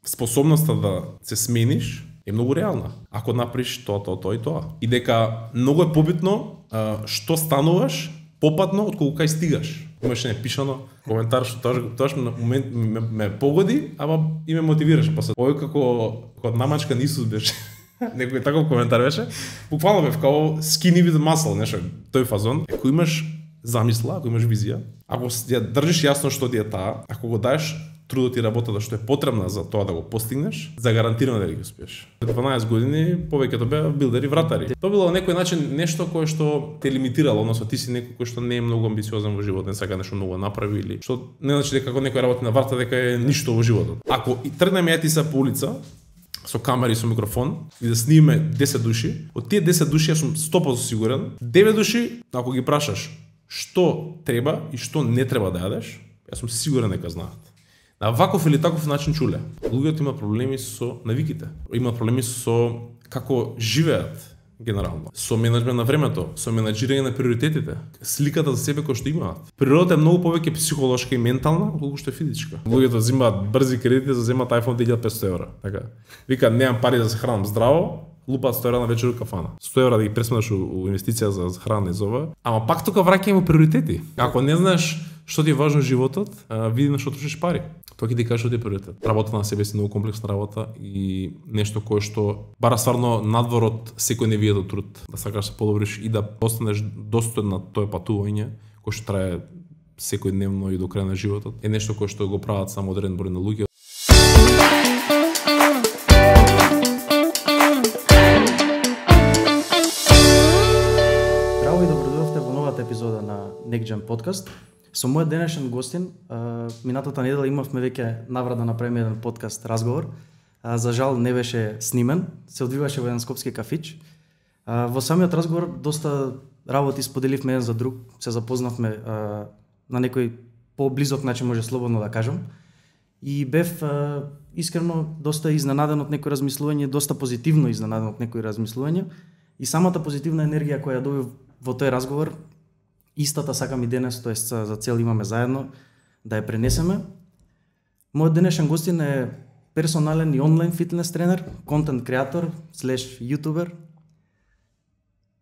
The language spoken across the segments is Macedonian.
способноста да се смениш е многу реална. Ако направиш тоа и тоа. И дека многу е побитно што стануваш попатно отколку кај стигаш. Имаше непишано коментар што тоа на момент ме погоди, ама и ме мотивираше после. Овој како намачка на Исус беше. Некој таков коментар беше. Буквално бев као skinny with muscle, нешто тој фазон. Ако имаш замисла, ако имаш визија, ако ја држиш јасно што ти е таа, ако го даеш трудот и работата што е потребна за тоа да го постигнеш, загарантирано да ги успееш. 12 години повеќето беа билдери вратари. Тоа било на некој начин нешто кое што те лимитирало, односно ти си некој кој што не е многу амбициозен во животот, не сака нешто многу направи или што не значи дека како некој работи на врата дека е ништо во животот. Ако и тргнеме ја ти се по улица со камера и со микрофон и да снимиме 10 души, од тие 10 души јас сум 100% сигурен, 9 души ако ги прашаш што треба и што не треба да јадеш, јас сум сигурен дека знаат. На ваков или таков начин чуле. Луѓето имаат проблеми со навиките. Имаат проблеми со како живеат генерално. Со менеджмент на времето, со менаџирање на приоритетите, сликата за себе кој што имаат. Природата е многу повеќе психолошка и ментална отколку што е физичка. Луѓето земаат брзи кредити за земаат iPhone 1500 евра. Така. Вика немам пари да се хранам здраво, лупаат 100 евра на вечер у кафана. 100 евра да ги пресметаш у инвестиција за храна и зова. Ама пак тука враќање во приоритети. Ако не знаеш што ти е важно во животот, види на што трошиш пари. Тоа ќе ти каже што ти е приоритет. Работа на себе си многу комплексна работа и нешто кое што бара стварно надвор од секој невијат труд. Да сакаш да се подобриш и да постанеш достоен на тоа патување кое што трае секојдневно и до крај на животот. Е нешто кое што го прават само одреден број на луѓе. Здраво и добродојавте во новата епизода на Next Gen Podcast. Со мојот денешен гостин, минатата недела имавме веќе наврат да направиме еден подкаст разговор. За жал не беше снимен, се одвиваше во еден скопски кафич. Во самиот разговор доста работи споделивме еден за друг, се запознавме на некој поблизок начин, може слободно да кажам. И бев искрено доста изненаден од некои размислување, доста позитивно изненаден од некои размислување. И самата позитивна енергија која ја добив во тој разговор, истата сакам и денес, тоест за цел имаме заедно да ја пренесеме. Мојот денешен гостин е персонален и онлайн фитнес тренер, контент креатор, /ютубер.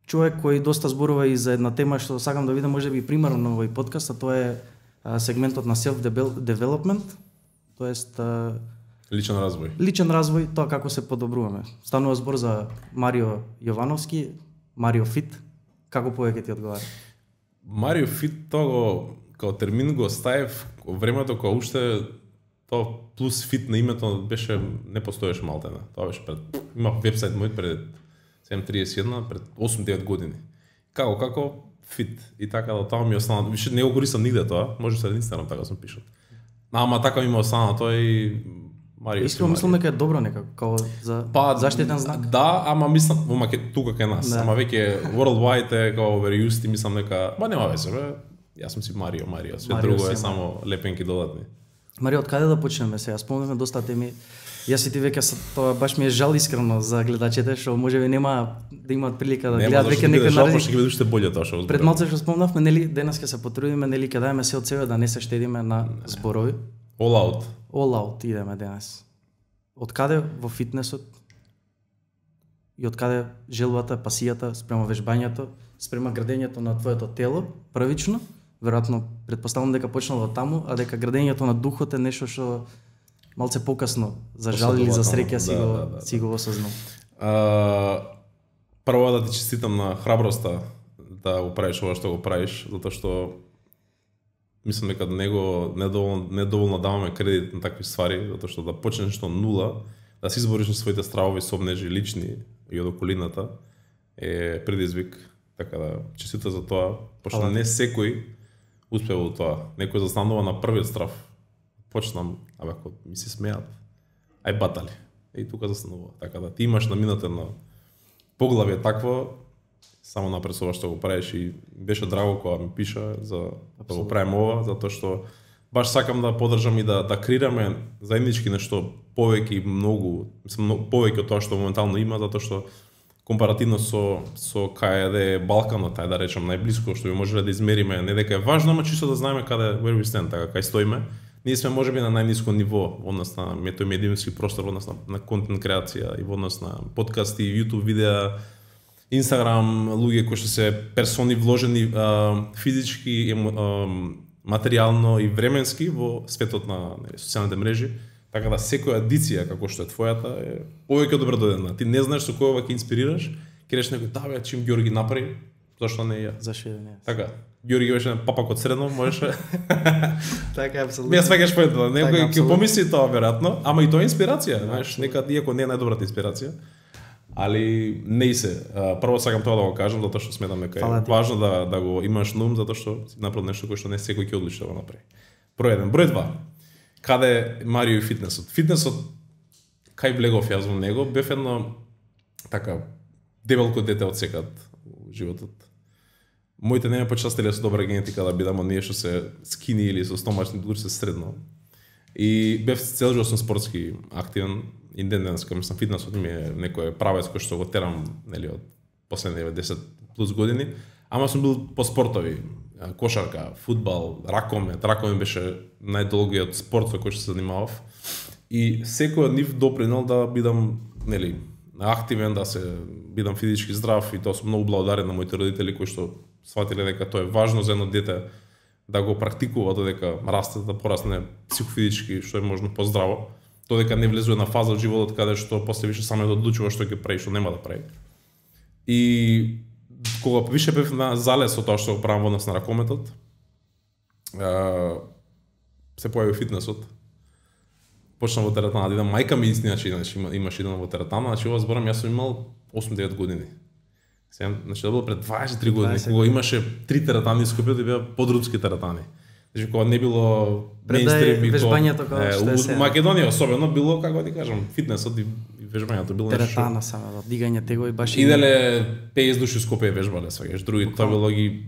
Човек кој доста зборува и за една тема што сакам да видам можеби примерно на овој подкаст, а тоа е сегментот на self-development, тоест личен развој. Личен развој, тоа како се подобруваме. Станува збор за Марио Јовановски, Марио Фит. Како повеќе ти одговара? Марио Фит, тоа го, као термин го ставив времето кога уште тоа плюс фит на името беше не постоеше малтена. Тоа беше пред имав вебсайт мој пред 731 пред 8-9 години. Како фит и така да тоа ми остана. Више не го користам нигде тоа, може се на Инстаграм така сум пишал. Ама така ми остана тоа и Марио. Искрено мислам дека е добро некако, као за заштитен знак. Да, ама мислам во тука кај нас, ама веќе worldwide е као overused и мислам дека нема веќе, бе. Јас сум си Марио, све друго е само лепенки додатни. Марио, од каде да почнеме сега? Спомнеме доста теми. Јас и ти веќе тоа баш ми е жал искрено за гледачите што можеби нема да имаат прилика да гледаат веќе некој наредни. Ќе биде уште боле тоа што. Пред малце што спомнавме, нели денес ќе се потрудиме, нели ќе даеме се од себе да не се штедиме на зборови. All out идеме денес. Од каде во фитнесот и од каде желбата, пасијата спрема вежбањето, спрема градењето на твоето тело првично? Веројатно претпоставувам дека почнало од таму, а дека градењето на духот е нешто што малце покасно, за жал или за среќа си го осознал. Прво да ти честитам на храброста да го правиш ова што го правиш, затоа што мислам дека недоволно даваме кредит на такви ствари, затоа што да почнеш нешто од нула, да си избориш на своите стравови, собнежи, лични и од околината е предизвик, така да честитам за тоа, пошто не секој успева во тоа. Некој застанува на првиот страв. Почнам, ако ми се смеат, ај батали. И тука застанува. Така да ти имаш наминатено поглавје такво, само напред со ова што го правиш и беше драго кога ми пиша за да го правим ова, затоа што баш сакам да поддржам и да креираме заеднички нешто повеќе и многу, мислам повеќе од тоа што моментално има, затоа што компаративно со каде е Балканот, тај да речам најблиско што би можеле да измериме, не дека е важно, ама чисто да знаеме каде where we stand, така кај стоиме, Ние сме можеби на најниско ниво во однос на медиумски простор, во однос на контент креација и во однос на подкасти, YouTube видеа, Instagram, луѓе кои што се персони вложени физички, материјално и временски во светот на социјалните мрежи, така да секоја адиција како што е твојата е повеќе добро дојдена. Ти не знаеш со кој ќе инспирираш, ќе речеш некој да чим Ѓорги направи, зашто не ја? Зашто не? Така. Ѓорги беше папак од средно, можеше. Така е апсолутно. Ја сваќаш поентата, некој ќе помисли тоа веројатно, ама и тоа е инспирација, знаеш, некад иако не е најдобрата инспирација. Али не се. Прво сакам тоа да го кажам затоа што сметам дека е важно да го имаш на ум затоа што си направил нешто кое што не секој ќе одлучи да го направи. Број 1, број 2. Каде е Марио и фитнесот? Фитнесот кај влегов јас во него, бев едно така дебелко дете од секад во животот. Моите не ме почастиле со добра генетика да бидам од ние што се скини или со стомачни, дури се средно. И бев цел живот сум спортски активен. И денес, кога мислам, фитнесот ми е некој правец кој што го терам, нели, од последните 10 плюс години, ама сум бил по спортови, кошарка, фудбал, ракомет беше најдолгиот спорт со кој што се занимавав. И секој од нив допринел да бидам, нели, активен, да се бидам физички здрав, и тоа сум многу благодарен на моите родители кои што сватиле дека тоа е важно за едно дете да го практикува додека расте, да порасне психофизички што е можно поздраво. Додека не влезува на фаза од животот каде што после више само да одлучува што ќе прави, што нема да прави. И кога више бев на залез од тоа што го правам во однос на ракометот, се појави фитнесот. Почнав во теретана да идам, мајка ми значи имаш идам во теретана, значи ова зборам јас сум имал 8-9 години. Значи да било пред 23 години, кога имаше 3 теретани Скопје, да беа подрудски теретани. Значи кога не било мејнстрим и вежбањето како што е сега. Македонија особено било, како ти кажам, фитнесот и вежбањето било нешто. Теретана само, дигање тегови баш. Иделе 50 души Скопје вежбале, сваќаш, други тоа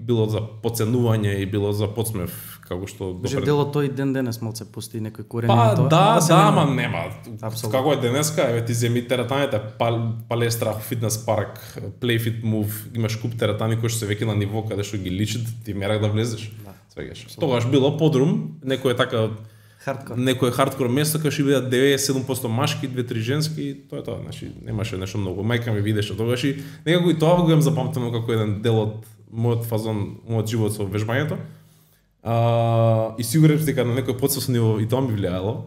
било за подценување и било за подсмев, како што Може дело тој денес малце пусти некој корен на тоа. Да, ама нема. Апсолутно. Како е денеска, еве ти земи теретаните, палестра, фитнес парк, Playfit Move, имаш куп теретани кои што се веќе на ниво каде што ги личат, ти мерак да влезеш. Тогаш било подрум, некој така хардкор. Некој хардкор место кај што бидат 97% машки, 2-3 женски, тоа е тоа, значи немаше нешто многу. Мајка ми видеше тогаш и некако и тоа го имам запамтено како еден дел од мојот фазон, мојот живот со вежбањето. И сигурен сум дека на некој подсвесно ниво и тоа ми влијаело.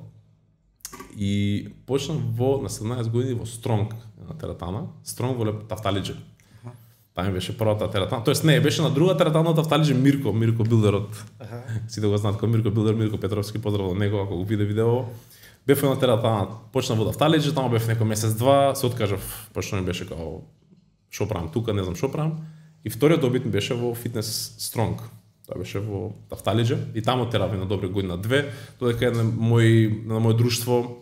И почнав на 17 години во Стронг на теретана, Стронг во Тафталиџе. Таа беше првата теретана, тоест не, беше на друга теретана од Тафталиџе Мирко билдерот. Сите го знаат како Мирко билдер, Мирко Петровски, поздрав од него ако го виде видео. Бев на теретана, почнав во Тафталиџе, таму бев некој месец-два, се откажав, пошто ми беше као шо правам тука, не знам шо правам. И вториот добит беше во Фитнес Стронг. Тоа беше во Тафталиџе и таму терапија на добри година-две, додека на мој друштво,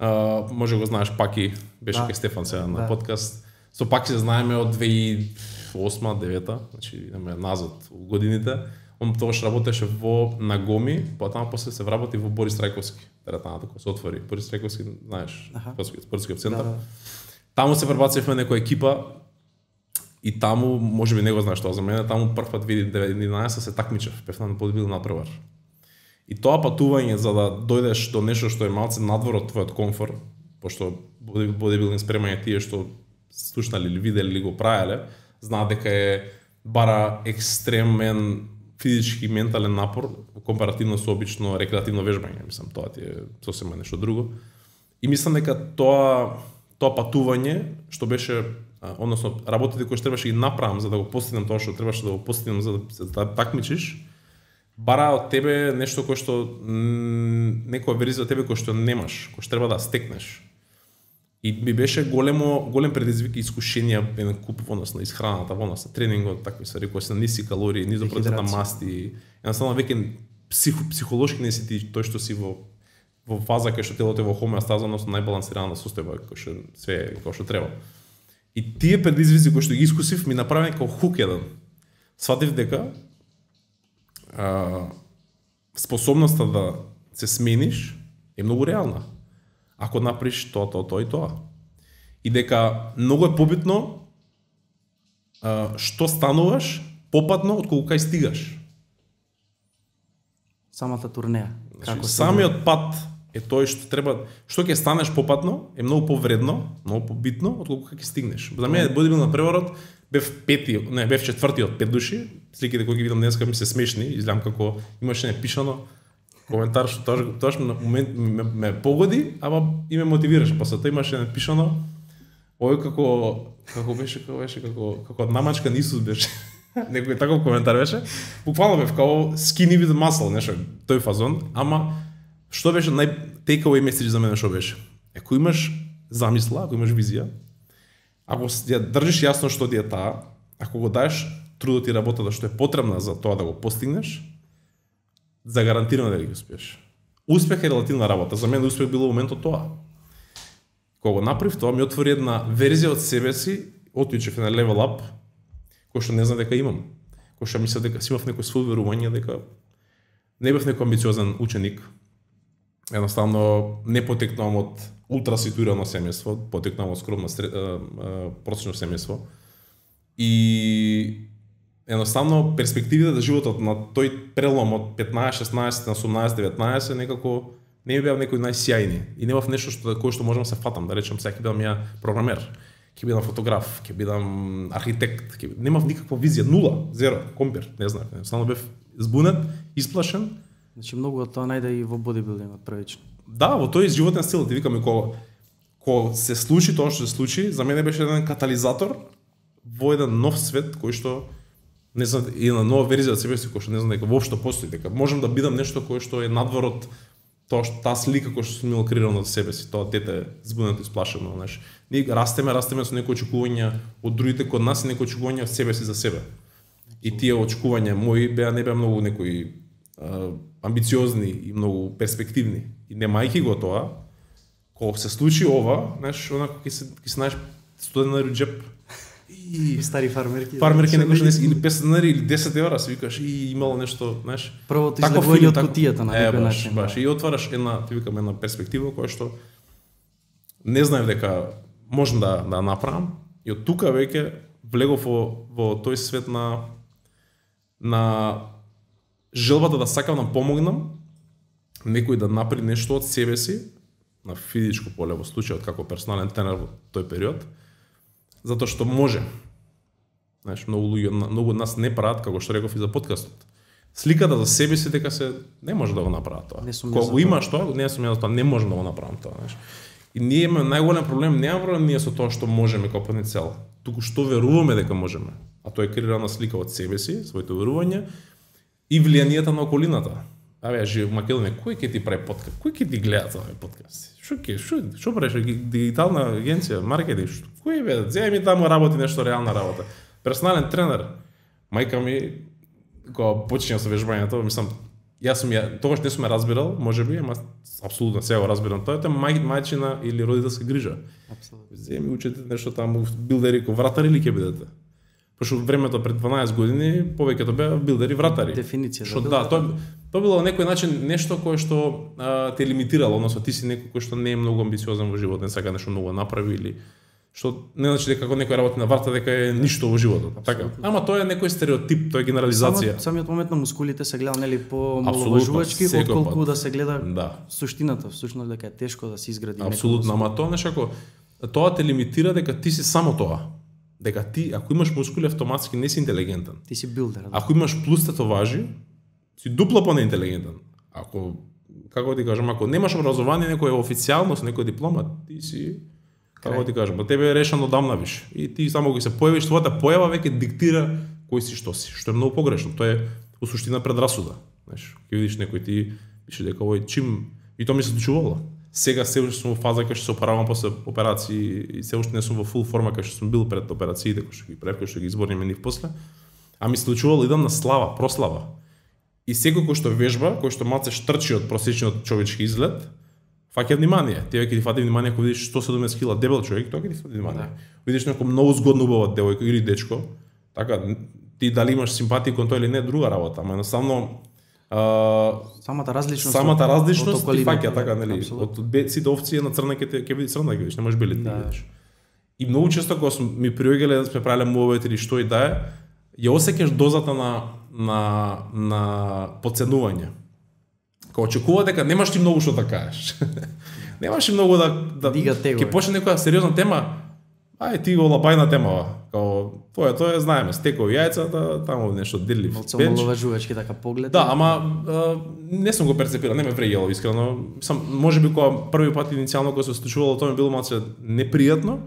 може го знаеш Паки, беше кај Стефан сега на подкаст. Со Паки се знаеме од 2008-2009, значи идеме назад во годините. Он тогаш работеше во Нагоми, потоа после се вработи во Борис Трајковски, теретаната која се отвори. Борис Трајковски, знаеш, спортскиот центар. Таму се пребацивме некоја екипа и таму, можеби не го знаеш тоа за мене, таму прв пат 2011 се такмичев, бев на бодибилдинг надпревар. И тоа патување за да дојдеш до нешто што е малце надвор од твојот комфор, пошто бодибилдинг спремање тие што слушнали или видели или го правеле, знаат дека е бара екстремен физички и ментален напор компаративно со обично рекреативно вежбање, мислам, тоа ти е сосема нешто друго. И мислам дека тоа патување што беше, односно работите кои што требаше ги направам за да го постигнам тоа што требаше да го постигнам за да такмичиш, бара од тебе нешто кое што некоја верзија од тебе кој што немаш, кој што треба да стекнеш. И ми беше голем предизвик и искушенија еден куп во однос на исхраната, во однос на тренингот, такви ствари кои се на ниски калории, низо процент на масти. Едноставно веќе психолошки не си ти тој што си во фаза кај што телото е во хомеостаза, односно најбалансирана состојба, кој што све е како што треба. И тие предизвици кои што ги искусив ми направи како хук еден. Сватив дека способноста да се смениш е многу реална. Ако направиш тоа и тоа. И дека многу е побитно што стануваш попатно отколку кај стигаш. Самата турнеја. Како самиот пат е тој што треба, што ќе станеш попатно е многу повредно, многу побитно отколку ќе стигнеш. За мене бодибилдинг преворот бев четврти од 5 души. Сликите кои ги видам денеска ми се смешни, изгледам како имаше непишано коментар што тоа на момент ме погоди, ама и ме мотивираше. После тоа имаше напишано ој како беше како намачкан Исус беше. Некој таков коментар беше. Буквално бев како skinny with muscle, нешто тој фазон, ама што беше take away message за мене што беше? Ако имаш замисла, ако имаш визија, ако ја држиш јасно што ти е таа, ако го даеш трудот и работата што е потребна за тоа да го постигнеш, загарантирано да ги успееш. Успех е релативна работа. За мене успех било моментот тоа. Кога го направив тоа, ми отвори една верзија од себе си, отвичев на level up, кој што не знам дека имам. Кој што мислам дека си имав некој свој верување, дека не бев некој амбициозен ученик. Едноставно не потекнувам од ултра ситуирано семејство, потекнувам од скромно просечно семејство. И едноставно перспективите за животот на тој прелом од 15, 16 на 18, 19 некако не ми беа некои најсјајни и немав нешто кој што можам да се фатам, да речем сега ќе бидам ја програмер, ќе бидам фотограф, ќе бидам архитект, немав никаква визија, нула, зеро, компир, не знам, само бев збунет, исплашен. Значи многу од тоа најде и во бодибилдингот првично. Да, во тој животен стил, ти викам, кога се случи тоа што се случи, за мене беше еден катализатор во еден нов свет кој што не знам, и на нова верзија од себе си кој што не знам дека воопшто постои, дека можам да бидам нешто кој што е надвор од тоа што таа слика кој што сум имал креирано од себе си, тоа дете збунето и сплашено, знаеш. Ние растеме со некои очекувања од другите код нас и некои очекувања од себе си за себе. И тие очекувања мои не беа многу некои амбициозни и многу перспективни. И немајќи го тоа, кога се случи ова, знаеш, онако ќе се најдеш студен на джеп. И стари фармерки. Фармерки некој што или 50 денари или 10 евра, си викаш и имало нешто, знаеш. Првото излегување од кутијата на некој начин. Баш, и отвараш една перспектива која што не знаев дека можам да направам. И од тука веќе влегов во тој свет на желбата да сакам да помогнам некој да направи нешто од себе си на физичко поле во случајот како персонален тренер во тој период, затоа што може. Знаеш, многу од нас не прават, како што реков и за подкастот. Сликата за себе си дека се не може да го направат тоа. Кога го имаш тоа, не сум ја за тоа, не можам да го направам тоа, знаеш. И ние имаме најголем проблем, немаме проблем ние со тоа што можеме како потенцијал, туку што веруваме дека можеме. А тоа е креирана слика од себе си, своите верувања и влијанието на околината. Абе, живееш во Македонија, кој ќе ти прави подкаст? Кој ќе ти гледа овој подкаст? Што правиш? Дигитална агенција, маркетинг? Кој бе? Зеј ми таму работи нешто реална работа. Персонален тренер. Мајка ми кога почнеа со вежбањето, мислам, тогаш не сум ја разбирал, можеби, ама апсолутно сега го разбирам тоа, е мајчина или родителска грижа. Апсолутно. Зеј ми учете нешто таму билдери ко вратари или ќе бидете? Пошто времето пред 12 години повеќето беа билдери вратари. Дефиниција за билдер. Да, тоа било на некој начин нешто кое што те лимитирало, односно ти си некој кој што не е многу амбициозен во животот, не сака нешто многу да направи или што не значи дека кога некој работи на врата дека е ништо во животот. Така. Ама тоа е некој стереотип, тоа е генерализација. Самиот момент на мускулите се гледа нели по маловажувачки отколку да се гледа суштината, всушност дека е тешко да се изгради некој. Апсолутно, ама тоа нешто тоа те лимитира дека ти си само тоа. Дека ти, ако имаш мускули, автоматски не си интелигентен. Ти си билдер. Да. Ако имаш плюс татоважи, си дупло по-неинтелигентен. Ако, како ти кажам, ако немаш образование, некој официјално со некој диплома, ти си, како ти кажам, тебе е решено одамна виш. И ти само кога се појавиш, твојата појава веќе диктира кој си, што е многу погрешно. Тоа е во суштина предрасуда. Знаеш, ќе видиш некој ти пише дека овој чим и тоа ми се случувало. Сега се уште сум во фаза кога што се оправам после операции и се уште не сум во фул форма кога што сум бил пред операциите, кога што ги правев, кога што ги изборниме нив после. А ми се случувало идам на слава, прослава. И секој кој што вежба, кој што малце штрчи од просечниот човечки изглед, фаќа внимание. Ти веќе ти фати внимание кога видиш 170 кг дебел човек, тоа ќе ти фати внимание. Видиш некој многу згодно убава девојка или дечко, така ти дали имаш симпатија кон тој или не друга работа, ама едноставно самата различност ти фаќа така, нели, од сите овци на црна ќе види црна, ќе видиш, не можеш бели да видиш. И многу често кога ми приоѓале да сме правеле мувовете или што и да е, ја осеќаш дозата на подценување. Као очекува дека немаш ти многу што да кажеш. Немаш и многу да Дига тего. ќе почне некоја сериозна тема. Ај ти го лабајна темава. Као тоа знаеме, стекови јајца, таму нешто дирли. Малце омаловажувачки така поглед. Да, ама не сум го перцепирал, не ме вреѓало искрено. Можеби кога први пат иницијално кога се случувало тоа ми било малце непријатно,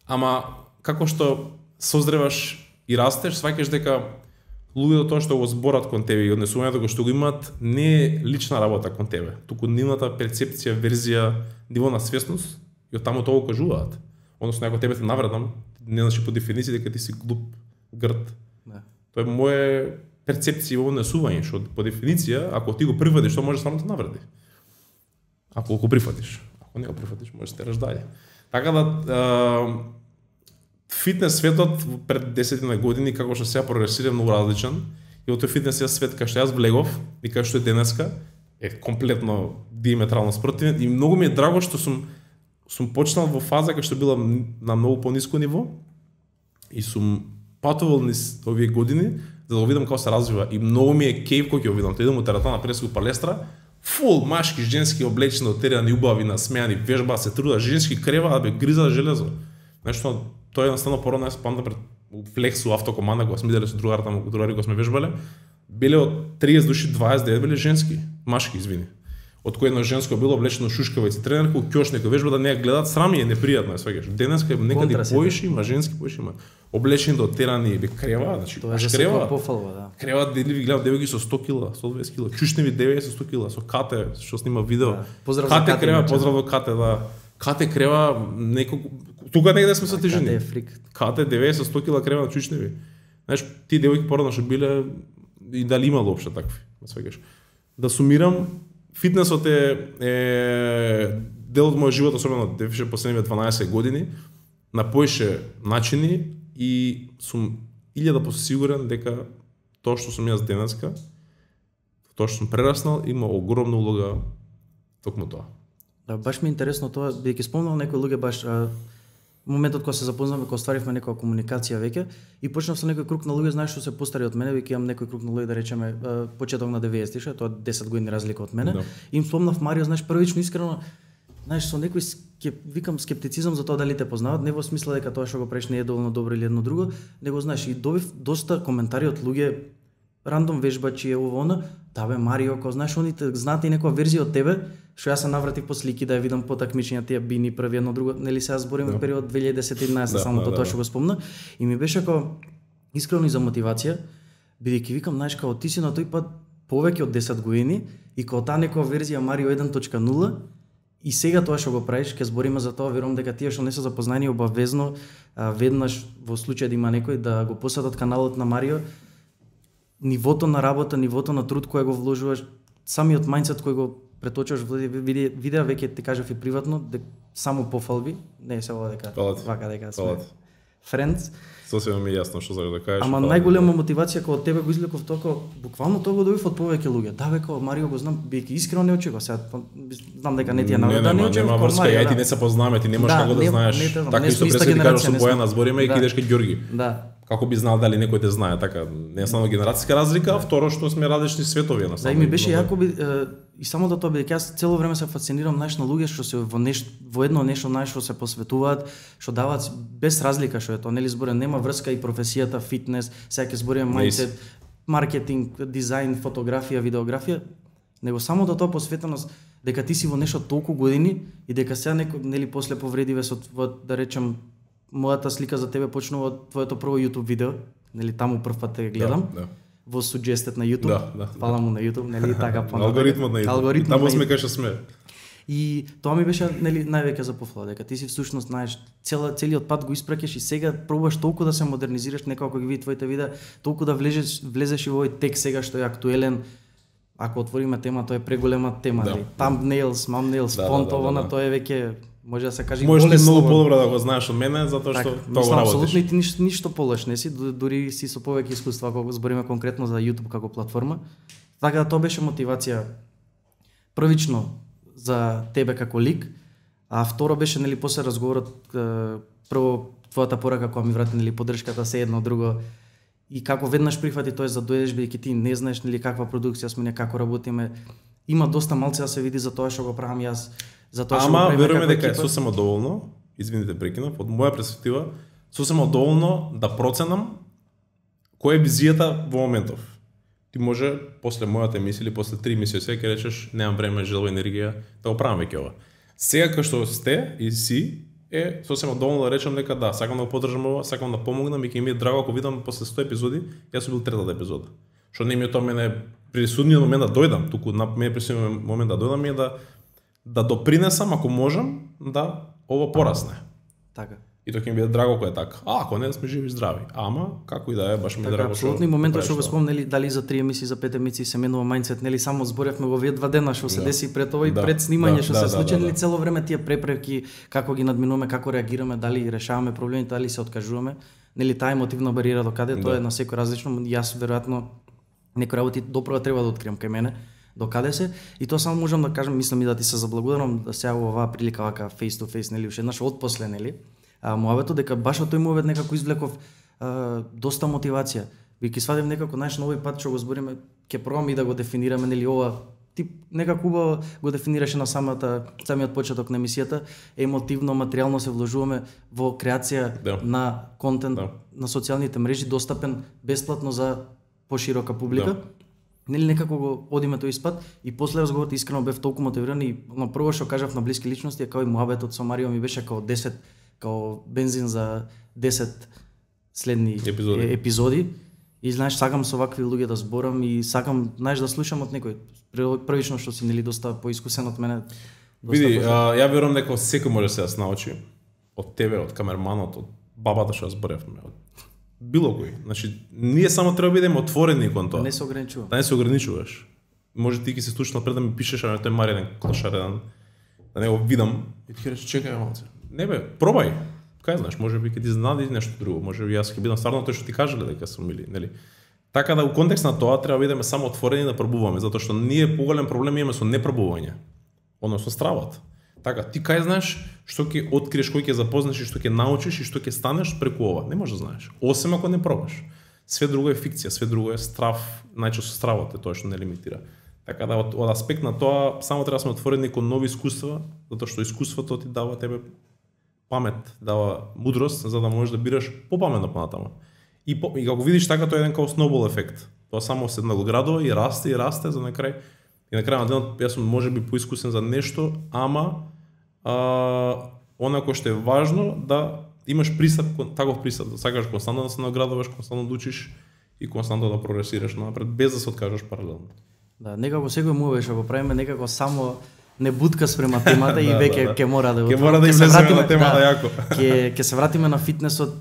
ама како што созреваш и растеш, сваќаш дека луѓето тоа што го зборат кон тебе и однесувањето кој што го имаат не е лична работа кон тебе, туку нивната перцепција, верзија, ниво на свесност и од таму тоа го кажуваат. Односно ако тебе те навредам, не значи по дефиниција дека ти си глуп, грд. Да. Тоа е моја перцепција во однесување, што по дефиниција, ако ти го прифатиш, тоа може само да те навреди. Ако го прифатиш, ако не го прифатиш, може да те раш Така да фитнес светот пред 10 години како што сега прогресира многу различен и во тој фитнес свет кај што јас влегов и кај што е денеска е комплетно диаметрално спротивен и многу ми е драго што сум почнал во фаза кај што била на многу пониско ниво и сум патувал низ овие години за да го видам како се развива и многу ми е кејф кога ќе го видам. Тоа идам у тератана преску палестра, фул машки, женски облечени, отерани, убави, насмеани, вежба, се труда, женски крева, бе гриза железо. Нешто тоа едноставно порано јас памтам пред флексу автокоманда кога сме иделе со другари кога сме вежбале, биле од 30 души 29 биле женски, машки, извини. Од кој едно женско било облечено шушкавици тренерка, ќош некој вежба да не ја гледат, срам е непријатно, сваќаш. Денеска некаде поише има женски, поише има облечени до отерани, бе крева, значи тоа крева. Пофалва, да. Крева дели ви гледам девојки со 100 кила, 120 кила, чушневи девојки со 100 кила, со Кате што снима видео. Да. Поздрав Кате за Кате, крева, поздрав до Кате, да. Кате крева неколку тука негде сме со тежини. Кате е фрик. Кате 90 100 кила крева на чучневи. Знаеш, ти девојки порано што биле и дали имало општо такви, сваќаш. Да сумирам, фитнесот е дел од мојот живот, особено дефише последниве 12 години, на поише начини и сум 1000% сигурен дека тоа што сум јас денеска, тоа што сум прераснал, има огромна улога токму тоа. Да, баш ми е интересно тоа, бидејќи спомнал некои луѓе баш моментот кога се запознавме, кога стваривме некоја комуникација веќе и почнав со некој круг на луѓе, знаеш што се постари од мене, веќе имам некој круг на луѓе да речеме почеток на 90-ти, тоа 10 години разлика од мене. Да. Им спомнав Марио, знаеш, првично искрено, знаеш, со некој викам скептицизам за тоа дали те познават, не во смисла дека тоа што го правиш не е доволно добро или едно друго, него знаеш и добив доста коментари од луѓе рандом вежбачи е ово она, да бе Марио, кога знаеш они знаат и некоја верзија од тебе, што јас се навратив по слики да ја видам по такмичења тие бини први едно друго, нели сега збориме да. период 2010-2011 само тоа што го спомна и ми беше како искрено и за мотивација, бидејќи викам, знаеш, како ти си на тој пат повеќе од 10 години и како таа некоја верзија Марио 1.0 и сега тоа што го правиш, ќе збориме за тоа, верувам дека тие што не се запознаени обавезно веднаш во случај да има некој да го посетат каналот на Марио, нивото на работа, нивото на труд кој го вложуваш, самиот мајндсет кој го преточуваш во видеа, веќе ти кажав и приватно, дека само пофалби, не се ова дека вака дека сме friends. Сосема ми јасно што сакаш да кажеш. Ама најголема мотивација кога од тебе го извлеков тоа, буквално тоа го добив од повеќе луѓе. Да бе, кога Марио го знам, биејќи искрено не очекував. Сега знам дека не ти ја наведа, не очекував кога Марио. Нема врска, ти не се познаваме, ти немаш како да знаеш. Така исто преска ти кажеш со Бојана збориме и кидеш кај Ѓорги. Да. Како би знал дали некој те знае, така не е само генерацијска разлика, а второ што сме различни светови на самом. Да, и ми беше јако и само да тоа бидејќи јас цело време се фасцинирам на луѓе што се во едно нешто што се посветуваат, што даваат без разлика што е тоа, нели зборам, нема врска и професијата, фитнес, сега ќе зборам мајндсет, маркетинг, дизајн, фотографија, видеографија, него само до тоа посветеност дека ти си во нешто толку години и дека сега некој нели после повредиве со да речем мојата слика за тебе почнува од твоето прво YouTube видео, нели таму прв пат те гледам. Да. Во суџестет на YouTube. Фала му на YouTube, нели така понатаму. Алгоритмот на YouTube. Таму сме кај што сме. И тоа ми беше нели највеќе за пофала, дека ти си всушност знаеш целиот пат го испраќаш и сега пробуваш толку да се модернизираш, некако ги види твоите видеа, толку да влезеш и во овој тек сега што е актуелен. Ако отвориме тема, тоа е преголема тема, нели. Thumbnails, thumbnails, фонт, ова тоа е веќе може да се каже можеш ти многу подобро да го знаеш од мене затоа што тоа го работиш. Апсолутно и ти ништо полош не си, дури си со повеќе искуства кога збориме конкретно за YouTube како платформа. Така да тоа беше мотивација првично за тебе како лик, а второ беше нели после разговорот прво твојата порака која ми врати нели поддршката се едно друго и како веднаш прифати тоа за дојдеш бидејќи ти не знаеш нели каква продукција сме, како работиме. има доста малци да се види за тоа што го правам јас, за тоа што Ама го правиме веруваме како дека е екипа. сосема доволно, извините прекинав, од моја перспектива, сосема доволно да проценам која е визијата во моментов. Ти може после мојата емисија или после 3 емисии сега ќе речеш немам време, желба, енергија да го правам веќе ова. Сега кај што сте и си е сосема доволно да речам дека да, сакам да го поддржам ова, сакам да помогнам и ќе ми е драго ако видам после 100 епизоди, јас сум бил третата епизода. Што не ми е тоа мене присудниот момент да дојдам, туку на мене присудниот момент да дојдам е да допринесам ако можам да ова порасне. Така. И тоа ќе ми биде драго кога е така. Ако не, да сме живи и здрави. Ама како и да е, баш ми е Така, драго. апсолутно, и моментот што го спомнели дали за 3 емисии, за 5 емисии се менува мајндсет, нели само зборевме го овие 2 дена што се деси пред ова и пред снимање што се случи, нели цело време тие препреки, како ги надминуваме, како реагираме, дали решаваме проблемите, дали се откажуваме, нели таа емотивна бариера докаде тоа е на секој различно. Јас веројатно некои работи доправо треба да откриам кај мене, докаде се, и тоа само можам да кажам, мислам и да ти се заблагодарам да сега во оваа прилика вака face to face, нели уште еднаш отпосле, нели? Муабето дека баш од тој муабет некако извлеков доста мотивација. Бидејќи свадев некако најш нови пат што го збориме, ќе пробаме и да го дефинираме, нели ова ти некако убаво го дефинираше на самиот почеток на емисијата, емотивно, материјално се вложуваме во креација на контент на социјалните мрежи, достапен бесплатно за поширока публика. Нели некако го одиме тој испад и после разговорот искрено бев толку мотивиран и на прво што кажав на блиски личности е као и муабетот со Марио ми беше као 10 као бензин за 10 следни епизоди. И знаеш, сакам со вакви луѓе да зборам и сакам, знаеш, да слушам од некој. Првично што си нели доста поискусен од мене. Види, ја верувам дека секој може да се научи од тебе, од камерманот, од бабата што зборевме, од било кој. Значи, ние само треба да бидеме отворени кон тоа. Да не се ограничуваш. Да не се ограничуваш. Може ти ќе се случи напред да ми пишеш на тој Маринен клашарен, да не го видам и ти ќе речеш чекај малце. Не бе, пробај. Кај знаеш, можеби ќе ти знади нешто друго, можеби јас ќе бидам стварно тој што ти кажале дека сум или, нели. Така да у контекст на тоа треба да бидеме само отворени да пробуваме, затоа што ние поголем проблем имаме со непробување, односно стравот. Така, ти кај знаеш што ќе откриеш, кој ќе запознаш и што ќе научиш и што ќе станеш преку ова, не можеш да знаеш, освен ако не пробаш. Све друго е фикција, све друго е страв, најчесто стравот е тоа што не лимитира. Така да од аспект на тоа само треба да сме отворени кон нови искуства, затоа што искуството ти дава тебе памет, дава мудрост за да можеш да бираш попаметно понатаму. И како видиш така тоа е еден као сноубол ефект. Тоа само се надоградува и расте за на крај. И на крај на денот јас сум можеби поискусен за нешто, ама онако што е важно да имаш пристап, таков пристап, да сакаш константно да се наградуваш, константно да учиш и константно да прогресираш напред без да се откажеш паралелно. Да, некако секој му што го правиме некако само не бутка спрема темата и веќе ќе мора да ќе мора да влеземе на темата јако. Ќе се вратиме на фитнесот.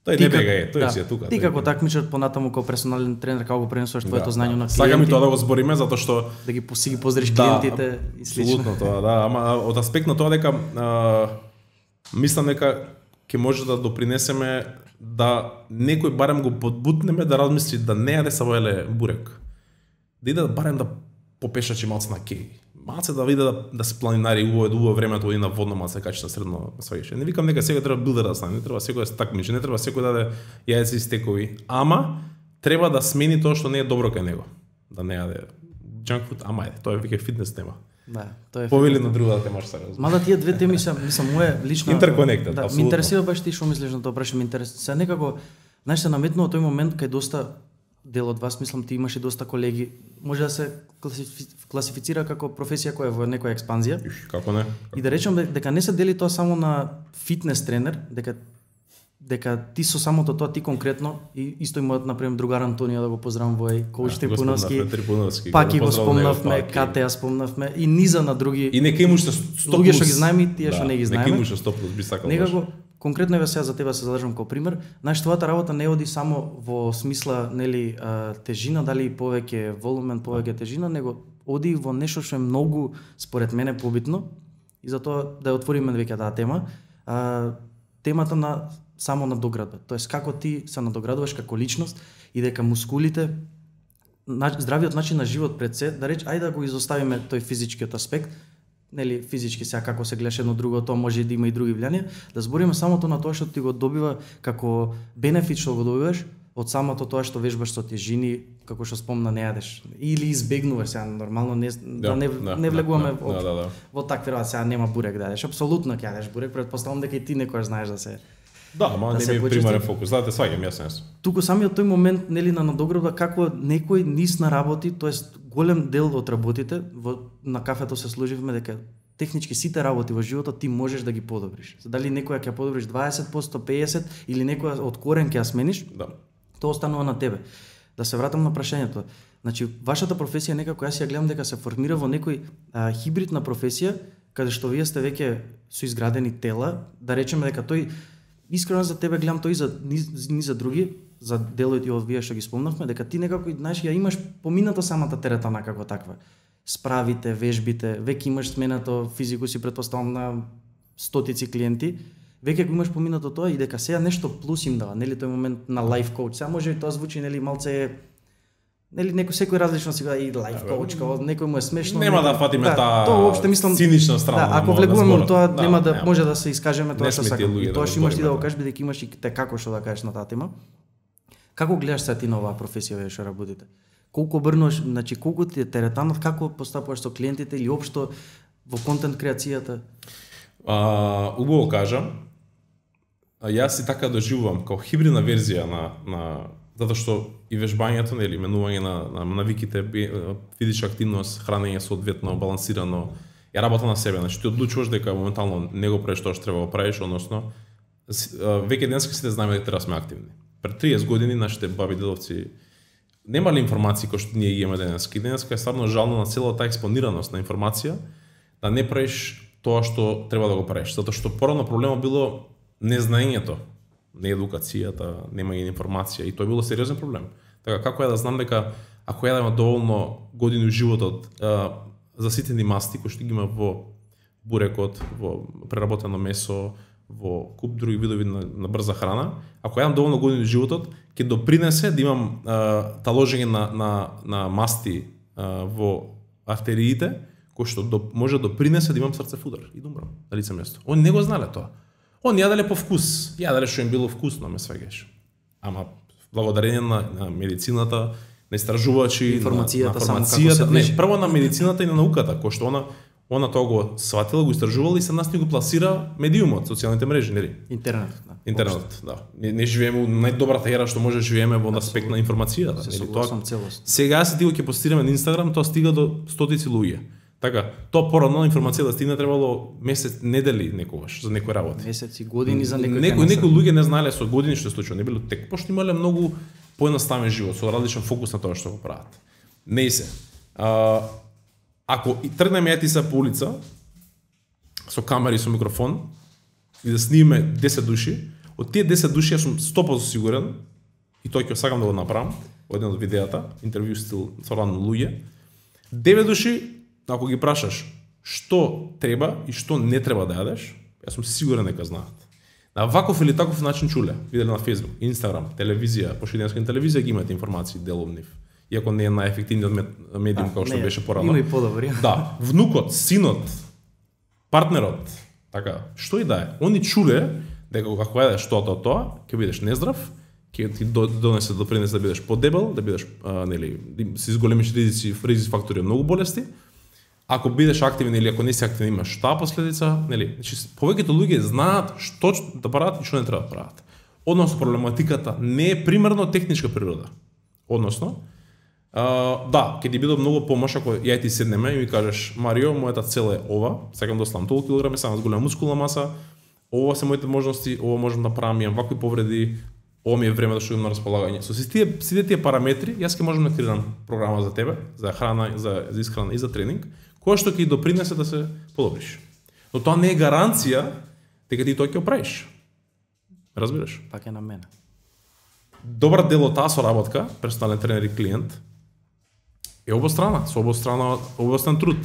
Тој не бега е, тој си е тука. Ти како такмичар понатаму како персонален тренер како го пренесуваш твоето знаење на клиенти. Сакам и тоа да го збориме затоа што да ги поздриш клиентите и слично. Апсолутно тоа, да, ама од аспект на тоа дека мислам дека ќе може да допринесеме да некој барем го подбутнеме да размисли да не јаде сабајле бурек. Да иде барем да попешачи малце на кеј. Малце да види да се планинари убаво времето и на водно малце качи на средно сваѓаше. Не викам дека сега треба билдер да стане, не треба секој да се такмичи, не треба секој да даде јајци и стекови, ама треба да смени тоа што не е добро кај него. Да не јаде junk food, ама тоа е веќе фитнес тема. Да, тоа е. Повели на другата тема што се. Мада тие две теми се, мислам, мое лично интерконектед, да, апсолутно. Ме интересира баш ти што мислиш на тоа прашање, ме интересира. Се некако, знаеш, се наметнува тој момент кај доста дел од вас, мислам, ти имаш и доста колеги, може да се класифицира како професија која е во некоја експанзија. Како не? И да речем дека не се дели тоа само на фитнес тренер, дека ти со самото тоа ти конкретно и исто и мојот например другар Антонио да го поздравам во коуч Трипуновски. Пак и го спомнавме, Кате ја спомнавме и низа на други. И нека имаш 100 луѓе што ги знаеме и тие што не ги знаеме. Нека имаш 100 плюс би сакал. Некако конкретно еве сега за тебе се задржам како пример. Знаеш, твојата работа не оди само во смисла, нели, тежина, дали повеќе волумен, повеќе тежина, него оди во нешто што е многу според мене побитно и затоа да ја отвориме веќе таа тема. Темата на само надоградба. Тоест како ти се надоградуваш како личност и дека мускулите, здравиот начин на живот пред се, да ајде да го изоставиме тој физичкиот аспект, нели физички сега како се гледаш едно друго, тоа може да има и други влијанија, да збориме самото на тоа што ти го добива како бенефит што го добиваш од самото тоа што вежбаш со тежини, како што спомна, не јадеш или избегнуваш сега нормално не влегуваме во такви работи, сега нема бурек да јадеш, апсолутно ќе јадеш бурек, претпоставувам дека и ти некојаш знаеш да се ама не ми примерен фокус, знаете, сваѓам јасно. Туку самиот тој момент, нели, на надоградба како некој низ на работи, тоест голем дел од работите на кафето се служивме дека технички сите работи во животот ти можеш да ги подобриш. Дали некоја ќе подобриш 20%, 50% или некоја од корен ќе ја смениш, тоа останува на тебе. Да се вратам на прашањето. Значи, вашата професија некако јас ја гледам дека се формира во некој хибридна професија, каде што вие сте веќе со изградени тела, да речеме дека тој искрено за тебе гледам тој ни за други, за делот и од вие што ги спомнавме, дека ти некако знаеш ја имаш помината самата теретана како таква. Справите, вежбите, веќе имаш сменато физику, си претпоставам на стотици клиенти, веќе го имаш поминато тоа и дека сега нешто плюс им дава, нели тој момент на лайф коуч. Сега може и тоа звучи нели малце нели секој различно си и лайф коуч, како некој му е смешно. Нема да фатиме таа цинична страна. Ако влегуваме во тоа, нема да може да се искажеме тоа што сакаме. И тоа што имаш ти да го кажеш бидејќи имаш и те како што да кажеш на таа тема. Како гледаш сега ти на оваа професија што работите? Колку брнуваш, значи колку ти е теретанот, како постапуваш со клиентите или општо во контент креацијата? Убаво кажам. Јас и така доживувам како хибридна верзија на затоа што и вежбањето, нели, менување на навиките, физичка активност, хранење соодветно, балансирано, ја работа на себе. Значи ти одлучуваш дека моментално не го правиш тоа што треба да правиш, односно веќе денеска сите знаеме дека треба да сме активни. Пред 30 години нашите баби дедовци немале информации кои што ние ги имаме денеска. И денеска е стварно жално на целата таа експонираност на информација да не правиш тоа што треба да го правиш, затоа што порано проблемот било незнаењето, не едукацијата, немање информација и тоа било сериозен проблем. Така како ја да знам дека ако јадеме доволно години во животот заситени масти кои што ги има во бурекот, во преработено месо, во куп други видови на брза храна, ако јадам доволно години во животот, ќе допринесе да имам таложење на масти во артериите, кој што може допринесе да имам срцев удар и да умрам на лице место. Они не го знале тоа. Они јаделе по вкус, јаделе што им било вкусно, ме сваѓаш. Ама благодарение на медицината, на истражувачи, информацијата, прво на медицината и на науката, кој што она тоа го сватила, го истражувала и се нас ни го пласира медиумот, социјалните мрежи, нели? Интернетот, да. Не живееме во најдобрата ера што може да живееме во аспект на информацијата, нели? Тоа целост. Сега се ти го ќе постираме на Инстаграм, тоа стига до стотици луѓе. Така, тоа порано информација да стигне требало месец, недели некогаш за некои работи. Месеци, години за некои. Некои луѓе не знаеле со години што се случува, не било тек, пошто имале многу поедноставен живот, со различен фокус на тоа што го прават. Не се. Ако тргнеме ја ти се по улица со камери, со микрофон и да снимиме 10 души, од тие 10 души јас сум 100% сигурен и тоа ќе сакам да го направам во еден од видеата, интервју стил со рано луѓе. 9 души, ако ги прашаш што треба и што не треба да јадеш, јас сум сигурен дека знаат. На ваков или таков начин чуле, виделе на Facebook, Instagram, телевизија, пошто денеска телевизија ги имаат информации дел од нив. Иако не е најефективниот медиум како што беше порано. Има и подобри. Да, внукот, синот, партнерот, така, што и да е. Они чуле дека ако јадеш тоа, ќе бидеш нездрав, ќе ти донесе допринесе да бидеш подебел, да бидеш нели, си зголемиш ризици фактори многу болести. Ако бидеш активен или ако не си активен имаш таа последица, нели? Значи повеќето луѓе знаат што да прават и што не треба да прават. Односно проблематиката не е примерно техничка природа. Односно, да, ќе ти биде многу помош ако ја ти седнеме и ми кажеш: "Марио, мојата цел е ова, сакам да ослам толку килограми, сакам да зголемам мускулна маса, ова се моите можности, ова можам да правам, имам вакви повреди, ова ми е време да што имам на располагање." Со сите тие параметри, јас ќе можам да креирам програма за тебе, за храна, за исхрана и за тренинг, која што ќе допринесе да се подобриш. Но тоа не е гаранција дека ти тоа ќе оправиш. Разбираш? Пак е на мене. Добар дел од таа соработка, персонален тренер и клиент, е обострана, со обостран труд.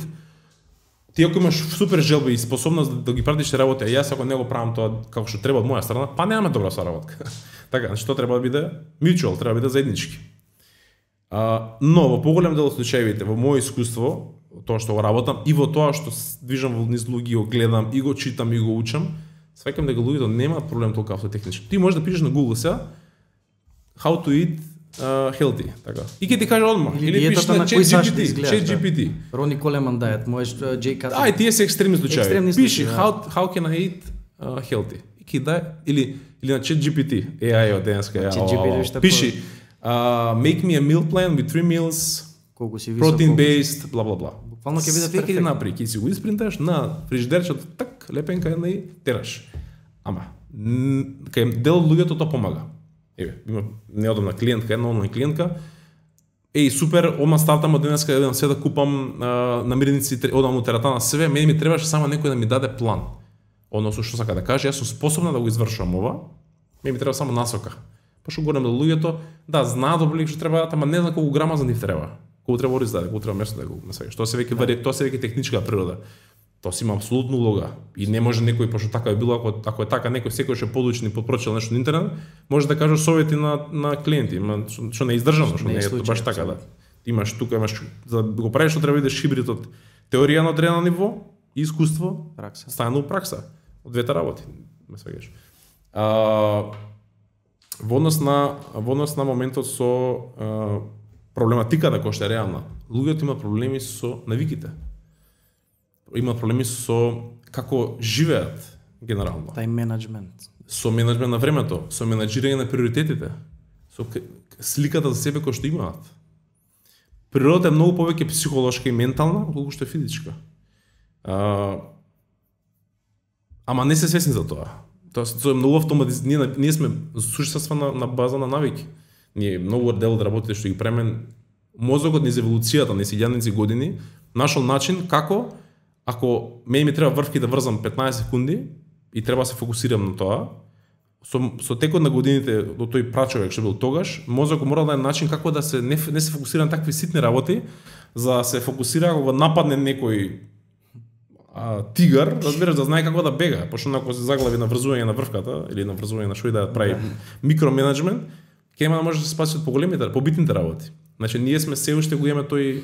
Ти ако имаш супер желба и способност да ги пратиш работи, а јас ако не го правам тоа како што треба од моја страна, па немаме добра соработка. Така, значи тоа треба да биде mutual, треба да биде заеднички. Но во поголем дел од случаевите, во моје искуство, тоа што го работам и во тоа што движам во низ луѓе, го гледам и го читам и го учам, сваќам дека луѓето немаат проблем толку автотехнички. Ти можеш да пишеш на Google сега how to eat healthy, така. И ќе ти каже одма. Или пишеш на ChatGPT. Рони Колеман diet, можеш Джей Кат. Тие се екстремни случаи. Пиши да. how can I eat healthy. И ќе дај или на ChatGPT. AI од денеска. Пиши make me a meal plan with 3 meals. Колку си висок, protein based, бла бла бла. Буквално ќе биде перфектно. Ќе напри, ќе си го испринташ на фрижидерчето, так лепенка и тераш. Ама кај дел од луѓето тоа помага. Еве, има неодамна клиентка, една онлайн клиентка. Супер, ома стартам од денеска еден се да купам намирници, одам у тератана себе, мене ми требаше само некој да ми даде план. Односно што сака да каже, јас сум способна да го извршувам ова. Мене ми треба само насока. Па што горем да луѓето, да знаат добро што треба, ама не знае колку грама за нив треба. Колку треба ориз да, колку треба место да го месега. Што се веќе тоа се веќе техничка природа. Тоа си има апсолутно улога и не може некој пошто така е било, ако е така некој секој што подучен и подпрочитал нешто на интернет, може да каже совети на клиенти, што не е издржано, што не е баш така да. Имаш тука за да го правиш што треба да идеш хибрид од теорија на одредено ниво и искуство, пракса. Стајано пракса. Од двете работи, ме сваѓаш. Во однос на моментот со проблематиката која што е реална. Луѓето имаат проблеми со навиките. Имаат проблеми со како живеат генерално. Тајм менеджмент. Со менеджмент на времето, со менеджирање на приоритетите, со сликата за себе која што имаат. Природата е многу повеќе психолошка и ментална, отколку што е физичка. Ама не се свесни за тоа. Тоа е многу автоматизирано. Ние сме суштества на база на навики. Ние многу дел од работите што ги премен мозокот низ еволуцијата, низ илјадници години, нашол начин како ако мене ми треба врвки да врзам 15 секунди и треба да се фокусирам на тоа, со текот на годините до тој прачовек што бил тогаш, мозокот мора да најде начин како да се не се фокусира на такви ситни работи, за да се фокусира кога нападне некој тигар, разбираш, да знае како да бега, пошто ако се заглави на врзување на врвката или на врзување на што и да прави микроменеджмент, ќе нема да може да се спаси од поголемите, побитните работи. Значи ние сме се уште го имаме тој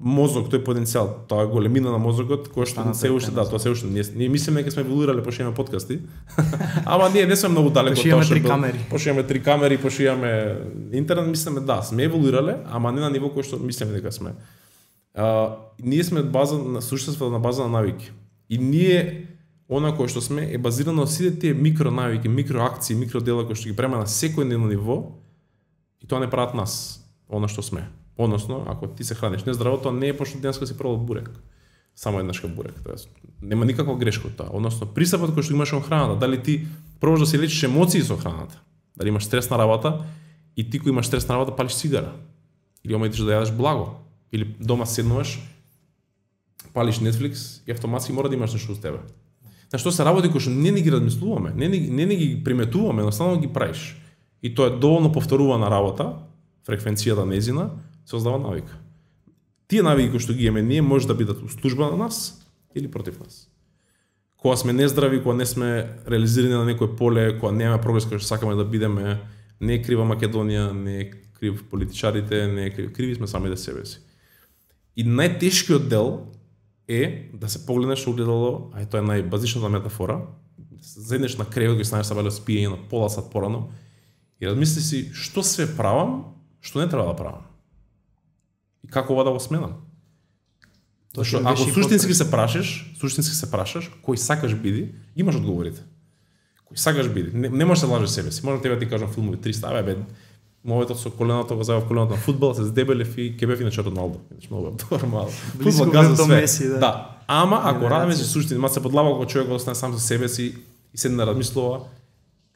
мозок, тој потенцијал, тоа големина на мозокот, кој што се уште тоа се уште ние мислиме дека сме еволуирале пошто имаме подкасти. Ама ние не сме многу далеко од тоа што пошто имаме 3 камери, пошто имаме интернет, мислиме сме еволуирале, ама не на ниво кој што мислиме дека сме. Ние сме база на суштество на база на навики. И ние она кој што сме е базирано на сите тие микронавики, микроакции, микродела кои што ги према на секојдневно ниво и тоа не прават нас, она што сме. Односно, ако ти се храниш нездраво, тоа не е пошто денеска си пробал бурек. Само еднашка бурек, тоа нема никаква грешка од тоа. Односно, пристапот кој што имаш во храната, дали ти пробаш да си лечиш емоции со храната, дали имаш стрес на работа и ти кој имаш стрес на работа палиш цигара, или омајтиш да јадеш благо, или дома седнуваш, палиш Netflix и автоматски мора да имаш нешто со тебе. На што се работи кои што не ги размислуваме, не ги приметуваме, едноставно ги правиш. И тоа е доволно повторувана работа, фреквенцијата незина, се создава навика. Тие навики кои што ги имаме ние може да бидат услужба на нас или против нас. Кога сме нездрави, кога не сме реализирани на некој поле, кога немаме прогрес кој што сакаме да бидеме, не е крива Македонија, не е крив политичарите, не е криви сме сами да себе си. И најтешкиот дел е да се погледнеш во огледало, тоа е најбазичната метафора, седнеш на креот, ги станеш сабале спиење на пола сат порано и размисли си што све правам, што не треба да правам. И како ова да го сменам? Зашто ако суштински се прашаш, кој сакаш биди, имаш одговорите. Кој сакаш биди, не можеш да лажеш себе си. Можам тебе да ти кажам филмови 300, бе, моветот со коленото го зајав коленото на фудбал, се здебелев и ке бев иначе Роналдо. Значи многу нормално. Фудбал газа све. Меси, да. Ама ако радиме се суштини, ма се подлава кога човек остане сам со себе си и седне да размислува,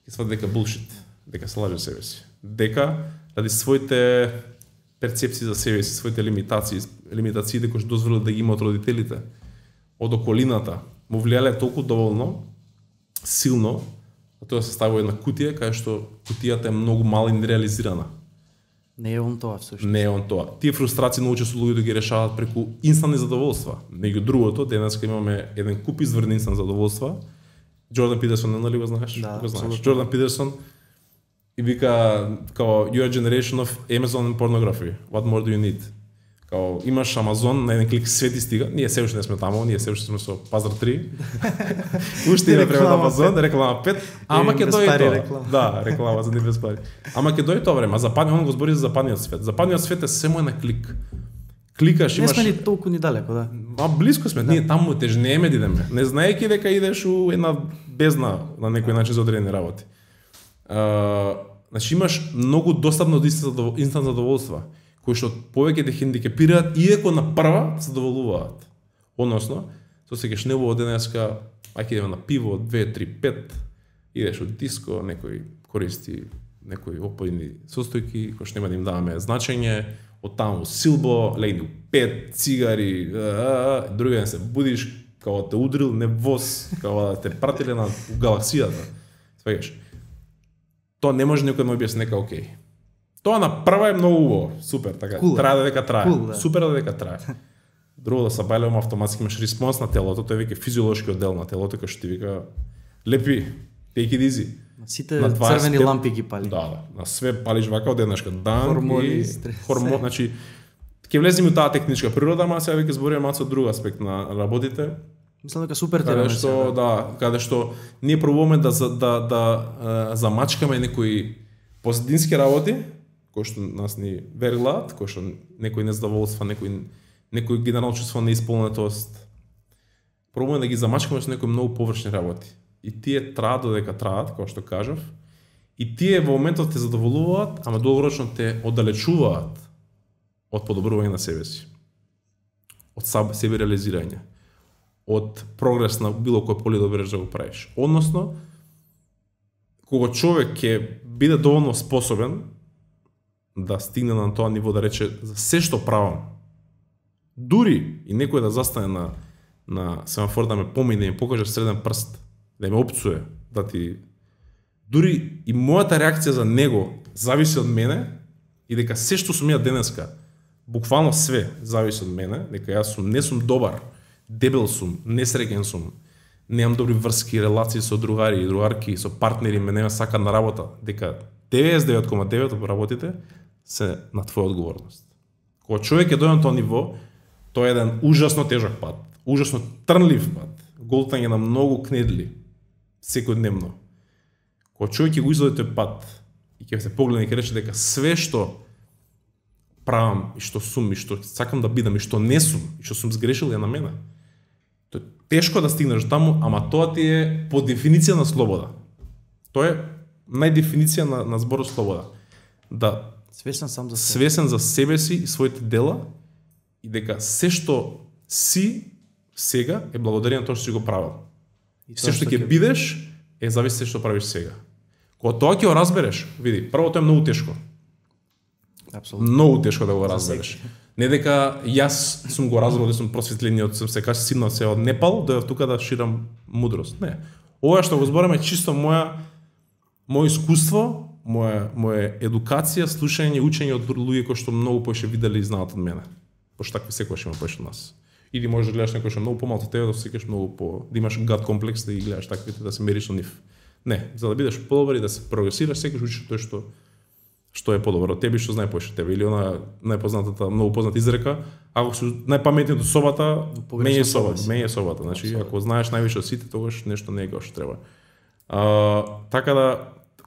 ќе свади дека булшит, дека се лаже себе си. Дека ради своите перцепции за себе си, своите лимитациите кои што дозволиле да ги имаат родителите, од околината, му влијале толку доволно силно, а тоа се ставува една кутија, кај што кутијата е многу мала и нереализирана. Не е он тоа всушност. Не е он тоа. Тие фрустрации многу често луѓето ги решаваат преку инстантни задоволства. Меѓу другото, денеска имаме еден куп изворни инстантни задоволства. Джордан Питерсон, нали го знаеш? Да, го знаеш. Джордан Питерсон и вика као your generation of Amazon pornography. What more do you need? Као имаш Амазон, на еден клик све ти стига. Ние се уште не сме таму, ние се уште сме со Пазар 3. Уште има превод Амазон, реклама 5. Ама ќе дојде тоа. Да, реклама за не без пари. Ама ќе дојде тоа време, а западниот, он го збори за западниот свет. Западниот свет е само на клик. Кликаш, имаш... Не сме ни толку ни далеко, да. А близко сме, ние таму тежнееме да идеме. Не знаеки дека идеш у една бездна на некој начин за одредени работи. Значи имаш многу достапно инстант задоволства, кои што повеќе те хендикепираат, иако на прва се задоволуваат. Односно, со се кеш небо денеска, ајде идеме на пиво, 2, 3, 5, идеш од диско, некој користи некои опојни состојки, кои што нема да им даваме значење, од таму силбо, легни 5 цигари, други ден се будиш, као те удрил невоз, као да те пратиле на галаксијата. Свегаш. Тоа не може некој да му објасни нека окей. Тоа на прва е многу убаво, супер, така. Трае да дека трае. Да. Супер да дека трае. Друго да се бајлеме автоматски имаш респонс на телото, тоа е веќе физиолошкиот дел на телото кој што ти вика лепи, take it easy. Сите црвени лампи ги пали. Да, на све палиш вака од еднашка дан хормони, и стрес. хормон, значи ќе влеземе у таа техничка природа, ама сега веќе збориме малку друг аспект на работите. Мислам дека супер Каде тема. што каде што ние пробуваме да замачкаме некои позадински работи, кои што нас ни верглаат, кои што некој незадоволства, некој генерално чувство неисполнетост. Пробуваме да ги замачкаме со некои многу површни работи. И тие траат додека траат, како што кажав, и тие во моментот те задоволуваат, ама долгорочно те оддалечуваат од подобрување на себе си. Од себе реализирање. Од прогрес на било кој поле да береш да го правиш. Односно, кога човек ќе биде доволно способен да стигне на тоа ниво да рече за се што правам, дури и некој да застане на семафор да ме помине, да ми покаже среден прст, да ме опцуе, да ти... Дури и мојата реакција за него зависи од мене и дека се што сум ја денеска, буквално све зависи од мене, дека јас не сум добар, дебел сум, несреќен сум, немам добри врски, релации со другари и другарки, со партнери, ме нема сака на работа, дека 99,9 од работите се на твоја одговорност. Кога човек е дојде на тоа ниво, тоа е еден ужасно тежок пат, ужасно трнлив пат, голтање на многу кнедли, секојдневно. Кога човек ќе го изоде тој пат и ќе се погледне и ќе рече дека све што правам и што сум и што сакам да бидам и што не сум и што сум сгрешил е на мене. Тоа е тешко да стигнеш таму, ама тоа ти е по дефиниција на слобода. Тоа е најдефиниција на зборот слобода. Да свесен сам за себе. Свесен за себе си и своите дела и дека се што си сега е благодарение на тоа што си го правил. Се што ќе бидеш е зависи се што правиш сега. Кога тоа ќе го разбереш, види, прво тоа е многу тешко. Апсолутно. Многу тешко да го разбереш. Не дека јас сум го разбрал да сум просветлениот, сум се синал се од Непал, дојдов тука да ширам мудрост. Не. Ова што го зборам е чисто моje искуство, моја едукација, слушање, учење од луѓе кои што многу поише видели и знаат од мене. Пошто такви секогаш има поише од нас. Или можеш да гледаш некој што многу помалку од тебе, да секогаш многу да имаш гад комплекс да ги гледаш таквите, да се мериш со нив. Не, за да бидеш подобар и да се прогресираш, секогаш учиш тоа што е подобро од тебе, што знае поише тебе, или она најпознатата, многу позната изрека, ако си најпаметниот од собата, мене собата. Значи, ако знаеш највише од сите, тогаш нешто не е како што треба. Така да,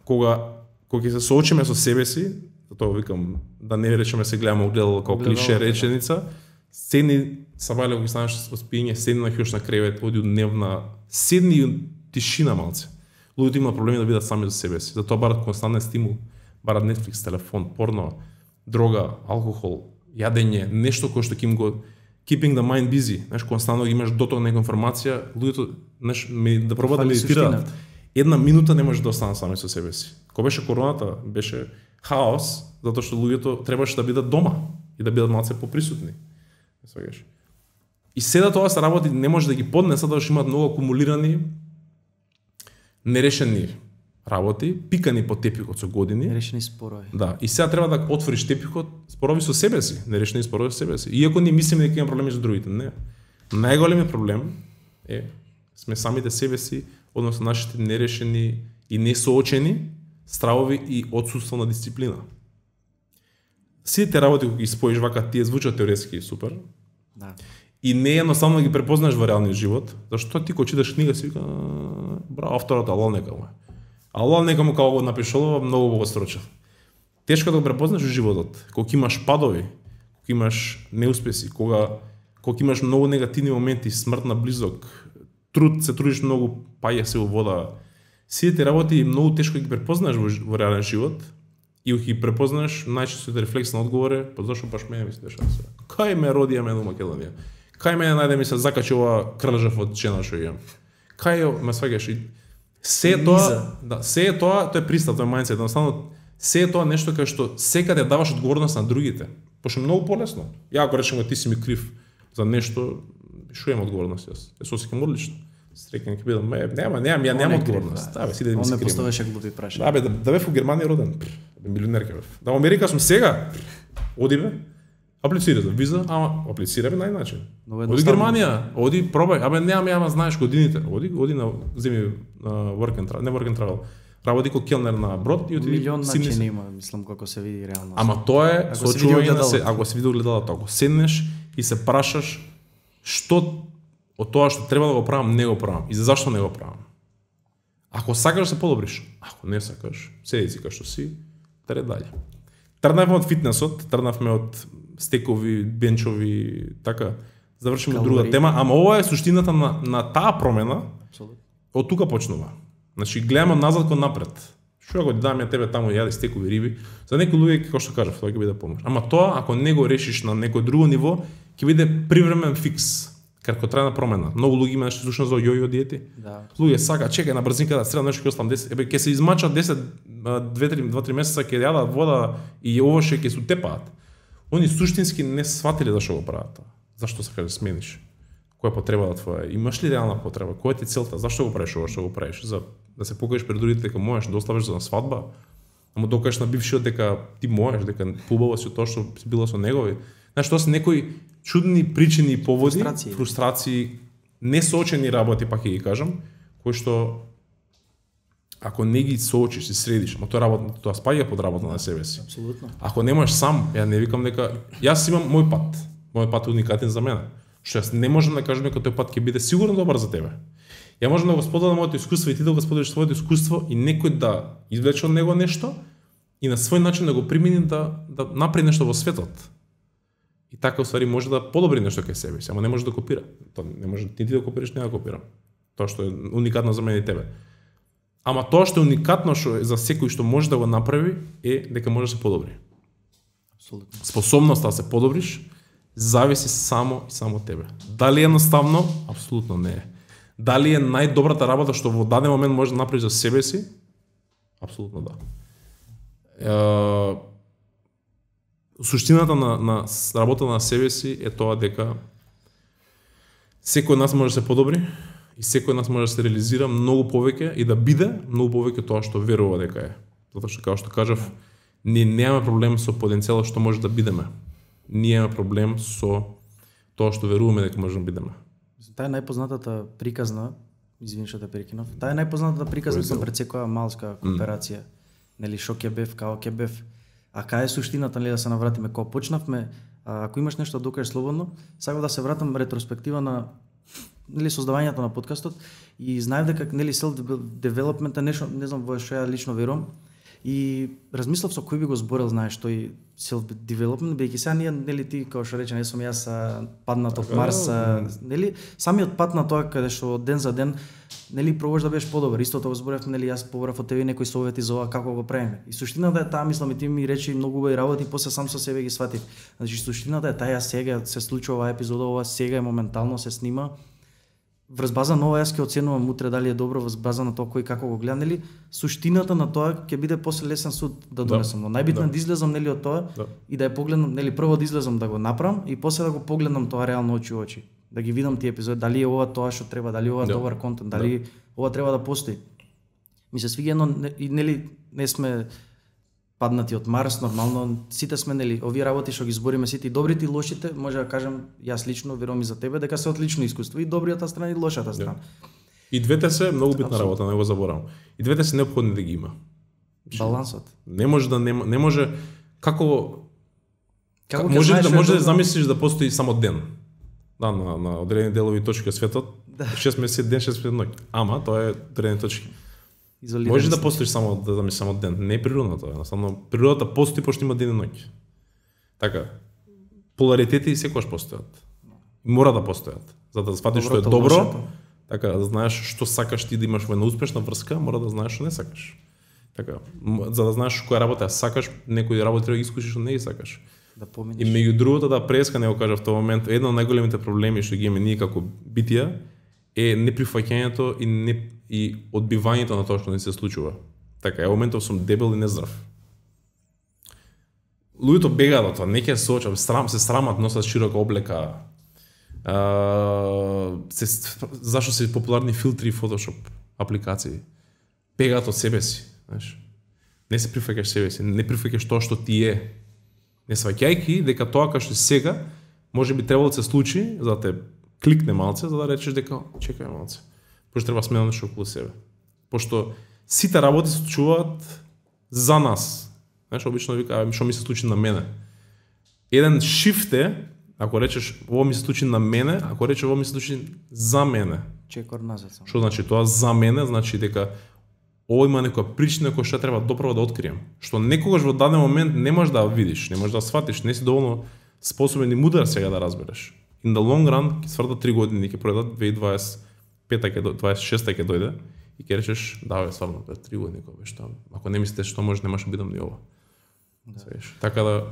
кога ќе се соочиме со себе си, затоа викам, да не речеме се гледаме огледало како клише реченица, седни, сабајле, кога станеш од спиење, седни на хјош на кревет, оди од дневна, седни и тишина малце. Луѓето имаат проблеми да бидат сами за себе си, затоа барат константен стимул, барат Netflix, телефон, порно, дрога, алкохол, јадење, нешто кое што ќе им го keeping the mind busy, знаеш, константно имаш доток на информација, луѓето, знаеш, да пробаат да медитираат. Една минута не може да останат сами со себе си. Кога беше короната, беше хаос, затоа што луѓето требаше да бидат дома и да бидат малце поприсутни. Свегаш. И седа тоа се работи, не може да ги поднесат, затоа што имаат многу акумулирани нерешени работи, пикани по тепикот со години. Нерешени спорови. Да, и сега треба да отвориш тепикот, спорови со себе си, нерешени спорови со себе си. Иако не мислиме дека има проблеми со другите, не. Најголемиот проблем е сме самите себе си, односно нашите нерешени и несоочени стравови и отсуство на дисциплина. Сите те работи кои ги споиш вака тие звучат теоретски супер. Да. И не е едноставно да ги препознаеш во реалниот живот, зашто ти кога читаш книга си вика, браво авторот, ало нека му. Ало нека му како го напишал, многу го строчил. Тешко да го препознаеш во животот. Кога имаш падови, кога имаш неуспеси, кога имаш многу негативни моменти, смрт на близок, се трудиш многу, паѓа се во вода. Сите тие работи многу тешко ги препознаеш во реален живот и ги препознаеш најчесто рефлекс на одговор е, па зашо баш мене ми се дешава се. Кај ме родија мене у Македонија? Кај мене најде ми се закачи ова крлжав од жена што имам? Кај ме сваќаш и се тоа, да, се тоа е пристап, тоа е мајндсет, едноставно се е тоа нешто кај што секаде даваш одговорност на другите. Пошто многу полесно. Ја ако речем ти си ми крив за нешто, што имам одговорност јас? Јас осеќам одлично. Среќен ќе бидам, нема одговорност. Да, бе, си да ми се крием. Он ме поставеше глупи прашања. Да, да бев во Германија роден. Милионер ќе бев. Да, во Америка сум сега. Оди бе. Аплицира за виза, ама аплицира бе најначин. Оди Германија, оди пробај. Абе нема знаеш годините. Оди на земи work and travel, не work and travel. Работи како келнер на брод и оди милион начини има, мислам како се види реално. Ама тоа е сочување на се, ако се види огледалото, ако седнеш и се прашаш што од тоа што треба да го правам, не го правам. И зашто не го правам? Ако сакаш да се подобриш, ако не сакаш, седи си кај што си, тред дале. Тргнавме од фитнесот, тргнавме од стекови, бенчови, така, завршиме друга тема, ама ова е суштината на таа промена. Апсолутно. Од тука почнува. Значи гледаме назад кон напред. Што ако дам ја тебе таму јади стекови риби, за некои луѓе како што кажав, тоа ќе биде помош. Ама тоа ако не го решиш на некој друго ниво, ќе биде привремен фикс. Краткотрајна промена. Многу луѓе има нешто слушна за јојо диети. Да. Луѓе сака чекај на брзинка да средам нешто ќе оставам 10, ќе се измачат 10 2-3 месеца ќе јадат вода и овоше ќе се утепаат. Они суштински не сватиле зашто го прават тоа. Зашто сакаш да смениш? Која е потребата твоја? Имаш ли реална потреба? Која ти целта? Зашто го правиш ова што го правиш? За да се покажеш пред другите дека можеш да оставиш за свадба? Да му докажеш на бившиот дека ти можеш, дека побава си тоа што си била со негови. Знаеш, тоа се некои чудни причини и поводи, фрустрации, несоочени работи, пак ќе ги кажам, кои што ако не ги соочиш и средиш, ама тоа спаѓа под работа на себе си. Апсолутно. Ако немаш сам, ја не викам дека јас имам мој пат. Мојот пат е уникатен за мене. Што јас не можам да кажам дека тој пат ќе биде сигурно добар за тебе. Ја можам да го споделам моето искуство и ти да го споделиш своето искуство и некој да извлече од него нешто и на свој начин да го примени да направи нешто во светот. И така уствари може да подобри нешто кај себе си, ама не може да копира. Тоа не може ти да копираш, не да копирам. Тоа што е уникатно за мене и тебе. Ама тоа што е уникатно што за секој што може да го направи е дека може да се подобри. Апсолутно. Способноста да се подобриш зависи само и само од тебе. Дали е едноставно? Апсолутно не е. Дали е најдобрата работа што во даден момент може да направиш за себе си? Апсолутно да. Суштината на работа на себе си е тоа дека секој од нас може да се подобри и секој од нас може да се реализира многу повеќе и да биде многу повеќе тоа што верува дека е. Затоа што како што кажав, ние немаме проблем со потенцијалот што може да бидеме. Ние имаме проблем со тоа што веруваме дека можеме да бидеме. Таа е најпознатата приказна, извини што те прекинав. Таа е најпознатата приказна пред секоја малска кооперација. Нели шо ќе бев, како ќе бев. А кај е суштината, нели да се навратиме кога почнавме, ако имаш нешто да докажеш слободно, сакам да се вратам ретроспектива на нели создавањето на подкастот и знаев дека нели self development е нешто, не знам во што ја лично верувам. И размислав со кој би го зборел, знаеш, тој self development, бидејќи сега ние нели ти како што рече, не сум јас паднат од Марс, нели самиот пат на тоа каде што ден за ден нели пробуваш да бидеш подобар. Истото го зборевме, нели јас побрав од тебе некои совети за ова како го правиме. И суштината е таа, мислам, и ти ми речи многу убави работи, после сам со себе ги сватив. Значи суштината е таа, сега се случува оваа епизода, ова сега е моментално се снима. Врз база на ова јас ќе оценувам утре дали е добро, врз база на тоа кој како го гледа, нели суштината на тоа ќе биде после лесен суд да донесам. Но најбитно е да излезам нели од тоа и да ја погледнам, нели прво да излезам да го направам и после да го погледнам тоа реално очи во очи. Да ги видам тие епизоди, дали е ова тоа што треба, дали ова добар контент, дали ова треба да постои. Ми се свиѓа едно и нели не сме паднати од Марс, нормално сите сме нели овие работи што ги збориме сите и добрите и лошите, може да кажам јас лично верувам и за тебе дека се одлично искуство и добриата страна и лошата страна. И двете се многу битна работа, не го заборавам. И двете се неопходни да ги има. Балансот. Не може да не може како Како ќе Може знаеш да редовно? замислиш да постои само ден. Да, на одредени делови точки од светот, 6 месеци ден, 6 месеци ноќ. Ама тоа е одредени точки. Изолирани Може да сте. постоиш само да замислиш само ден, не е природно тоа, едноставно природата постои пошто има ден и ноќ. Така. Поларитети секогаш постојат. Мора да постојат. За да сватиш што е Доброто, добро, лошото. така да знаеш што сакаш ти да имаш во една успешна врска, мора да знаеш што не сакаш. Така, за да знаеш која работа ја сакаш, некои работи треба да ги искушиш што не ги сакаш. Да И поминиш. меѓу другото да преска не го кажа в тој момент, едно од најголемите проблеми што ги имаме ние како битија е неприфаќањето и одбивањето на тоа што не се случува. Така, е моментов сум дебел и нездрав. Луѓето бегаат од тоа, не ќе се соочат, се срамат, носат широка облека. Зашто се популарни филтри и Photoshop апликации? Бегаат од себе си, знаеш. Не се прифаќаш себе си, не прифаќаш тоа што ти е. Не сваќајки дека тоа кај што сега може би требало да се случи за да те кликне малце, за да речеш дека чекај малце. Пошто треба сменам нешто околу себе. Пошто сите работи се случуваат за нас. Знаеш, обично вика, што ми се случи на мене. Еден шифт е, ако речеш ово ми се случи на мене, ако речеш ово ми се случи за мене. Чекор назад само. Што значи тоа за мене? Значи дека ово има некоја причина која што треба доправо да открием. Што некогаш во даден момент не можеш да ја видиш, не можеш да сватиш, не си доволно способен и мудар сега да разбереш. In the long run, ќе свртат 3 години, ќе пројдат 2025-та ќе 26-та ќе дојде и ќе речеш, да бе, стварно, 3 години кога беше таму. Ако не мислите што може, немаше бидам ни ова. Да. Така да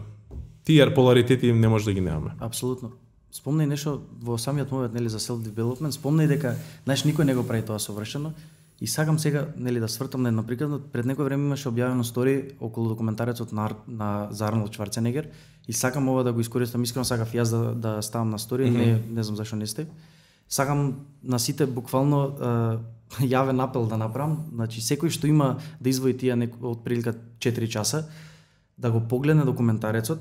тие поларитети не може да ги немаме. Апсолутно. Спомнај нешто во самиот момент, нели, за self development, спомнај дека, знаеш, никој не го прави тоа совршено. И сакам сега, нели, да свртам на една прикладно, пред некој време имаше објавено стори околу документарецот на за Арнолд Шварценегер и сакам ова да го искористам, искрено сакав јас да ставам на стори, не знам зашто не сте. Сакам на сите буквално јавен апел да направам, значи секој што има да извои тие од прилика 4 часа, да го погледне документарецот,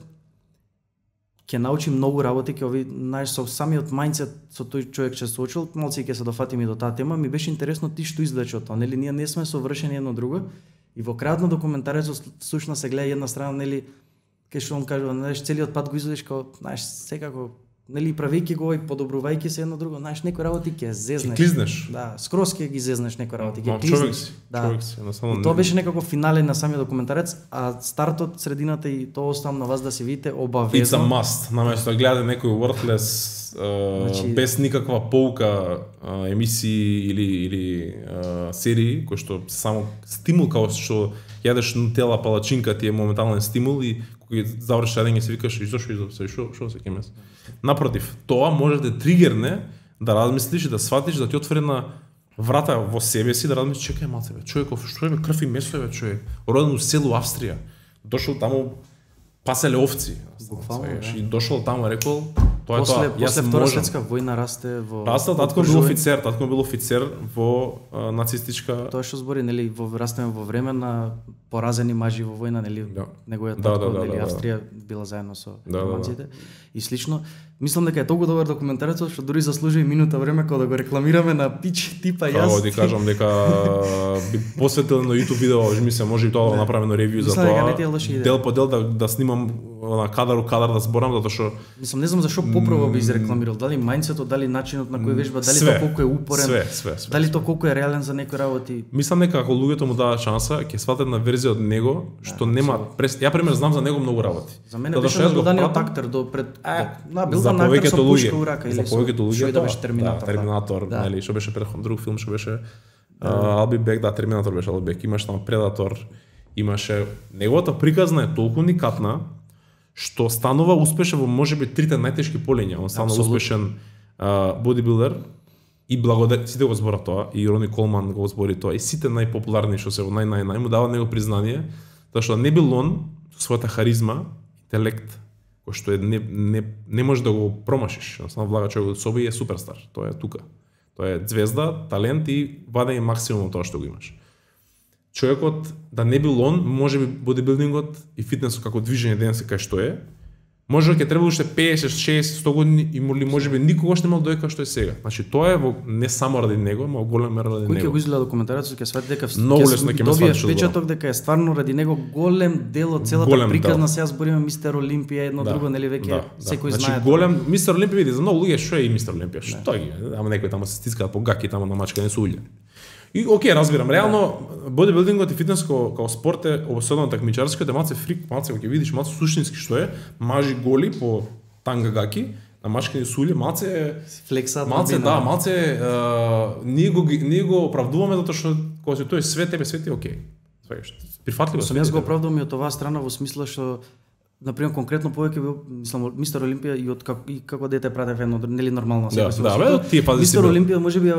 ќе научи многу работи, ќе ови, знаеш, со самиот мајндсет со тој човек ќе се соочил, малци ќе се дофатиме до таа тема, ми беше интересно ти што извлече од тоа, нели ние не сме совршени едно друго и во крајот на документарецот сушно се гледа една страна, нели, кај што он кажува, знаеш, целиот пат го изведеш како, знаеш, секако, нели, правејќи го и подобрувајќи се едно друго, знаеш, некои работи ќе зезнеш. Ќе клизнеш. Да, скроз ќе ги зезнеш некои работи, ќе Човек клизнеш. си, Да. човек си, едноставно. И тоа беше некако финален на самиот документарец, а стартот, средината и тоа оставам на вас да се видите It's a обавезно. must. Наместо да гледате некој worthless Значи- без никаква поука емисии или серии кои што само стимул како што јадеш нутела палачинка ти е моментален стимул и кога завршиш јадење се викаш и зошто што се кемес. Напротив, тоа може да тригерне да размислиш и да сватиш да ти отвори на врата во себе си да размислиш чекај малце бе, човеков што е бе крв и месо бе човек, роден у село Австрија. Дошол таму паселе овци. Буквално, Знаеш, да. и дошол таму рекол тоа е После тоа. после Втора светска војна расте во Растел, татко бил офицер во нацистичка. Тоа што збори, нели, растеме во време на поразени мажи во војна, нели, Да. неговиот Да, татко, да, нели, да. Австрија била заедно со Да, германците и слично. Мислам дека е толку добар документарецот што дури заслужува и минута време кога да го рекламираме на пич типа јас. Како ти кажам дека би посветил на YouTube видео, ми се може и тоа да направиме на ревју за Мислам дека не ти е тоа. лоша идеја. Дел по дел да снимам на кадар да зборам затоа што Мислам, не знам зашо попрово би изрекламирал, дали мајндсетот, дали начинот на кој вежба, дали тоа колку е упорен, све. дали тоа колку е реален за некои работи. Мислам дека ако луѓето му дадат шанса, ќе сватат на верзија од него што нема ја пример знам за него многу работи. За мене Затоа беше што јас го нагледаниот пратам, актер до пред бил за на актер повеќето со пушка луѓе, у рака за или со повеќето луѓе што и да тоа, беше Терминатор. да, Терминатор, да. нели, што беше предходен друг филм, што беше I'll be back, да, Терминатор беше I'll be back, имаш таму Предатор, имаше неговата приказна е толку уникатна што станува успешен во можеби трите најтешки полиња, он станува Апсолутно. успешен бодибилдер и сите го зборат тоа, и Рони Колман го збори тоа, и сите најпопуларни што се во нај му даваат него признание, тоа што не бил он со својата харизма, интелект, кој што е не може да го промашиш, само влага човек од себе и е суперстар, тоа е тука. Тоа е звезда, талент и ваде максимум од тоа што го имаш. Човекот да не бил он, можеби бодибилдингот и фитнесот како движење денес кај што е, Може ќе треба уште 50, 60, 100 години и можеби никогаш нема доека што е сега. Значи тоа е не само ради него, но голем мера ради него. него. Кој ќе го изгледа документарецот ќе свати дека ќе добие впечаток дека е стварно ради него голем дел од целата приказна. Сега збориме Мистер Олимпија, едно друго, нели веќе секој знае. Значи голем Мистер Олимпија види за многу луѓе што е и Мистер Олимпија. Што ги, ама некои таму се стискаат по гаки таму на мачка не се улје. И окей, разбирам, реално бодибилдингот и фитнес како спорт е особено такмичарскиот е малце фрик, малце ќе видиш малце суштински што е, мажи голи по танга гаки, на мачкани сулје, малце флексат, малце ние го оправдуваме затоа што кога се тој свет тебе свети окей. Сваќаш, прифатливо. Сум јас го оправдувам и од оваа страна во смисла што например конкретно повеќе бил мислам Мистер Олимпија и од како дете пратев едно нели нормално се. Мистер Олимпија можеби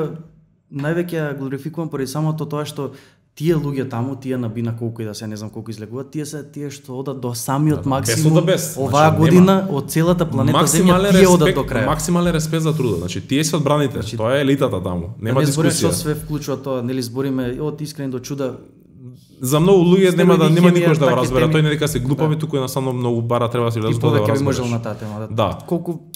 највеќе глорификувам поради самото тоа што тие луѓе таму, тие на бина колку и да се не знам колку излегуваат, тие се тие што одат до самиот максимум. Оваа година од целата планета Земја тие одат до крај. Максимален респект за трудот. Значи тие се одбраните. Тоа е елитата таму. Нема дискусија. Што све вклучува тоа, нели збориме од искрен до чуда. За многу луѓе нема никош да го разбера. Тој не дека се глупави, туку едноставно многу бара треба да се влезе тоа да го разбереш. И повеќе би можел на таа тема. Да. Колку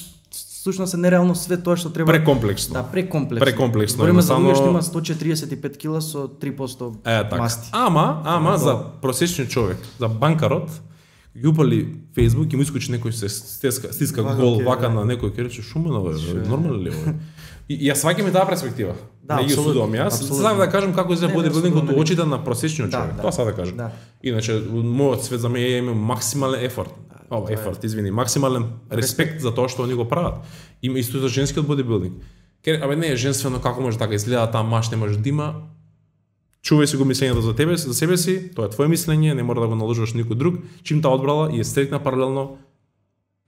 всушност е нереално све тоа што треба. Прекомплексно. Да, прекомплексно. Збориме за луѓе што има 145 кила со 3% масти. Ама за просечниот човек, за банкарот, ги упали Facebook и му искочи некој се стиска гол вака на некој ќе рече шумено бе, нормално ли е? И јас сваќам и таа перспектива. Не ги судувам јас. Сакам да кажам како изгледа бодибилдингот од очите на просечниот човек. Тоа сакам да кажам. Иначе мојот свет за мене има максимален ефорт. Максимален респект за тоа што они го прават. Има исто за женскиот бодибилдинг. Абе не е женствено како може така изгледа таа маш не може да има. Чувај си го мислењето за тебе, за себе си, тоа е твое мислење, не мора да го наложуваш никој друг. Чим таа одбрала и е стрикна паралелно,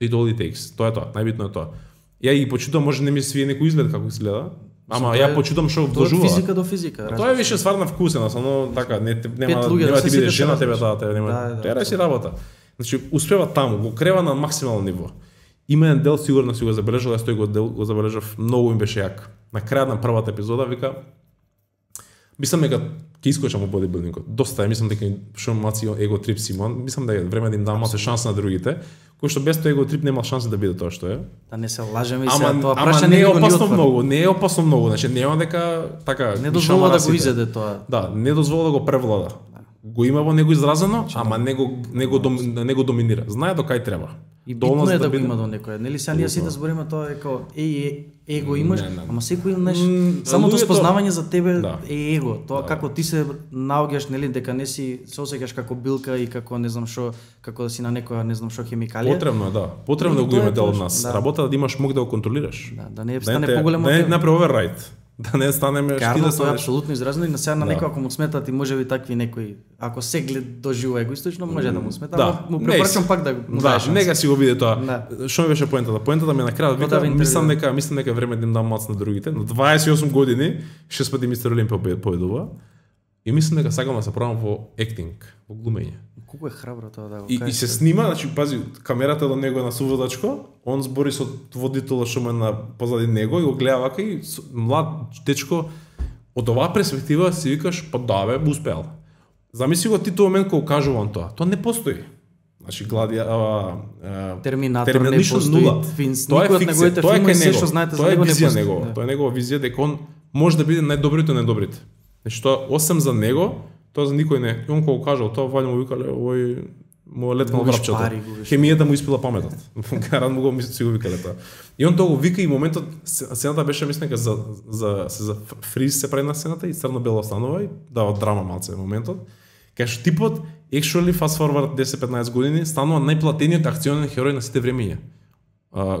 it all it takes. Тоа е тоа, најбитно е тоа. Ја и почитувам, може не ми свие некој изглед како изгледа, ама ја почитувам што вложува. Тоа е физика до физика. Тоа е више ствар на вкусен, само така нема ти биде жена тебе таа нема. Тоа си работа. Значи успева таму, го крева на максимално ниво. Има еден дел сигурно си го забележал, јас тој го забележав, многу им беше јак. На крајот на првата епизода вика мислам дека ќе искочам во бодибилдингот. Доста мислам дека што маци его трип Симон, мислам дека време да им дам малку шанса на другите, кои што без тој его трип нема шанса да биде тоа што е. Да не се лажеме и сега тоа прашање не е опасно многу, не е опасно многу, значи нема дека така не дозвола да го изеде тоа. Да, не дозвола да го превлада. Го има во него изразено, ама не го доминира. Знае до кај треба. И битно е да го има до некој. Нели сега ние сите збориме тоа како его имаш, ама секој самото спознавање за тебе е его. Тоа како ти се наоѓаш, нели, дека не си се осеќаш како билка и како не знам што, како да си на некоја не знам што хемикалија. Потребно е, да. Потребно го има дел од нас. Работа да имаш мог да го контролираш. Да не стане поголемо. Да не направи оверрайт. Да не станеме штиле со апсолутно изразено и на сега на некој ако му сметат и можеби такви некои, ако се глед доживува егоистично може да му смета, ама му препорачам пак да го даеш. Да, нека си го види тоа. Што ми беше поентата? Поентата ми на крајот вика, мислам дека време да им дам мац на другите. На 28 години 6 пати Мистер Олимпија победува. И мислам дека сакам да се пробам во актинг, во глумење. Колку е храбро тоа да го кажеш. И се снима, значи пази, камерата до него е на суводачко, он збори со водителот што му е на позади него и го гледа вака и млад дечко од оваа перспектива си викаш, па да бе, успеал. Замисли го ти тој момент кога кажува он тоа. Тоа не постои. Значи Терминатор не постои. Тоа е фикција, тоа е кај него. Тоа е визија негова. Тоа е негова визија дека он може да биде најдобрите од најдобрите. Значи тоа осем за него, тоа за никој не. И он кога кажал тоа, ваljа му викале, овој му летнал врапчето. Хемијата му испила паметот. Гарант му го си го викале тоа. И он тоа го вика и моментот сцената беше мислам дека за фриз се прави на сцената и црно-бело станува и дава драма малце моментот. Кај што типот actually fast forward 10-15 години станува најплатениот акционен херој на сите времиња.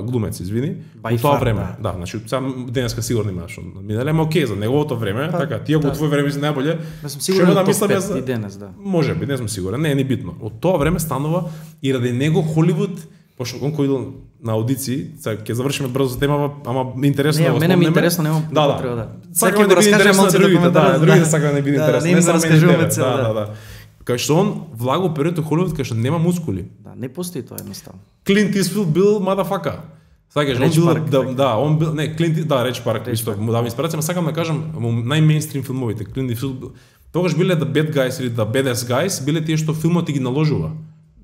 Глумец, извини, во тоа време. Да, значи сега денеска сигурно има што минале, ама окей за неговото време, така, тие во твое време си најболе. Што да мислам јас и денес, да. Можеби, не сум сигурен, не е ни битно. Од тоа време станува и ради него Холивуд, пошто он кој идел на аудиции, сега ќе завршиме брзо темава, ама интересно да го спомнеме. Не, мене ми интересно, немам потреба да. Сакам да биде интересно на другите, да, другите сакам да биде интересно. Не раскажуваме цел, да. Кај што он влаго период Холивуд кај што нема мускули. Да, не постои тоа едноставно. Клинт Исфилд бил мадафака. Сакаш, он бил, не, Клинт, да, Реч Парк, исто, му давам инспирација, ама сакам да кажам, најмеинстрим филмовите, Клинт Исфилд, тогаш биле the bad guys или the badass guys, биле тие што филмот ти ги наложува.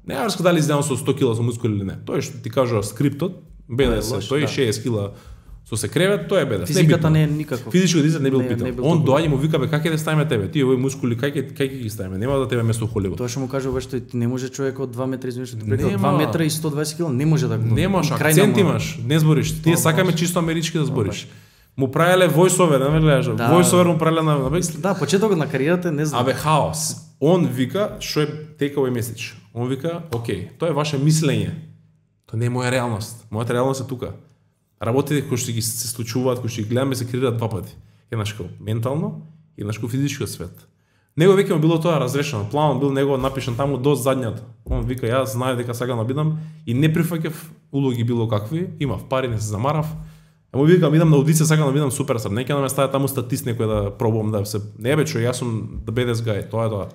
Не врска дали изгледам со 100 кила со мускули или не. Тоа што ти кажува скриптот, БДС, тој 60 кила со се кревет, тоа е БДС. Физиката не е никаков. Физичко дизајн не бил питан. Он доаѓа му вика бе како да ставиме тебе? Ти овој мускули како ги ставиме? Нема да тебе место Холивуд. Тоа што му кажува што ти не може човек од 2 метра извинуваш, 2 метра и 120 кг не може да го. Немаш акцент имаш, не збориш. Тие сакаме чисто амерички да збориш. Му правеле voiceover, не ме гледаш. Voiceover му правеле на Да, почетокот на кариерата не знам. Абе хаос. Он вика што е takeaway message. Он вика, окей, тоа е ваше мислење. Тоа не е моја реалност. Мојата реалност е тука. Работите кои што ги се случуваат, кои што ги гледаме се креираат два пати. Еднаш како ментално и еднаш како физичкиот свет. Него веќе му било тоа разрешено. Планот бил него напишан таму до задњата. Он вика јас знаев дека сакам да бидам и не прифаќав улоги било какви, имав пари, не се замарав. Му викам идам на аудиција, сакам да бидам суперстар. Не ќе да ме стави таму статист некој да пробувам да се не бе што јас сум the baddest guy, тоа е тоа.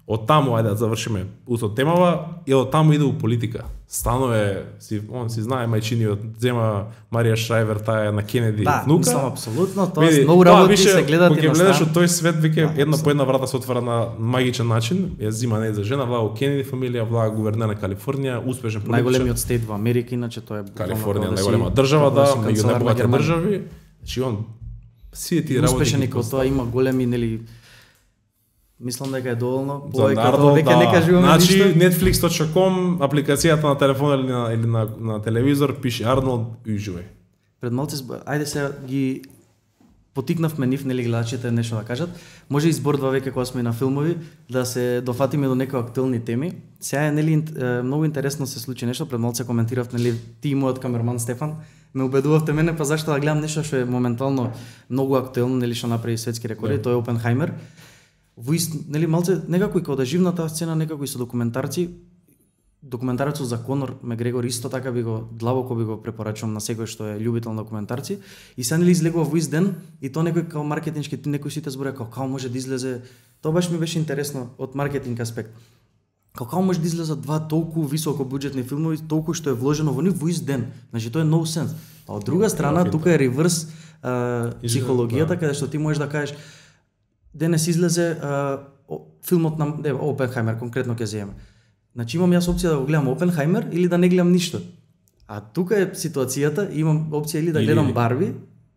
Од таму ајде да завршиме усот темава и од таму иде у политика. Станове он си знае мајчиниот, зема Марија Шрајвер, таа е на Кенеди да, внука. Мислам апсолутно, тоа многу работи се гледат и на гледаш од тој свет веќе една по една врата се отвара на магичен начин. Ја зима не за жена, влага Кенеди фамилија, влага гувернер на Калифорнија, успешен политичар. Најголемиот стейт во Америка, иначе тоа е Калифорнија, најголема држава, да, меѓу најбогатите држави. Значи он сите тие работи успешен и како тоа има големи нели. Мислам дека е доволно повеќе веќе не кажуваме ништо. Значи Netflix.com, апликацијата на телефон или на телевизор пише Арнолд уживај. Пред малце ајде се ги потикнавме нив нели гледачите нешто да кажат. Може избордва веќе кога сме на филмови да се дофатиме до некои актуелни теми. Сега нели многу интересно се случи нешто, пред малце коментирав нели ти и мојот камерман Стефан ме убедувавте мене па зашто да гледам нешто што е моментално многу актуелно, нели што направи светски рекорди, тоа е Опенхајмер. Нели малце некако и кога да живна таа сцена, некако и со документарци. Документарецот за Конор Мегрегор исто така би го длабоко би го препорачувам на секој што е љубител на документарци. И се нели излегува во ист ден и тоа некој као маркетиншки некој сите зборува како може да излезе. Тоа баш ми беше интересно од маркетинг аспект. Како може да излезат два толку високо буџетни филмови, толку што е вложено во нив во ист ден. Значи тоа е no sense. А од друга страна тука е реверс психологијата каде што ти можеш да кажеш денес излезе филмот на Опенхајмер, конкретно ќе земеме. Значи имам јас опција да го гледам Опенхајмер или да не гледам ништо. А тука е ситуацијата, имам опција или да гледам Барби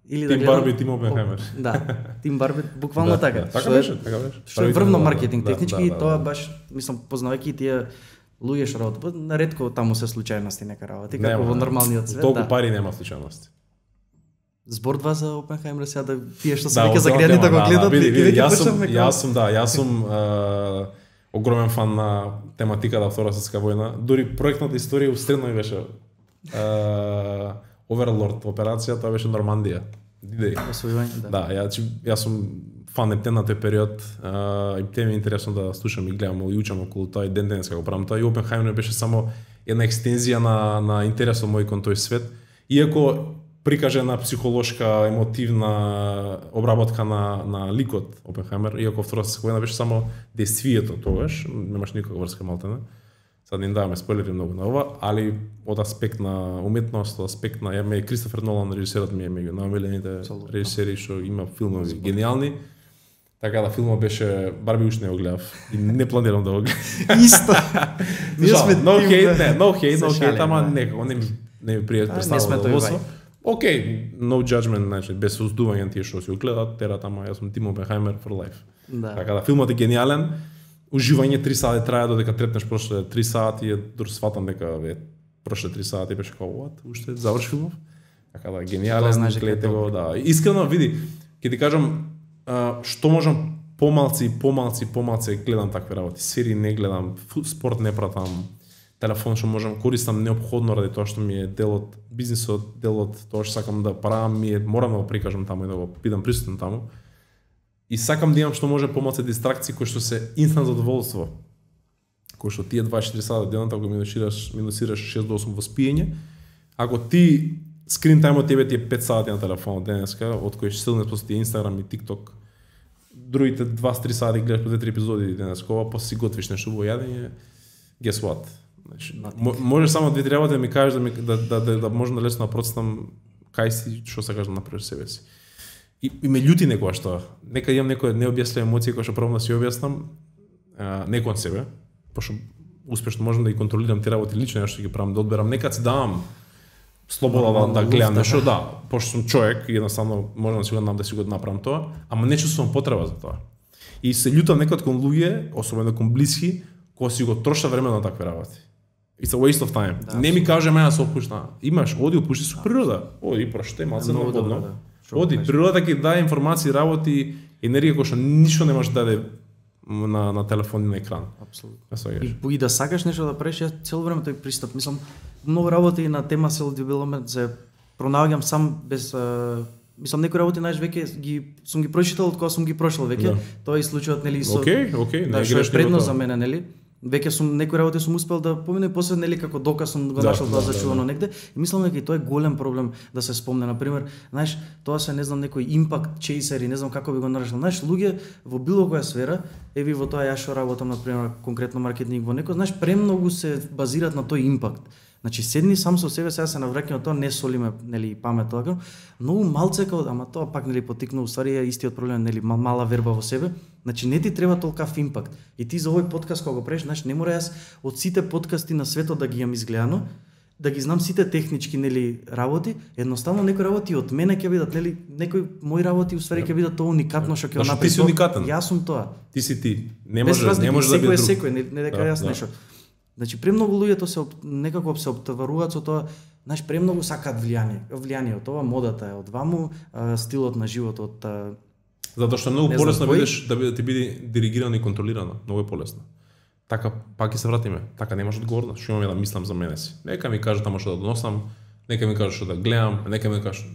или да гледам Барби, Тим Опенхајмер. Да, Тим Барби, буквално така. Така беше, така беше. Што е врвно маркетинг технички и тоа баш, мислам, познавајќи тие луѓе што работат, наретко таму се случајности нека работи, како во нормалниот свет. Толку пари нема случајности. Збордва за Опенхајмер сега да тие што се веќе загрени да го гледат и веќе почнавме. Јас сум огромен фан на тематиката Втора светска војна. Дури проектната историја устредно ми беше Overlord операција, тоа беше Нормандија. Освојување, да. Јас сум фан на тој период и те ми е интересно да слушам и гледам и учам околу тоа и денес како правам тоа и Опенхајмер беше само една екстензија на интересот мој кон тој свет. Иако прикажена психолошка, емотивна обработка на ликот Опенхајмер, иако Втора светска војна беше само действието тогаш, немаш никаква врска малтене. Сад не даваме спойлери многу на ова, али од аспект на уметност, од аспект на Кристофер Нолан режисерот ми е меѓу најомилените режисери што има филмови гениални. Така да филмот беше Барби уште не го гледав и не планирам да го гледам. Исто. No hate, ама некако не ми пријат представа. Океј, no judgment, значи без осудување тие што се гледаат, терат, ама јас сум Тим Опенхајмер for life. Така да филмот е гениален. Уживање 3 сати трае додека трепнеш прошле 3 сати, дур сватам дека прошле 3 сати беше како what, уште заврши филмов. Така да гениален, гледате го, да. Искрено види, ќе ти кажам што можам помалци гледам такви работи. Серии не гледам, спорт не пратам. Телефон што можам користам неопходно ради тоа што ми е дел од бизнисот, дел од тоа што сакам да правам, морам да го прикажам таму и да го бидам присутен таму. И сакам да имам што може помалку дистракции кои што се инстант задоволство. Кои што тие 24 сати денот ако минусираш 6 до 8 во спиење, ако ти скрин тајмот тебе ти е 5 сати на телефонот денеска, од кои што силно после тие Инстаграм и ТикТок, другите 2-3 сати гледаш по 2-3 епизоди денеска, после си готвиш нешто во јадење, guess what? Значи, може само 2-3 работи да ми кажеш да можам да лесно да процитам кај си, што сакаш да направиш себе си. И ме љути некоја што, имам некоја необјаснета емоција која што пробам да си објаснам, не кон себе, пошто успешно можам да ги контролирам тие работи лично, што ги правам, да одберам, нека си давам слобода да гледам нешто, да, пошто сум човек и едноставно можам да си го дам да си го направам тоа, ама не чувствувам потреба за тоа. И се љутам некад кон луѓе, особено кон блиски, кои си го троша време на такви работи. It's a waste of time. Да, не ми каже мене да се опушна. Имаш, оди опушти со природа. Оди проште малце находно. Оди, природата ќе даде информации, работи, енергија која што ништо не може да даде на телефон и на екран. Апсолутно. И да сакаш нешто да правиш, ја цело време тој пристап, мислам, многу работи на тема self-development се пронаоѓам сам без мислам некои работи веќе сум ги прочитал од кога сум ги прошол веќе. Да. Тоа е случајот нели со не што е предно за мене нели. Веќе сум некои работи сум успел да поминам и после нели како доказ сум го нашол тоа зачувано негде и мислам дека и тоа е голем проблем да се спомне, на пример, знаеш, тоа се не знам некој импакт чейсери, не знам како би го наречил. Знаеш, луѓе во било која сфера, еви во тоа ја што работам на пример конкретно маркетинг во некој, знаеш, премногу се базираат на тој импакт. Значи седни сам со себе, сега се навраќам тоа, не солиме нели памет тоа, многу малце како, ама тоа пак нели потикна уствари е истиот проблем, нели мала верба во себе. Значи не ти треба толкав импакт. И ти за овој подкаст кога го правиш, знаеш, не мора јас од сите подкасти на светот да ги имам изгледано, да ги знам сите технички нели работи, едноставно некои работи од мене ќе бидат нели некои мои работи уствари ќе бидат тоа уникатно што ќе го направи. Ти си уникатен. Јас сум тоа. Ти си ти. Не може да биде друг. Секој, не дека јас нешто. Значи премногу луѓето се некако се оптоваруваат со тоа, знаеш, премногу сакаат влијание од ова, модата е од ваму, стилот на живот од затоа што многу полесно видиш да ти биде диригирано и контролирано, многу е полесно. Така пак ќе се вратиме, така немаш одговорност, што имам да мислам за мене си. Нека ми кажат тамо што да доносам, нека ми кажат што да гледам, нека ми кажат,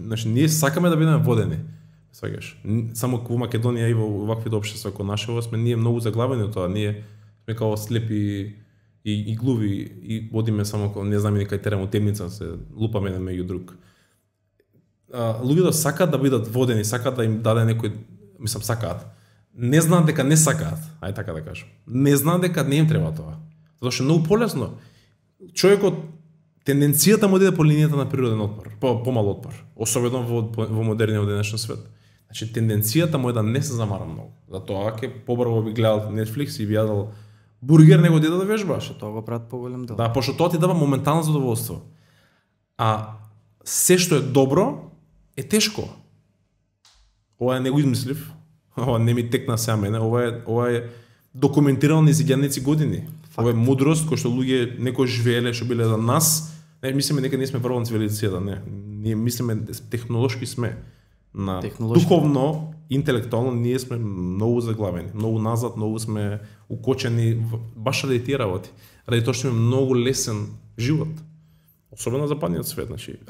значи ние сакаме да бидеме водени. Сваѓаш. Само во Македонија и во ваквите општества како нашето сме ние многу заглавени од тоа, ние сме како слепи и глуви и водиме само како не знаме кај терamo темница, се лупаме на меѓу друг. Луѓето сакаат да бидат водени, сакаат да им даде некој, мислам сакаат. Не знаат дека не сакаат, ај така да кажам. Не знаат дека не им треба тоа. Затоа што е многу полесно. Човекот тенденцијата му иде по линијата на природен отпор, помал отпор, особено во модерниот денешен свет. Значи тенденцијата му е да не се замара многу. Затоа ќе побрзо би гледал Netflix и би јадел бургер него да вежбаш. Што тоа го прават поголем дел. Да, пошто тоа ти дава моментално задоволство. А се што е добро е тешко. Ова не го измислив. Ова не ми текна сега мене, ова е документирано низ илјадници години. Факт. Ова е мудрост која што луѓе некој живееле, што биле за нас. Не мислиме дека ние сме врвна цивилизацијата, не. Ние мислиме технолошки сме. На духовно, интелектуално ние сме многу заглавени, многу назад, многу сме укочени баш ради тие работи. Ради тоа што имаме многу лесен живот. Особено на западниот свет, значи.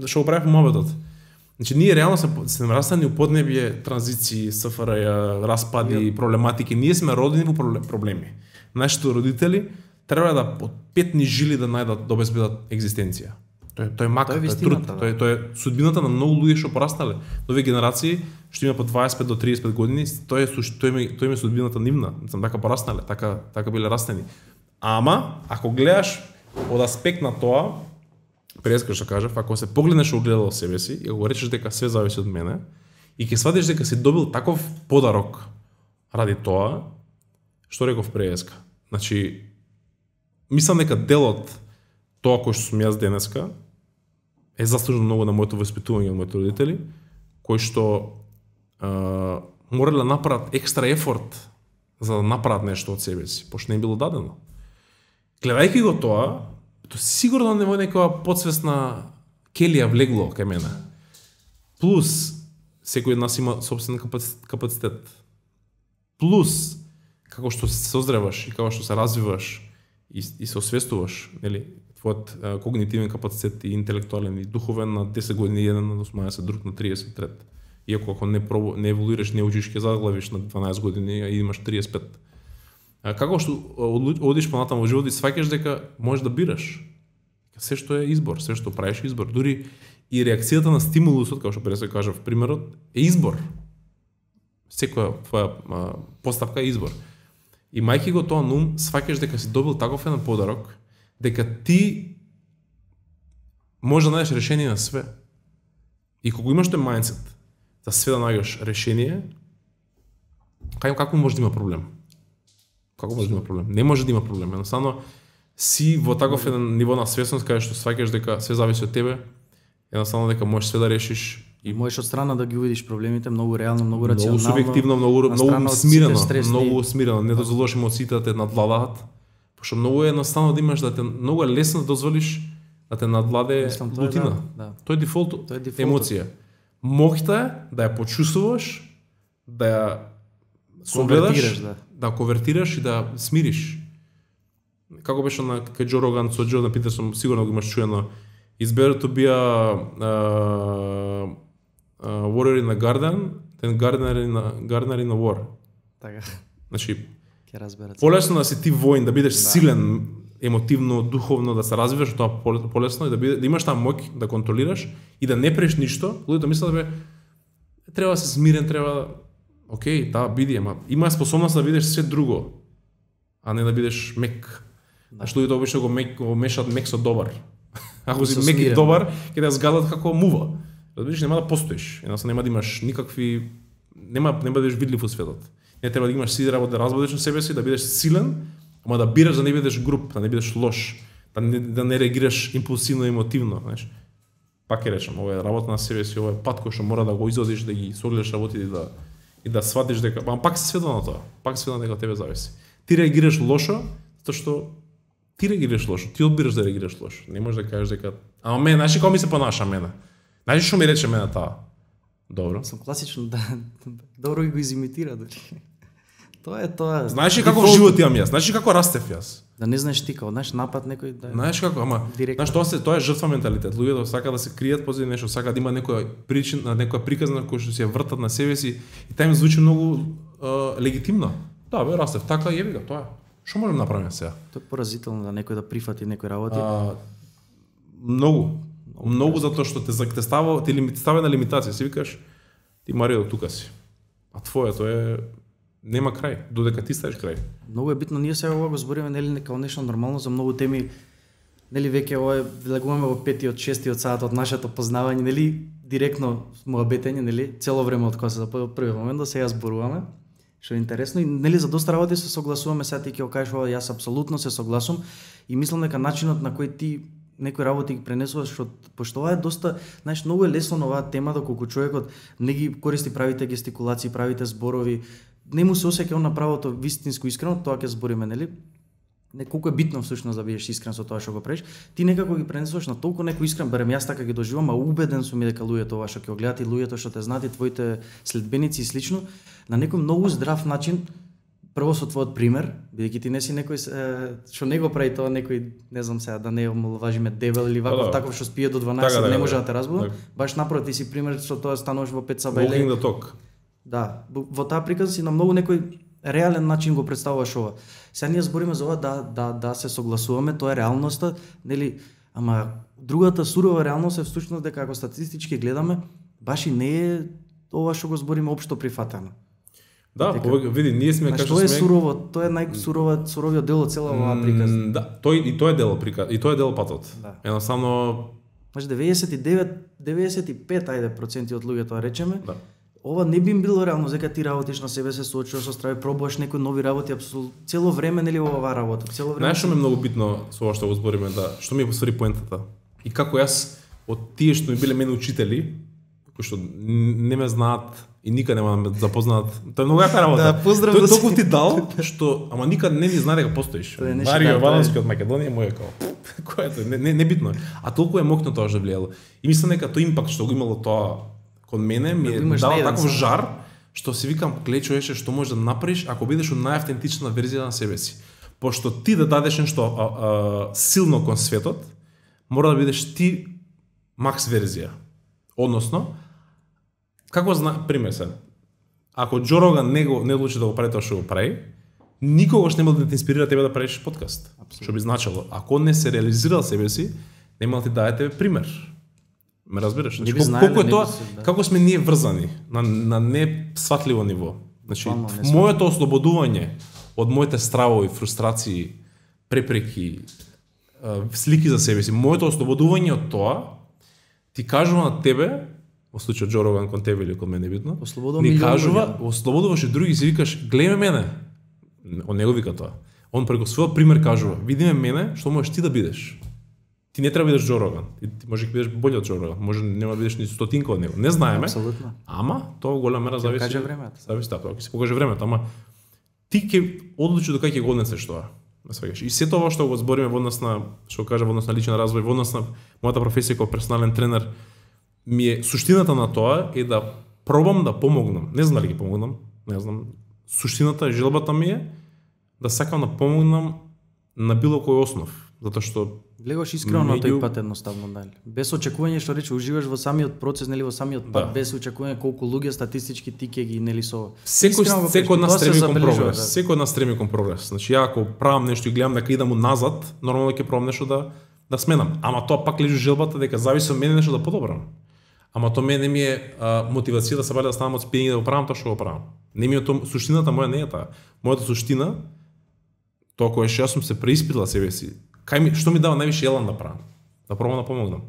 Што го правев моведот. Значи ние реално сме растани у поднебје, транзиции, СФРЈ, распади, проблематики. Ние сме родени во проблеми. Нашите родители треба да од петни жили да најдат да обезбедат екзистенција. Тоа е мака, тоа е труд, тоа е судбината на многу луѓе што порастале. Нови генерации што има по 25 до 35 години, тоа е судбината нивна, сам така порастале, така биле растени. Ама ако гледаш од аспект на тоа, преска што кажав, ако се погледнеш огледало себе си и ако речеш дека све зависи од мене и ќе сватиш дека си добил таков подарок ради тоа, што реков преска. Значи мислам дека делот тоа кој што сум јас денеска е заслужено многу на моето воспитување од моите родители, кои што морале да направат екстра ефорт за да направат нешто од себе си, пошто не им било дадено. Гледајќи го тоа, сигурно не во некоја подсвесна келија влегло кај мене. Плюс секој од нас има сопствен капацитет. Плюс како што се созреваш и како што се развиваш и се освестуваш, нели, твојот когнитивен капацитет и интелектуален и духовен на 10 години еден, на 18, друг на 33. Иако ако не еволуираш, не учиш, ќе заглавиш на 12 години и имаш 35. Како што одиш понатаму во животот и сваќаш дека можеш да бираш. Се што е избор, се што правиш избор. Дури и реакцијата на стимулусот, како што пред се кажав примерот, е избор. Секоја твоја поставка е избор. И мајки го тоа нум, сваќаш дека си добил таков еден подарок, дека ти можеш да најдеш решение на све. И кога имаш тој мајндсет за све да најдеш решение, како може да има проблем? Како може да има проблем? Не може да има проблем. Едноставно си во таков еден ниво на свесност каде што сваќаш дека све зависи од тебе, едноставно дека можеш све да решиш и можеш од страна да ги увидиш проблемите многу реално, многу рационално, многу субјективно, многу смирено, не дозволуваш емоциите да те надвладаат, пошто многу е едноставно да имаш многу е лесно да дозволиш да те надвладе лутина. Тоа е дефолт емоција. Моќта е да ја почувствуваш, да ја согледаш, да конвертираш и да смириш. Како беше на кај Джо Роган со Джордан Питерсон, сигурно го имаш чуено. It's better to be a warrior in a garden than gardener in a war. Така. Значи, ќе разберат. Полесно да си ти воин, да бидеш силен емотивно, духовно, да се развиваш, тоа полесно и да имаш таа моќ да контролираш и да не преш ништо. Луѓето мислат да треба да се смирен, треба окей, да, биди, ама има способност да бидеш се друго, а не да бидеш мек. Значи луѓето обично го мешаат мек со добар. Ако си мек и добар, ќе да згадат како мува. Разбираш, нема да постоиш. Едноставно нема да имаш никакви нема да бидеш видлив во светот. Не треба да имаш сите работи да разбудиш на себе си, да бидеш силен, ама да бираш да не бидеш груб, да не бидеш лош, да не реагираш импулсивно и емотивно, знаеш. Пак ќе речам, ова е работа на себе си, ова е пат кој што мора да го изодиш, да ги согледаш работите и да сватиш дека, ама пак се сведува на тоа. Пак се сведува дека од тебе зависи. Ти реагираш лошо, затоа што ти реагираш лошо, ти одбираш да реагираш лошо. Не можеш да кажеш дека, ама мене, знаеш како ми се понаша мене? Знаеш што ми рече мене таа? Добро. Сум класично да добро го изимитира дори. Тоа е тоа. Знаеш ли како живот имам јас? Знаеш ли како растев јас? Да не знаеш ти како, знаеш напад некој да. Знаеш како, ама знаеш тоа е жртва менталитет. Луѓето сака да се кријат позади нешто, сака да има некоја причина, некоја приказна која што се вртат на себе си и таа им звучи многу легитимно. Да, бе, растев така и еви го, тоа е. Што можеме да направиме сега? Тоа е поразително да некој да прифати некој работи. Многу затоа што те става на лимитација, си викаш ти Марио тука си. А твоето е нема крај, додека ти ставиш крај. Многу е битно, ние сега ова го збориме нели како нешто нормално за многу теми. Нели веќе ова влегуваме во 5-тиот, 6-тиот саат од нашето познавање, нели директно муабетење, нели цело време од кога се запоја први момент до сега зборуваме. Што е интересно и нели за доста работи се согласуваме, сега ти ќе кажеш ова, јас апсолутно се согласувам и мислам дека начинот на кој ти некои работи ги пренесуваш, пошто ова е доста, знаеш, многу е лесно на оваа тема доколку човекот не ги користи правите гестикулации, правите зборови, не му се осеќа на правото вистинско искрено, тоа ќе збориме, нели? Не колку е битно всушност да бидеш искрен со тоа што го правиш, ти некако ги пренесуваш на толку некој искрен, барем јас така ги доживам, а убеден сум и дека луѓето ова што ќе го гледат и луѓето што те знаат и твоите следбеници и слично, на некој многу здрав начин. Прво со твојот пример, бидејќи ти не си некој што не го прави тоа, некој, не знам сега, да не омалважиме дебел или ваков таков што спие до 12, не може да те разбуда. Баш напротив, ти си пример што тоа стануваш во 5 сабајле. Walking the talk. Да, во таа приказна си на многу некој реален начин го представуваш ова. Сега ние збориме за ова да се согласуваме, тоа е реалноста, нели, ама другата сурова реалност е всушност дека ако статистички гледаме, баш и не е ова што го збориме општо прифатено. Да, види, ние сме како што е сурово, тоа е суровиот дел од цела оваа приказна. Да, тоа е дел приказна, и тоа е дел патот. Да. Едноставно 99-95% од луѓето речеме. Да. Ова не би им било реално дека ти работиш на себе, се соочуваш со страви, пробуваш некои нови работи, апсолутно цело време нели оваа работа, цело време. Знаеш што ме многу битно со ова што го збориме, да, што ми е посвари поентата. И како јас од тие што ми биле мене учители, кои што не ме знаат и никад нема да ме запознаат. Тоа е многу јака работа. Да, поздрав тој толку ти дал што ама никад не ни знае дека постоиш. Марио Валански од Македонија му е како кој е тоа? Не битно. А толку е моќно тоа што влијало. И мислам дека тој импакт што го имало тоа кон мене ми е дал таков жар што си викам гледај човече што можеш да направиш ако бидеш во најавтентична верзија на себе си. Пошто ти да дадеш нешто силно кон светот, мора да бидеш ти макс верзија. Односно, како пример се, ако Джо Роган не одлучи да го прави тоа што го прави, никогаш нема да те инспирира тебе да правиш подкаст. Што би значило, ако не се реализирал себе си, нема да ти даде тебе пример. Ме разбираш? Значи, колку е тоа, како сме ние врзани на не сватливо ниво. Значи, моето ослободување од моите стравови, фрустрации, препреки, слики за себе си, моето ослободување од тоа ти кажува на тебе, во случајот Джо Роган кон тебе или кон мене битно, ни кажува, ослободуваш и други си викаш, гледај мене. Он не го вика тоа. Он преку својот пример кажува, види ме мене, што можеш ти да бидеш. Ти не треба да бидеш Џо Роган. Ти може да бидеш болј од Џо Роган. Може нема да бидеш ни стотинка од него. Не знаеме. Апсолутно. Ама тоа во голема мера зависи. Каже времето. Зависи тоа, ќе се покаже времето, ама ти ќе одлучи до кај ќе го однесеш тоа. И се тоа што го збориме во однос на, што кажа, во однос на личен развој, во однос на мојата професија како персонален тренер, ми е суштината на тоа е да пробам да помогнам. Не знам дали ќе помогнам, не знам. Суштината и желбата ми е да сакам да помогнам на било кој основ, затоа што гледаш искрено на тој пат едноставно, дали. Без очекување, што рече, уживаш во самиот процес, нели, во самиот пат, без очекување колку луѓе статистички ти ќе ги, нели, со секој од нас стреми кон прогрес. Секој од нас стреми кон прогрес. Значи ја ако правам нешто и гледам дека идам назад, нормално ќе пробам нешто да сменам. Ама тоа пак лежи желбата дека зависи од мене нешто да подобрам. Ама тоа мене ми е мотивација да се баде да станам од спиени да го правам тоа што го правам. Не ми е тоа суштината моја, не е таа. Мојата суштина, тоа кое што јас сум се преиспитала себе си, што ми дава највише елан да правам, да пробам да помогнам.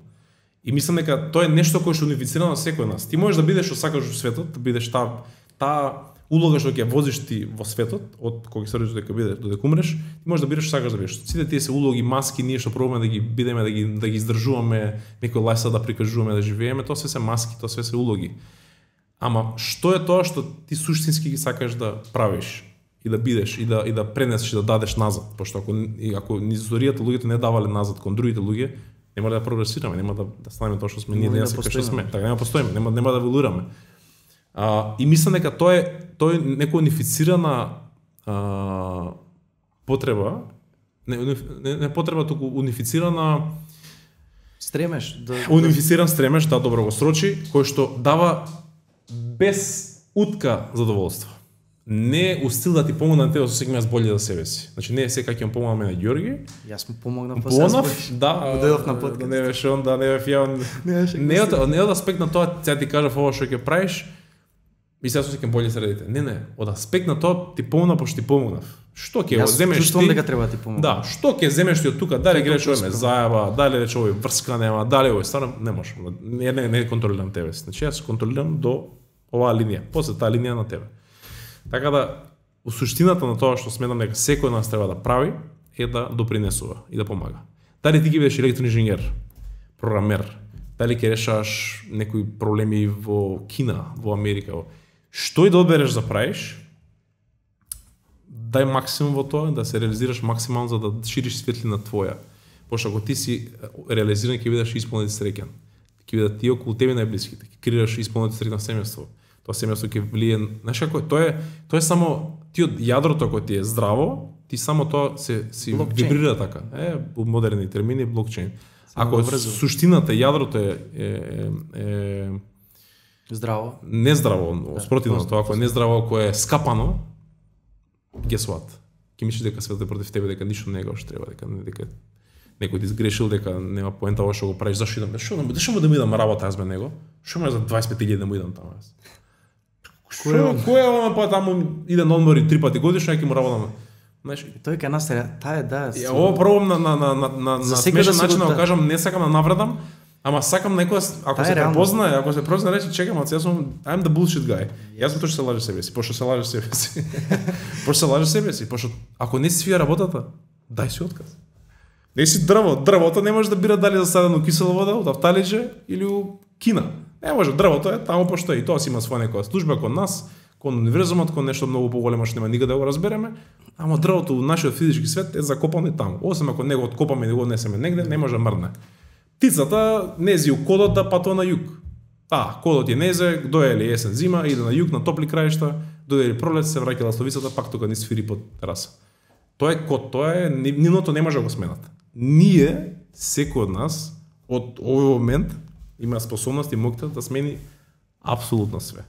И мислам дека тоа е нешто кое што унифицира на секој нас. Ти можеш да бидеш што сакаш во светот, да бидеш таа улога што ќе возиш ти во светот, од кога се родиш дека бидеш додека умреш, ти можеш да бидеш што сакаш да бидеш. Сите тие се улоги, маски, ние што пробаме да ги бидеме, да ги издржуваме, некој лајса да прикажуваме, да живееме, тоа се маски, тоа се улоги. Ама што е тоа што ти суштински ги сакаш да правиш? И да бидеш, и да пренесеш, и да дадеш назад. Пошто ако низ историјата луѓето не давале назад кон другите луѓе, нема да прогресираме, нема да станеме тоа што сме ние денес што сме. Така нема постоиме, нема да еволуираме. И мислам дека тоа е некоја унифицирана потреба, не потреба, туку унифицирана стремеш унифициран стремеш, да, добро го срочи, кој што дава без утка задоволство. Не у стил да ти помогна на тебе, со сега јас болje за себе си. Значи не е сега ќе помогна мене Ѓорги. Јас му помогнам по себе. Да, дојдов на подкаст. Не беше он, да, не бев ја. Не од аспект на тоа, сега ти кажав ова што ќе правиш, и сега се ќе болje средите. Не, од аспект на тоа ти помогна пошто ти помогнав. Што ќе земеш ти? Чувствувам дека треба ти помогнам. Да, што ќе земеш ти од тука? Дали греш овој ме зајава, дали рече овој врска нема, дали овој стварно не можам. Не контролирам тебе. Значи јас контролирам до оваа линија, после таа линија на тебе. Така да, у суштината на тоа што сметам дека секој нас треба да прави е да допринесува и да помага. Дали ти ги бидеш електроинженер, програмер, дали ќе решаваш некои проблеми во Кина, во Америка, што и да одбереш да правиш, дај максимум во тоа, да се реализираш максимално за да шириш светлина твоја. Пошто ако ти си реализиран, ќе бидеш исполнет и среќен. Ќе бидат тие околу тебе најблиските, ќе креираш исполнет и среќно семејство. Тоа семејство ќе влие, знаеш како тоа е само ти од јадрото кое ти е здраво, ти само тоа си вибрира така. У модерни термини блокчейн. Ако суштината јадрото е здраво, нездраво, спротивно тоа, ако е нездраво, ако е скапано, guess what? Ќе мислиш дека светот е против тебе, дека ништо не е како што треба, дека некој ти сгрешил, дека нема поента ова што го правиш, зашто му да му идам работа аз бе него? Што ме за 25.000 да му идам таму јас? Кој е ова па таму иде на одмори 3 пати годишно, ќе му работам. Знаеш, тој ке нас таа е да. Ова пробам на смешен начин да го кажам, не сакам да навредам, ама сакам некој ако се препознае, ако се прозна рече чекам, јас сум I'm the bullshit guy. Јас сум тој што се лаже себе си, пошто се лаже себе си. Пошто се лаже себе си, пошто ако не си свија работата, дај си отказ. Не си дрвото не може да бира дали засадено кисела вода од авталиџе или у Кина. Не може, дрвото е таму пошто и тоа си има своја некоја служба кон нас, кон универзумот, кон нешто многу поголемо што нема никаде да го разбереме, ама дрвото во нашиот физички свет е закопано и таму. Освен ако него откопаме и го однесеме негде, не може да мрдне. Птицата нези у кодот да патува на југ. Кодот е незе, дојде есен зима, иде на југ, на топли краишта, дојде пролет, се враќа ластовицата, пак тука ни сфири под тераса. Тоа е код, тоа е нивното не може да го сменат. Ние, секој од нас, од овој момент, има способност и моќта да смени апсолутно све.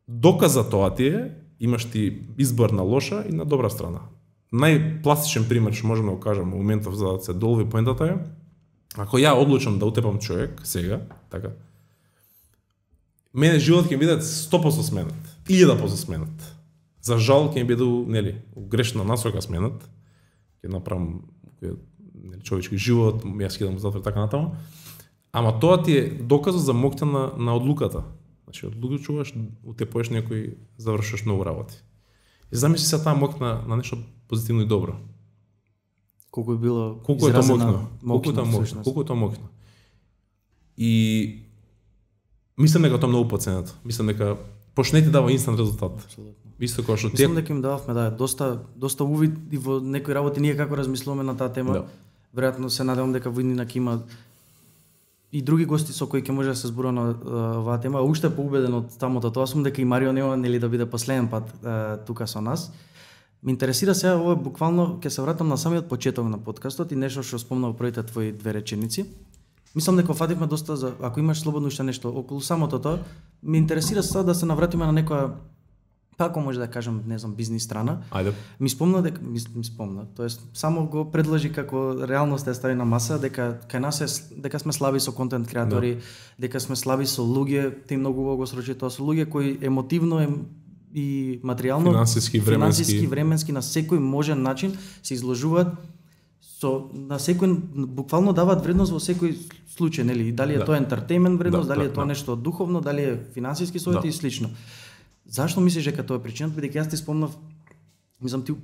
Доказ за тоа ти е, имаш ти избор на лоша и на добра страна. Најпластичен пример што можеме да го кажам во моментов за да се долови поентата е, ако ја одлучам да утепам човек сега, така, мене живот ќе биде 100% сменет, 1000% сменет. За жал ќе биде грешна насока сменет, ќе направам човечки живот, јас ќе дам затвор така натаму. Ама тоа ти е доказот за моќта на одлуката. Значи, одлучуваш, утепоеш некој, завршуваш многу работи. И замисли се таа мокна на нешто позитивно и добро. Колку е било Колку е тоа изразена мокно. Колку е тоа мокно. И мислам дека тоа многу поценето. Мислам дека пошто не ти дава инстант резултат. Апсолутно. Исто како што Мислам дека им дававме доста увид и во некои работи ние како размислуваме на таа тема. Да. Веројатно се надевам дека во иднина ќе има и други гости со кои ќе може да се зборува на оваа тема. Уште поубеден од самото тоа сум дека и Марио нема нели да биде последен пат тука со нас. Ме интересира сега, ова буквално ќе се вратам на самиот почеток на подкастот и нешто што спомна во првите твои две реченици. Мислам дека фативме доста за, ако имаш слободно уште нешто околу самото тоа, ме интересира сега да се навратиме на некоја, како може да кажам, не знам, бизнис страна. Ајде. Ми спомна, тоест само го предложи како реалност ја стави на маса дека кај нас дека сме слаби со контент креатори, дека сме слаби со луѓе, ти многу убаво го срочи тоа, со луѓе кои емотивно и материјално, финансиски, временски на секој можен начин се изложуваат на секој, буквално даваат вредност во секој случај, нели? Дали е тоа ентертејмент вредност, дали е тоа нешто духовно, дали е финансиски совети и слично. Зашто мислиш дека тоа е причината? Бидејќи јас ти спомнав, мислам ти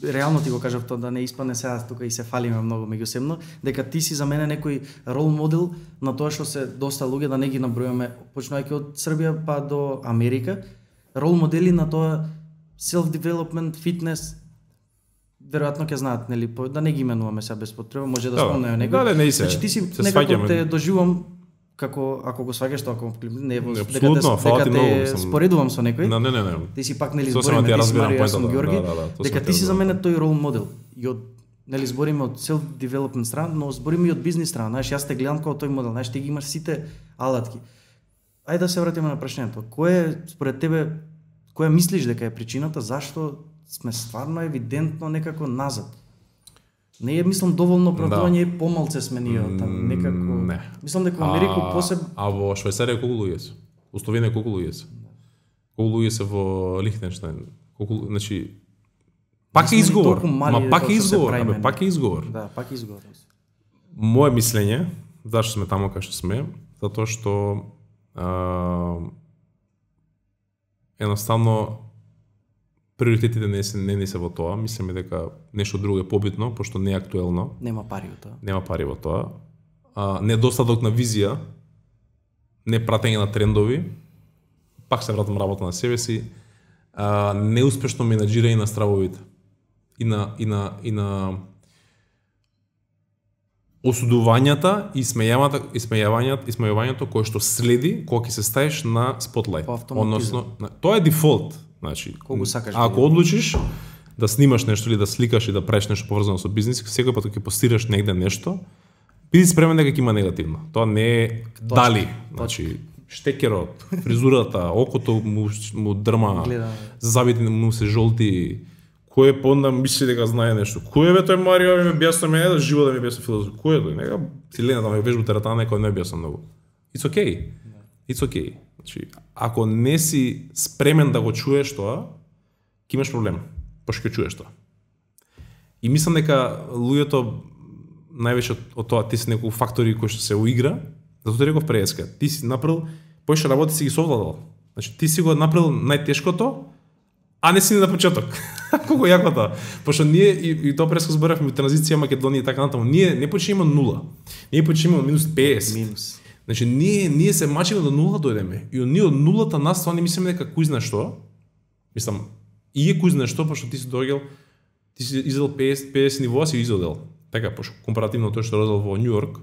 реално ти го кажав тоа да не испадне сега тука и се фалиме многу меѓусебно, дека ти си за мене некој рол модел на тоа што се доста луѓе, да не ги набројаме, почнувајќи од Србија па до Америка, рол модели на тоа self-development, фитнес, веројатно ќе знаат, нели, да не ги именуваме сега без потреба, може да спомнеме некој. Да, не значи ти си некако те доживувам како ако го сваѓаш тоа како не дека те споредувам со некој. Не. Ти си пак нели збориме ти си Марио, сум Ѓорги, дека ти си за мене тој рол модел. И од нели збориме од self development страна, но збориме и од бизнис страна. Знаеш, јас те гледам како тој модел, знаеш, ти ги имаш сите алатки. Ајде да се вратиме на прашањето. Кој е според тебе, која мислиш дека е причината зашто сме стварно евидентно некако назад? Не е, мислам, доволно оправдување, помалце сме ние таму, некако. Не. Мислам дека во Америку А во Швајцарија колку луѓе се? Во Словенија колку луѓе се? Колку луѓе се во Лихтенштајн? Колку, значи пак е изговор. Пак е изговор, пак е изговор. Да, пак е изговор. Моje мислење, зашто сме таму кај што сме, затоа што едноставно приоритетите не се во тоа, мислиме дека нешто друго е побитно, пошто не е актуелно. Нема пари во тоа. Нема пари во тоа. Недостаток на визија, не пратење на трендови, пак се вратам работа на себе си, неуспешно менаџирање на стравовите и на осудувањата и смејавањето кое што следи кога ќе се стаеш на спотлајт. Односно, тоа е дефолт. Значи, ако одлучиш да снимаш нешто или да сликаш и да правиш нешто поврзано со бизнис, секој пат кога ќе постираш негде нешто, биди спремен дека ќе има негативно. Тоа не е дали, значи штекерот, фризурата, окото му дрма, забите му се жолти. Кој е понда мисли дека знае нешто? Кој е бе тој Марио, ме објасни мене да живо да ми објасни филозофија? Кој е тој? Нека силената ме вежбу тератана некој не објасни многу. It's okay. It's okay. Значи, ако не си спремен да го чуеш тоа, ќе имаш проблем. Пошто ќе чуеш тоа. И мислам дека луѓето највеќе од тоа ти си некои фактори кои што се уигра, затоа реков преска. Ти си направил поише работи си ги совладал. Значи ти си го направил најтешкото, а не си на почеток. Колку јако тоа. Пошто ние и тоа преска зборавме транзиција Македонија и така натаму. Ние не почнеме од нула. Ние почнеме од минус 50. Минус. Значи ние се мачиме до нула дојдеме. И ние од нулата нас тоа не мислиме дека кој знае што. Мислам, и е кој знае што, пошто ти си доаѓал, ти си изедел 50 нивоа си изедел. Така, пошто компаративно тоа што родел во Њу Йорк,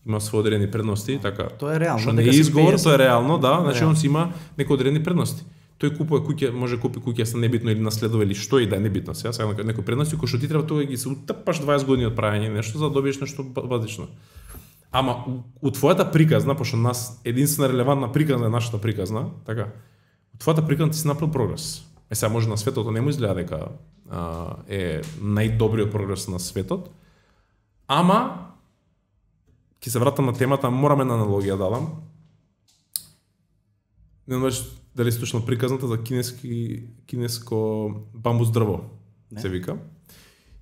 има свои одредени предности, така. Тоа е реално. Што не е изговор, тоа е реално, да, значи он си има некои одредени предности. Тој купува куќа, може купи куќа са небитно или наследува или што и да е небитно. Сега некои предности кои што ти треба тоа ги се утапаш 20 години од правење нешто за да добиеш нешто базично. Ама у твојата приказна, пошто нас единствена релевантна приказна е нашата приказна, така. У твојата приказна ти си направил прогрес. Сега може на светот не му изгледа дека е најдобриот прогрес на светот. Ама ќе се вратам на темата, мораме на аналогија да дадам. Не знаеш дали си слушнал приказната за кинеско бамбус дрво, се вика.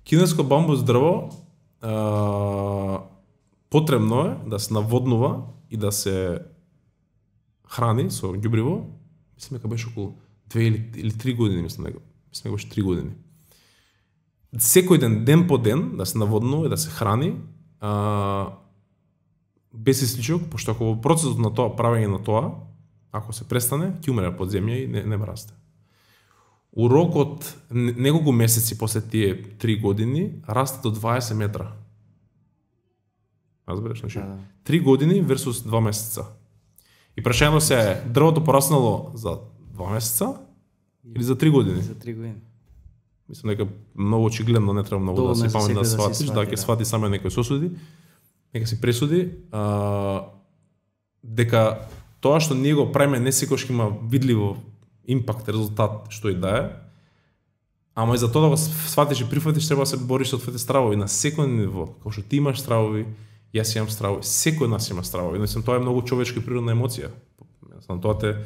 Кинеско бамбус дрво потребно е да се наводнува и да се храни со ѓубриво. Мислам дека беше околу 2 или 3 години, мислам дека. мислам дека 3 години. Секој ден по ден, да се наводнува и да се храни, без исклучок, пошто ако во процесот на тоа, правење на тоа, ако се престане, ќе умре под земја и не расте. У рок од неколку месеци после тие 3 години, расте до 20 метра. Разбереш, значи 3 години versus 2 месеца. И прашањето се е, дрвото пораснало за 2 месеца или за 3 години? За 3 години. Мислам дека многу очигледно не треба многу да се памет да сватиш, да ќе свати само некој сосуди, нека си пресуди, дека тоа што ние го правиме не секогаш има видливо импакт, резултат, што и да е, ама и за тоа да го сватиш и прифатиш, треба да се бориш со твоите стравови на секој ниво, како што ти имаш стравови, јас имам стравови, секој од нас има стравови, мислам тоа е многу човечка природна емоција. Мислам тоа ти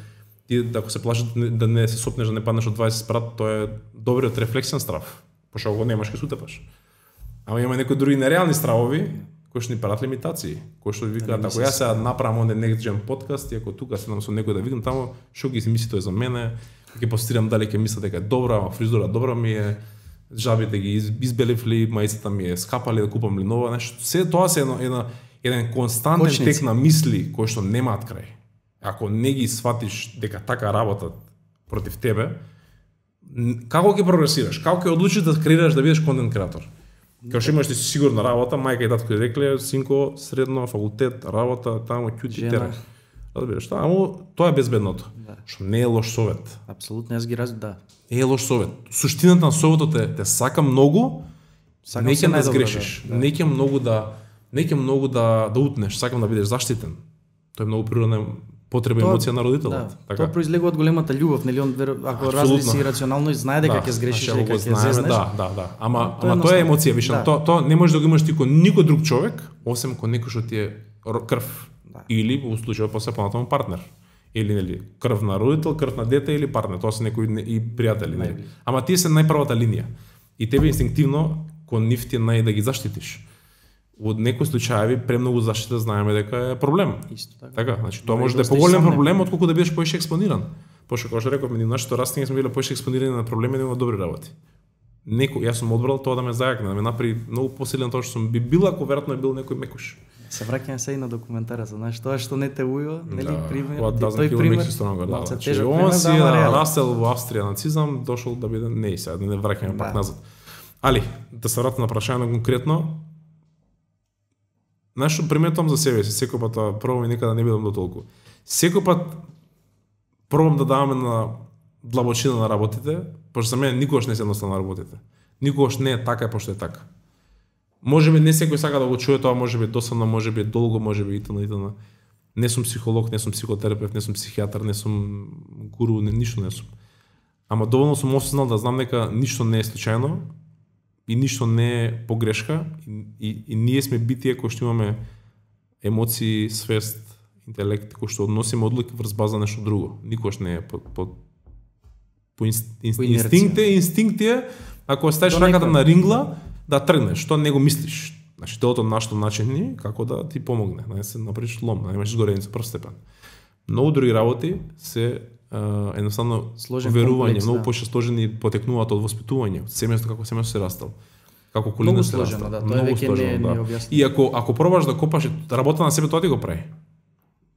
ако се плашиш да не се сопнеш, да не паднеш од 20 спрат, тоа е добриот рефлексен страв, пошто го немаш ќе сутепаш. Ама има некои други нереални стравови кои што ни прават лимитации, кои што викаат ако јас сега направам онде некој подкаст и ако тука седам со некој да викам таму, што ги мисли тој за мене, ќе постирам дали ќе мислат дека е добра, ама фризура добра ми е, жабите ги избеливли, маицата ми е скапали да купам ли нова, нешто. Се тоа се еден константен тек на мисли кои што немаат крај. Ако не ги сватиш дека така работат против тебе, како ќе прогресираш? Како ќе одлучиш да креираш, да бидеш контент креатор? Као што имаш ти сигурна работа, мајка и татко рекле, синко, средно, факултет, работа, таму, ќути, терен. Разбираш, ама тоа е безбедното. Што не е лош совет. Апсолутно, јас ги да. Не е лош совет. Суштината на советот те сака многу, не ќе да сгрешиш. Не ќе многу да утнеш, сакам да бидеш заштитен. Тоа е многу природна потреба емоција на родителот. Тоа произлегува од големата љубов, нели он ако размисли си рационално и знае дека ќе сгрешиш, дека ќе зезнеш. Да. Ама тоа е емоција, вишам. Тоа не можеш да го имаш ти кон никој друг човек, освен кон некој што ти е крв. Или во случајот после понатаму партнер. Или нели крв на родител, крв на дете или партнер, тоа се некои и пријатели, нели. Ама тие се најпрвата линија. И тебе инстинктивно кон нив ти е да ги заштитиш. Од некои случаи премногу заштита знаеме дека е проблем. Исто така. Така, значи тоа може да е поголем проблем отколку да бидеш поише експониран. Пошто како што рековме, ние нашето растење сме биле поише експонирани на проблеми, да има добри работи. Јас сум одбрал тоа да ме зајакне, да ме направи многу посилен тоа што сум бил, ако веројатно е бил некој мекуш. Се враќаме се и на документарата, знаеш, тоа што не те ујува, нели пример, тој пример. Он си растел во Австрија нацизам, дошол да биде не сега, да не враќаме пак назад. Али, да се вратам на прашањето конкретно, знаеш што приметувам за себе си, секој пат пробам и никада не бидам до толку. Секој пат пробам да даваме на длабочина на работите, пошто за мене никогаш не се едноставно работите. Никогаш не е така, пошто е така. Можеби не секој сака да го чуе тоа, можеби досадно, можеби долго, можеби итн. Не сум психолог, не сум психотерапевт, не сум психијатар, не сум гуру, ништо не сум. Ама доволно сум осознал да знам дека ништо не е случајно и ништо не е погрешка и ние сме битија кои што имаме емоции, свест, интелект, кои што односиме одлуки врз база нешто друго. Никош не е по инстинкт е, ако ставиш раката на рингла, да тргнеш, што не го мислиш. Значи, телото нашто начини како да ти помогне, да не се направиш лом, да имаш изгореница прв степен. Многу други работи се едноставно верување, многу поише сложени потекнуваат од воспитување, од семејството, како семејство се растал. Како колина се растал. Многу сложено, да. И ако пробаш да копаш работа на себе, тоа ти го прави.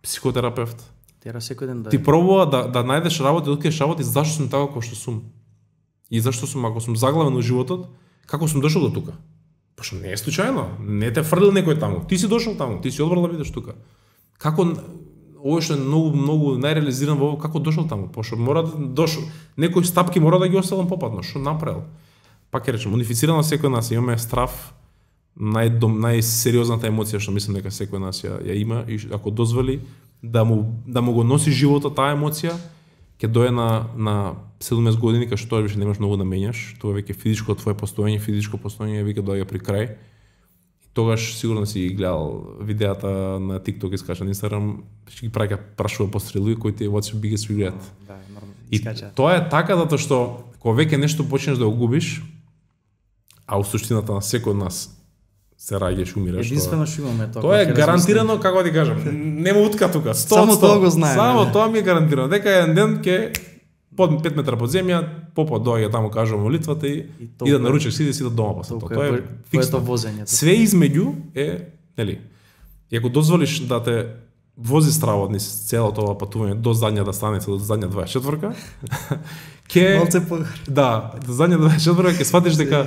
Психотерапевт. Тера секој ден да. Ти пробува да најдеш работа, да откриеш работа и зашто сум така како што сум. И зашто сум, ако сум заглавен во животот, како сум дошол до тука? Пошто не е случајно, не те фрлил некој таму. Ти си дошол таму, ти си одбрал да бидеш тука. Како овој што е многу најреализиран во како дошол таму? Пошто мора да дошол, некои стапки мора да ги оставам попатно, што направил. Пак ќе речем, унифицирано секој нас имаме страв, најсериозната емоција што мислам дека секој нас ја има и ако дозволи да му го носи животот таа емоција, ќе дое на 17 години кај што тоа више немаш многу да менјаш, тоа веќе физичко твое физичко постоење веќе доаѓа при крај. И тогаш сигурно си гледал видеата на TikTok и скача на Instagram, ќе ги прашува пострелуи кои ти е what's your biggest regret. Да, нормално. И тоа е така затоа што кога веќе нешто почнеш да го губиш, а у суштината на секој од нас се раѓаш, умираш. Единствено што имаме тоа. Тоа е гарантирано, како да ти кажам, нема утка тука. Само тоа го знаеме. Само тоа ми е гарантирано. Дека еден ден ќе под 5 метра под земја, попот доаѓа таму кажува молитвата и да наручиш сиде си дома после тоа. Тоа е фиксно. Све измеѓу е, нели? И ако дозволиш да те вози стравот низ целото ова патување до задњата станица, до задња 24-ка, до задња 24-ка ќе сватиш дека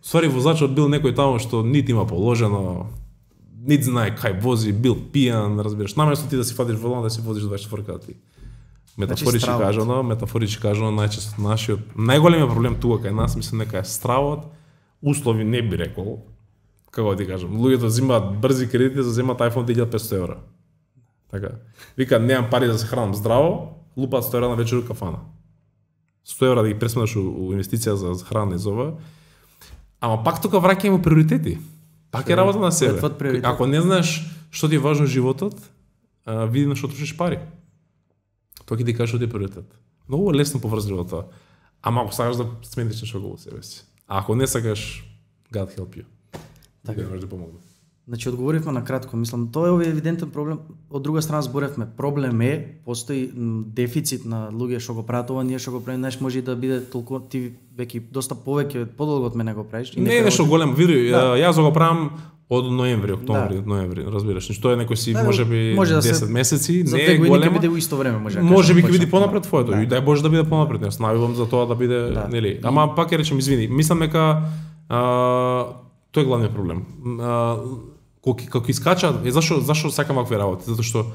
ствари возачот бил некој таму што нит има положено, нит знае кај вози, бил пијан, разбираш. Наместо ти да си фатиш волан да си возиш 24-ка ти. Метафорички кажано, најчесто нашиот најголемиот проблем тука кај нас мислам дека е стравот, услови не би рекол. Како ти кажам, луѓето земаат брзи кредити за земаат iPhone 1500 евра. Така. Вика немам пари да се хранам здраво, лупаат 100 евра на вечер у кафана. 100 евра да ги пресметаш у инвестиција за храна и за ова. Ама пак тука враќање во приоритети. Пак е работа на себе. Ако не знаеш што ти е важно во животот, види на што трошиш пари. Тоа ќе ти каже што ти е приоритет. Многу лесно поврзливо тоа. Ама ако сакаш да смениш нешто во себе си. А ако не сакаш, God help you. Така може да помогне. Значи одговоривме на кратко, мислам тоа е евидентен проблем. Од друга страна зборевме, проблем е, постои дефицит на луѓе што го прават ова, ние што го правиме, може и да биде толку ти веќе доста повеќе подолго од мене го правиш. Не е нешто голем, види, јас го правам од ноември, октомври, ноември, разбираш. Тоа е некој си можеби 10 месеци, не е големо. За 2 години ќе биде во исто време, Можеби ќе биде понапред твоето, и дај Боже да биде понапред. Јас навивам за тоа да биде, нели. Ама пак ќе речем извини, мислам дека тоа е главниот проблем. Како искача, зашо сакам вакви работи? Затоа што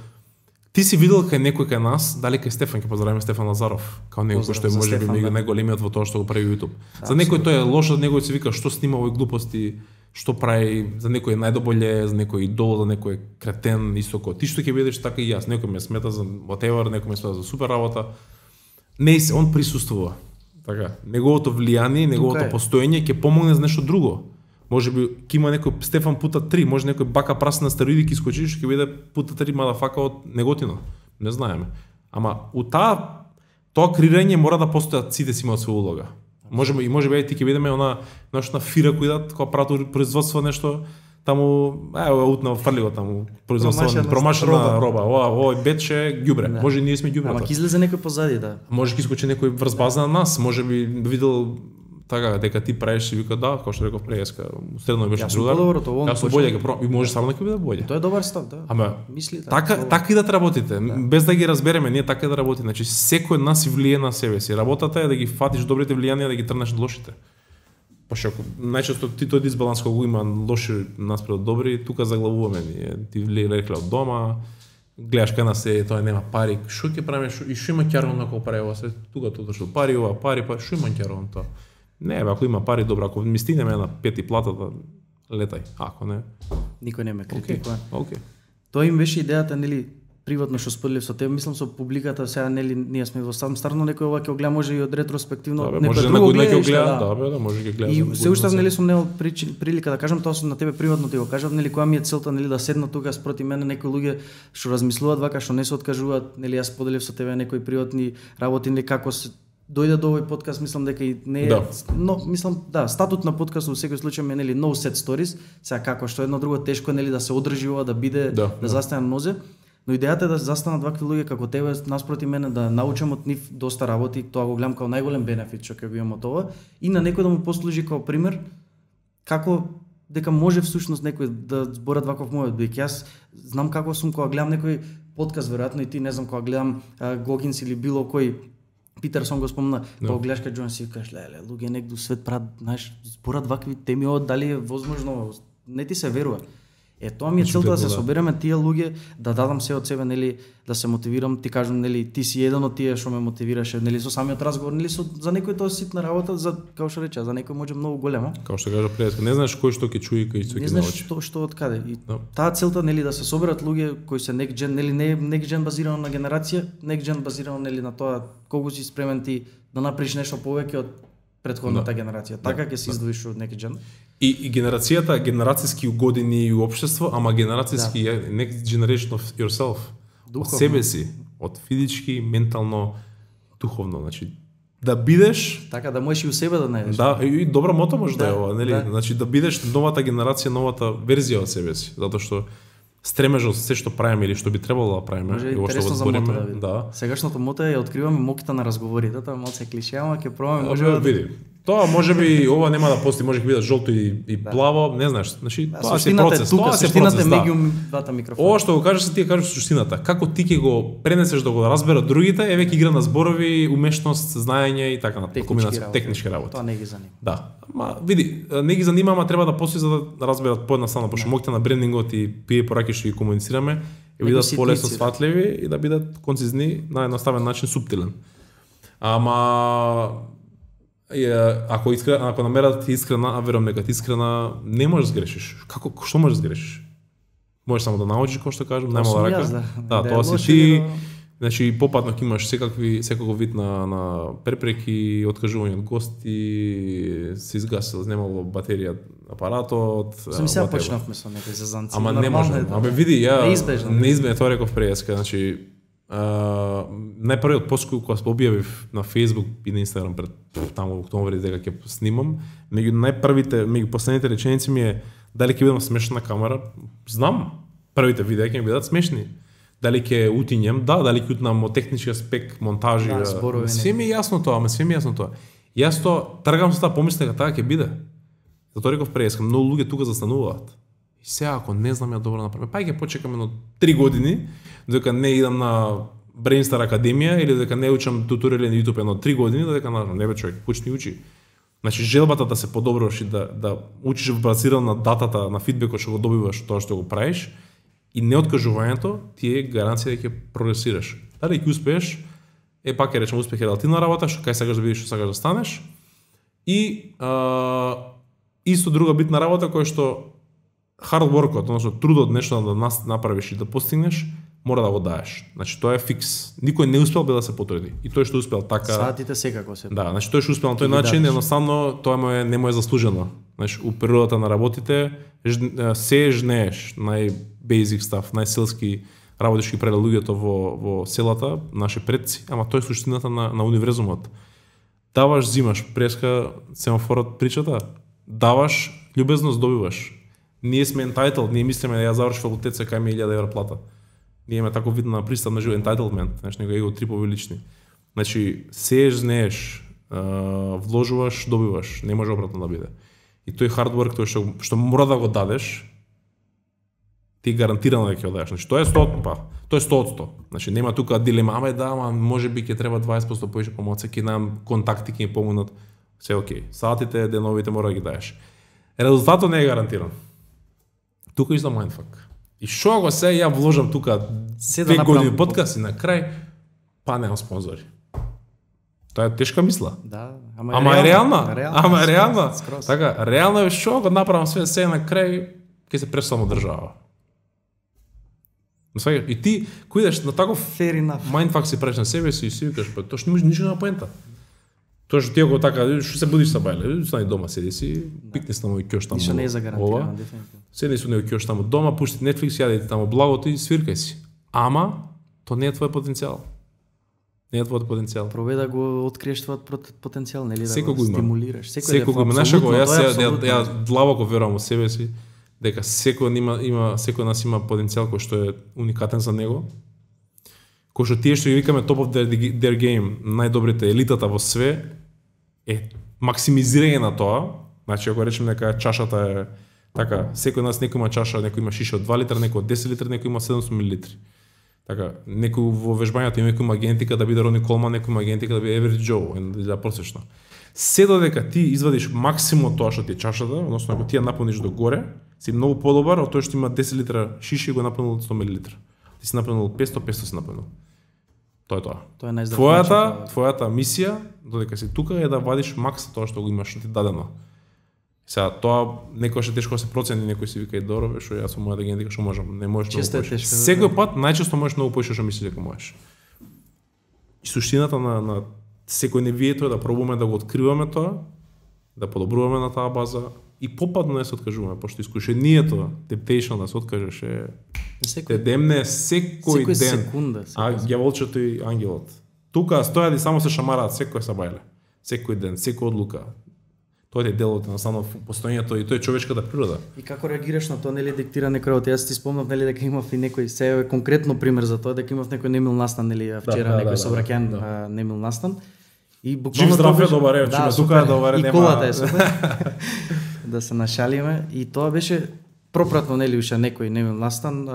ти си видел кај некој кај нас, дали кај Стефан, ќе поздравиме Стефан Лазаров, као некој кој што е можеби најголемиот во тоа што го прави YouTube. За некој тоа е лошо, некој се вика што снима овој глупости, што прави, за некој е најдоболе, за некој идол, за некој кретен, исто како ти што ќе бидеш така и јас. Некој ме смета за whatever, некој ме смета за супер работа. Не се, он присуствува. Така, неговото влијание, неговото постоење ќе помогне за нешто друго. Можеби ќе има некој Стефан пута 3, може некој бака праса на стероиди ќе искочи, што ќе биде пута 3 мадафака од неготино. Не знаеме. Ама у тоа креирање мора да постојат, сите си имаат своја улога. Можеби ти ќе видиме она на фира кои дат кога прават производство нешто таму, утна фрлиго таму производство промашена роба. Овој бече ѓубре. Може ние сме ѓубре. Ама ќе излезе некој позади, да. Може ќе искочи некој врз база на нас, можеби видел така дека ти правиш и вика да, како што реков преска, средно беше другар. Јас сум боле ќе и може само да ќе биде боле. Тоа е добар став, да. Ама мисли така и да работите, без да ги разбереме, ние така да работиме. Значи секој од нас си влие на себе си. Работата е да ги фатиш добрите влијанија, да ги трнеш од лошите. Пошто најчесто ти тој дисбаланс кога има лоши наспред добри, тука заглавуваме ние. Ти влие од дома, гледаш кај нас тоа нема пари, што ќе правиме и што има ќарон на кога прави ова се, тука тоа што пари, што има ќарон тоа. Не, ако има пари, добро, ако ми стигнеме на пети платата, летај, ако не. Никој не ме критикува. Океј. Тоа им беше идејата, нели, приватно што споделив со тебе, мислам со публиката, сега нели ние сме во старно некој ова ќе гледа може и од ретроспективно, некој друго гледа, да, може ќе гледа. И се уште нели сум немал прилика да кажам тоа на тебе приватно ти го кажав, нели која ми е целта нели да седнат тука спроти мене некои луѓе што размислуваат вака, што не се откажуваат, нели јас споделив со тебе некои приватни работи, нели како се дојде до овој подкаст, мислам дека и не е, но мислам статут на подкастот во секој случај е нели no set stories, сега како што едно друго тешко нели да се одржи ова, да биде да застане на нозе, но идејата е да застанат вакви луѓе како тебе наспроти мене, да научам од нив доста работи, тоа го гледам како најголем бенефит што ќе го имам од ова и на некој да му послужи како пример како дека може всушност некој да зборат ваков мојот бик. Јас знам како сум кога гледам некој подкаст, веројатно и ти, не знам, кога гледам Гогинс или било кој Питерсон го спомна, кога гледаш кај Џон си кажеш, леле, луѓе негду свет прават, знаеш, зборат вакви теми, дали е возможно, не ти се верува. Тоа ми е целта да се собереме тие луѓе, да дадам се од себе, нели, да се мотивирам, ти кажам, нели, ти си еден од тие што ме мотивираше, нели, со самиот разговор, нели, за некој тоа ситна работа, за како што рече, за некој може многу голема. Како што кажа пријател, не знаеш кој што ќе чуи, кој што ќе научи. Не знаеш што од каде. И таа целта, нели, да се соберат луѓе кои се next gen, нели, не next gen базирано на генерација, next gen базирано, нели, на тоа колку си спремен ти да направиш нешто повеќе од претходната генерација. Така ќе се издвоиш од next gen. И генерацијата, генерацијски години и општество, ама генерацијски next generation of yourself. Од себе си, од физички, ментално, духовно, значи да бидеш така да можеш и у себе да најдеш. Да, и добро мото може да е ова, нели? Значи да бидеш новата генерација, новата верзија од себе си, затоа што стремежот се што правиме или што би требало да правиме, Може и во што интересно го за мото збориме, да види. да. Сегашното мото е ја откриваме моките на разговорите, тоа малце клише, ама ќе пробаме, може Може види. Тоа можеби ова нема да постои, може ќе биде жолто и плаво, не знаеш. Значи тоа се процес, тука, тоа се суштината процес, е да. меѓу двата микрофона. Ова што го кажеш, ти ја кажеш суштината. Како ти ќе го пренесеш да го разберат другите, е веќе игра на зборови, умешност, знаење и така натаму, комбинација технички работи. Тоа не ги занима. Да. Ма види, не ги занима, ама треба да постои за да разберат поедноставно, пошто моките на брендингот и пие пораки што ги комуницираме, и бидат полесно сватливи и да бидат концизни на едноставен начин, суптилен. Ама ако намерат ти искрена, а верувам дека ти искрена, не можеш да сгрешиш. Што можеш да сгрешиш? Можеш само да научиш, како што кажам, нема да рака. Да, тоа си ти. Значи попатно ќе имаш секаков вид на препреки, откажување од гости, се изгасил, немало батерија апаратот. Сам сега почнавме со некои зазанци. Ама не може. Абе види, неизбежно тоа реков преска, значи најпрвиот пост кој објавив на Facebook и на Instagram пред таму октомври дека ќе снимам, меѓу последните реченици ми е дали ќе бидам смешна на камера. Знам, првите видеа ќе ми бидат смешни. Дали ќе утињем, дали ќе утнам од технички аспект, монтажи, све ми е јасно тоа, Јас тоа тргам со таа помисла дека таа ќе биде. Затоа реков преска, многу луѓе тука застануваат. И сега ако не знам ја добро направам, па ќе почекам едно 3 години, додека не идам на Brainstar Академија или додека не учам туторијали на YouTube едно 3 години, додека не бе човек, почни учи. Значи желбата да се подобруваш и да учиш базирано на датата, на фидбекот што го добиваш тоа што го правиш, и неоткажувањето ти е гаранција дека ќе прогресираш. Дали ќе успееш, пак ќе речем успех е релативна работа, што кај сакаш да видиш, што сакаш да станеш. И исто друга битна работа која што hard workот, односно трудот нешто да направиш и да постигнеш, мора да го даеш. Значи тоа е фикс. Никој не успел без да се потруди. И тој што успел така. Саатите секако се. Да, значи тој што успел на тој начин, едноставно тоа не му е заслужено. Значи у природата на работите се жнееш, нај-basic stuff, најселски работи што ги правеле луѓето во селата, наши предци, ама тоа е суштината на универзумот. Даваш, зимаш, преска семафорот причата. Даваш, љубезност добиваш. Ние сме entitled, ние мислиме да ја заврши факултет се кај ми 1000 евра плата. Ние имаме таков вид на пристап на живот, entitlement, значи него его трипови лични. Значи сееш, знееш, вложуваш, добиваш, не може обратно да биде. И тој hard work, тој што мора да го дадеш, ти гарантирано дека ќе го дадеш. Значи тоа е 100%, тоа е 100%. Значи нема тука дилема, ама можеби ќе треба 20% повеќе помоца, ќе нам контакти ќе ми помогнат. Се окей. Сатите, деновите мора да ги дадеш. Резултатот не е гарантиран. Тука изда mindfuck. И шо го се ја вложам тука 2 години подкаст и на крај па немам спонзори. Тоа е тешка мисла. Да, ама е реална. Така, реално е шо го направам се на крај ќе се пресsamo држава. И ти кој идеш на таков mindfuck си правиш на себе си и си викаш, па тоа што ништо нема поента. Тоа што ти ако така, што се будиш са бајле, стани дома, седи си, пикни со мој ќош таму. Ништо не е загарантирано, дефинитивно. Седи со мој ќош таму дома, пушти Netflix, јадете таму благото и свиркај си. Ама тоа не е твој потенцијал. Не е твојот потенцијал. Пробај да го откриеш твојот потенцијал, нели да го стимулираш. Секој го има. Јас длабоко верувам во себе си дека секој нас има потенцијал кој што е уникатен за него. Кој што тие што ги викаме top of their game, најдобрите, елитата во све, е максимизирање на тоа. Значи, ако речем дека чашата е така, секој нас некој има чаша, некој има шиша од 2 литра, некој од 10 литра, некој има 700 милилитри. Така, некој во вежбањето има некој има генетика да биде Рони Колман, некој има генетика да биде Average Joe, да просечно. Се додека ти извадиш максимум тоа што ти е чашата, односно ако ти ја наполниш до горе, си многу подобар од тој што има 10 литра шиша и го наполнил 100 милилитра. Ти си наполнил 500 си наполнил. Тоа е тоа. Тоа е најздрав. Твојата мисија, додека си тука, е да вадиш макс тоа што го имаш, што ти дадено. Сега тоа некојаш е тешко да се процени, некој си вика и добро, што јас со мојата генетика што можам, не можеш многу повеќе. Секој пат најчесто можеш многу повеќе што мислиш дека можеш. И суштината на секој невие тоа е да пробуваме да го откриваме тоа, да подобруваме на таа база и попадно не се откажуваме, пошто искушението, temptation да се откажеш е демне секој ден. Секунда. А ѓаволчето и ангелот. Тука стојат и само се шамараат секој сабајле. Секој ден, секој одлука. Тоа е делот на постоењето и тоа е човечката природа. И како реагираш на тоа, нели диктира некој од јас ти спомнав нели дека имав и некој сега конкретно пример за тоа дека имав некој немил настан нели вчера некој собраќајан немил настан и буквално жив здрав е добар е, чуме тука добар е, нема. И колата е супер. Да се нашалиме и тоа беше пропратно нели уште некој немил настан,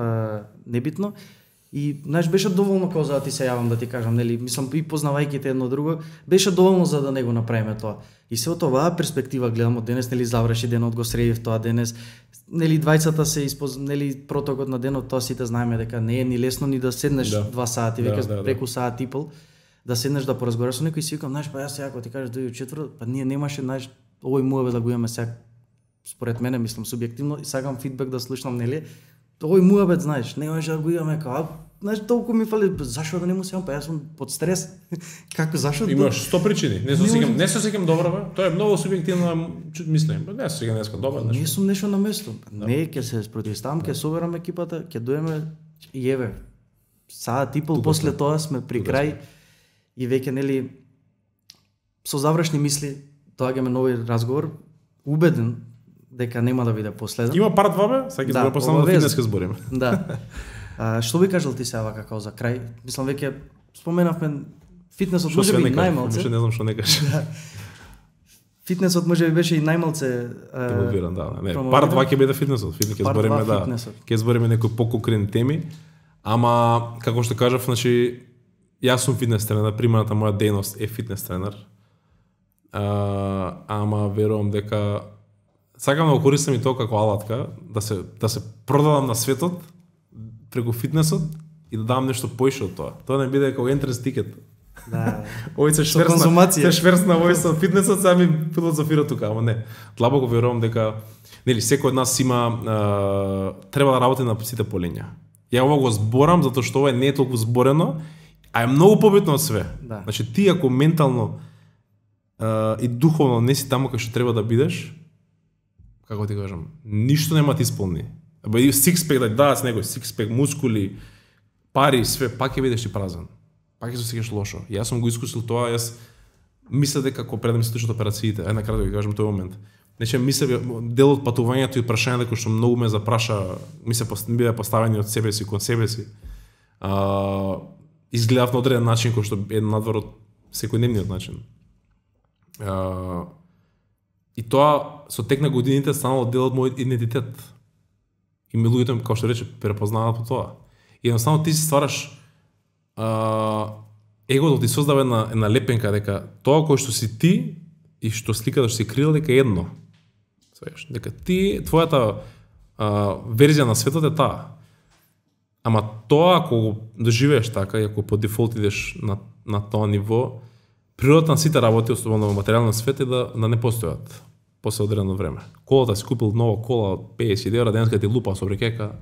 небитно. И знаеш беше доволно кога за да ти се јавам да ти кажам, нели, мислам и познавајќи те едно друго, беше доволно за да не го направиме тоа. И се од оваа перспектива гледам од денес, нели заврши денот, го средив тоа денес. Нели двајцата се нели протокот на денот, тоа сите знаеме дека не е ни лесно ни да седнеш 2 сати, веќе преку саат и пол, да седнеш да поразговараш со некој и си викам, знаеш, па јас сега кога ти кажеш дојде четврт, па ние немаше, знаеш, овој муаве да го имаме сега според мене, мислам субјективно и сакам фидбек да слушнам, нели? Овој муабет, знаеш, не можеш да го имаме како, знаеш, толку ми фали, зашо да не му сеам, па јас сум под стрес. Како зашо? Имаш 100 причини. Не се сеќам добро, бе. Тоа е многу субјективно мислење. Не се сеќам деска добро нешто. Не сум нешто на место. Не, ќе се спротивставам, ќе соберам екипата, ќе доеме и еве. Саат и пол после тоа сме при крај и веќе нели со завршни мисли доаѓаме нови разговор, убеден дека нема да биде последен. Има part 2 бе, сега ќе збориме после на фитнес ќе збориме. Да. Што би кажал ти сега како за крај? Мислам веќе споменавме фитнесот можеби најмалце. Уште не знам што не кажеш. Фитнесот можеби беше и најмалце инволвиран, да. Не, part 2 ќе биде фитнесот. Фитнес ќе збориме, да. Ќе збориме некои поконкретни теми. Ама како што кажав, значи јас сум фитнес тренер, приманата моја дејност е фитнес тренер. Ама верувам дека сакам да го користам и тоа како алатка, да се продадам на светот преку фитнесот и да дам нешто поише од тоа. Тоа не биде како entrance ticket. Да. Овој се шверсна овој со фитнесот, сега ми филозофира тука, ама не. Длабоко верувам дека нели секој од нас има треба да работи на сите полиња. Ја ова го зборам затоа што ова не е толку зборено, а е многу побитно од све. Да. Значи ти ако ментално и духовно не си таму кај што треба да бидеш, како ти кажам, ништо нема ти исполни. Абе и сикспек да дадат некој сикспек, мускули, пари, све, пак ќе бидеш ти празен. Пак ќе се осеќаш лошо. Јас сум го искусил тоа, јас мисля дека кога предам се слушат операциите, на кратко ќе кажам тој момент. Значи мисля дел од патувањето и прашањето кои што многу ме запраша, ми се беа поставени од себе си кон себе си. Изгледав на одреден начин кој што е надвор од секојдневниот начин. И тоа со тек на годините станало дел од мојот идентитет. И ми луѓето, како што рече, препознаваат по тоа. И едноставно ти си ствараш егото ти создава една лепенка дека тоа кој што си ти и што сликата што си крила дека е едно. Свееш, дека ти твојата верзија на светот е таа. Ама тоа ако го доживееш така и ако по дефолт идеш на тоа ниво, природата на сите работи, особено во материјалниот свет е да не постојат после одредено време. Колата си купил нова кола од 50 евра, денеска ти лупа со брекека,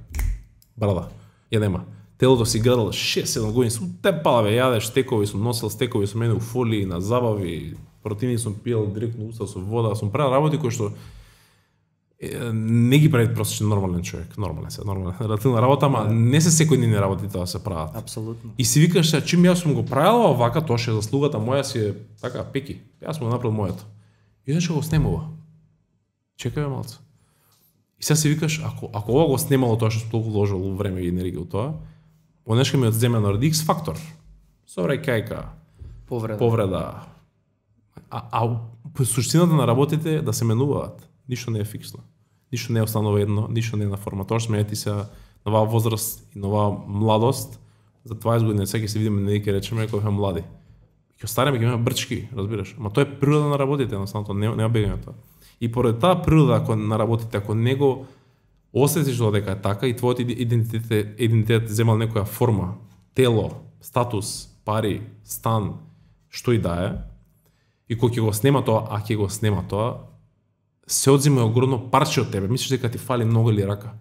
брада, ја нема. Телото си градал 6-7 години, сум те пала бе, јадеш стекови, сум носил стекови со мене у фолии, на забави, противни сум пиел директно уста со вода, сум правил работи кои што не ги прави просечен нормален човек, нормална релативна работа, ама не се секојдневни работи тоа се прават. Апсолутно. И си викаш се, чим јас сум го правил овака, тоа ше заслугата моја си е така пеки. Јас сум го направил моето. И иначе го снемува. Чекај малце. И сега си викаш, ако ова го снемало тоа што сум толку вложил време и енергија у тоа, онешка ми одземе на X фактор. Собраќајка, повреда. Суштината на работите е да се менуваат. Ништо не е фиксно. Ништо не е останало едно, ништо не е на форма. Тоа што сменети се на оваа возраст и на оваа младост, за 20 години сега ќе се видиме не ќе речеме кога сме млади. Ќе остареме, ќе имаме брчки, разбираш. Ама тоа е природа на работите, едноставно нема бегање тоа. И поради таа природа ако на работите, ако него осетиш дека е така и твојот идентитет земал некоја форма, тело, статус, пари, стан, што и да е, и кога ќе го снема тоа, а ќе го снема тоа, се одзема огромно парче од тебе. Мислиш дека ти фали нога или рака.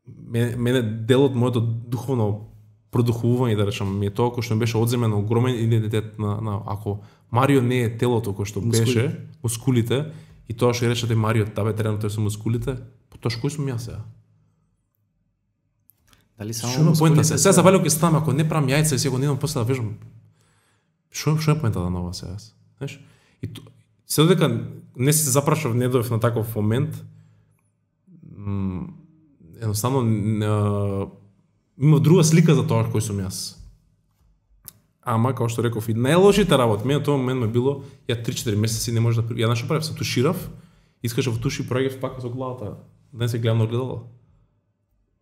Мене дел од моето духовно продухувување, да речам, ми е тоа кој што ми беше одземено огромен идентитет на ако Марио не е телото кој што беше, мускулите, и тоа што речете Марио, табе тренер тој со мускулите, потоа кој сум јас сега? Дали само мускулите? Сега забавлено ќе ставам, ако не правам јајца и сега не идам после да вежам. Што е поентата на ова сега? Знаеш? И се додека не се запрашав, не дојдов на таков момент. Едноставно има друга слика за тоа кој сум јас. Ама, како што реков, и најлошите работи, мене тоа момент ме било, ја 3-4 месеци не може да... Ја нашо правев, се туширав, искашав туши, проаѓав пак со главата, да се гледам на огледало.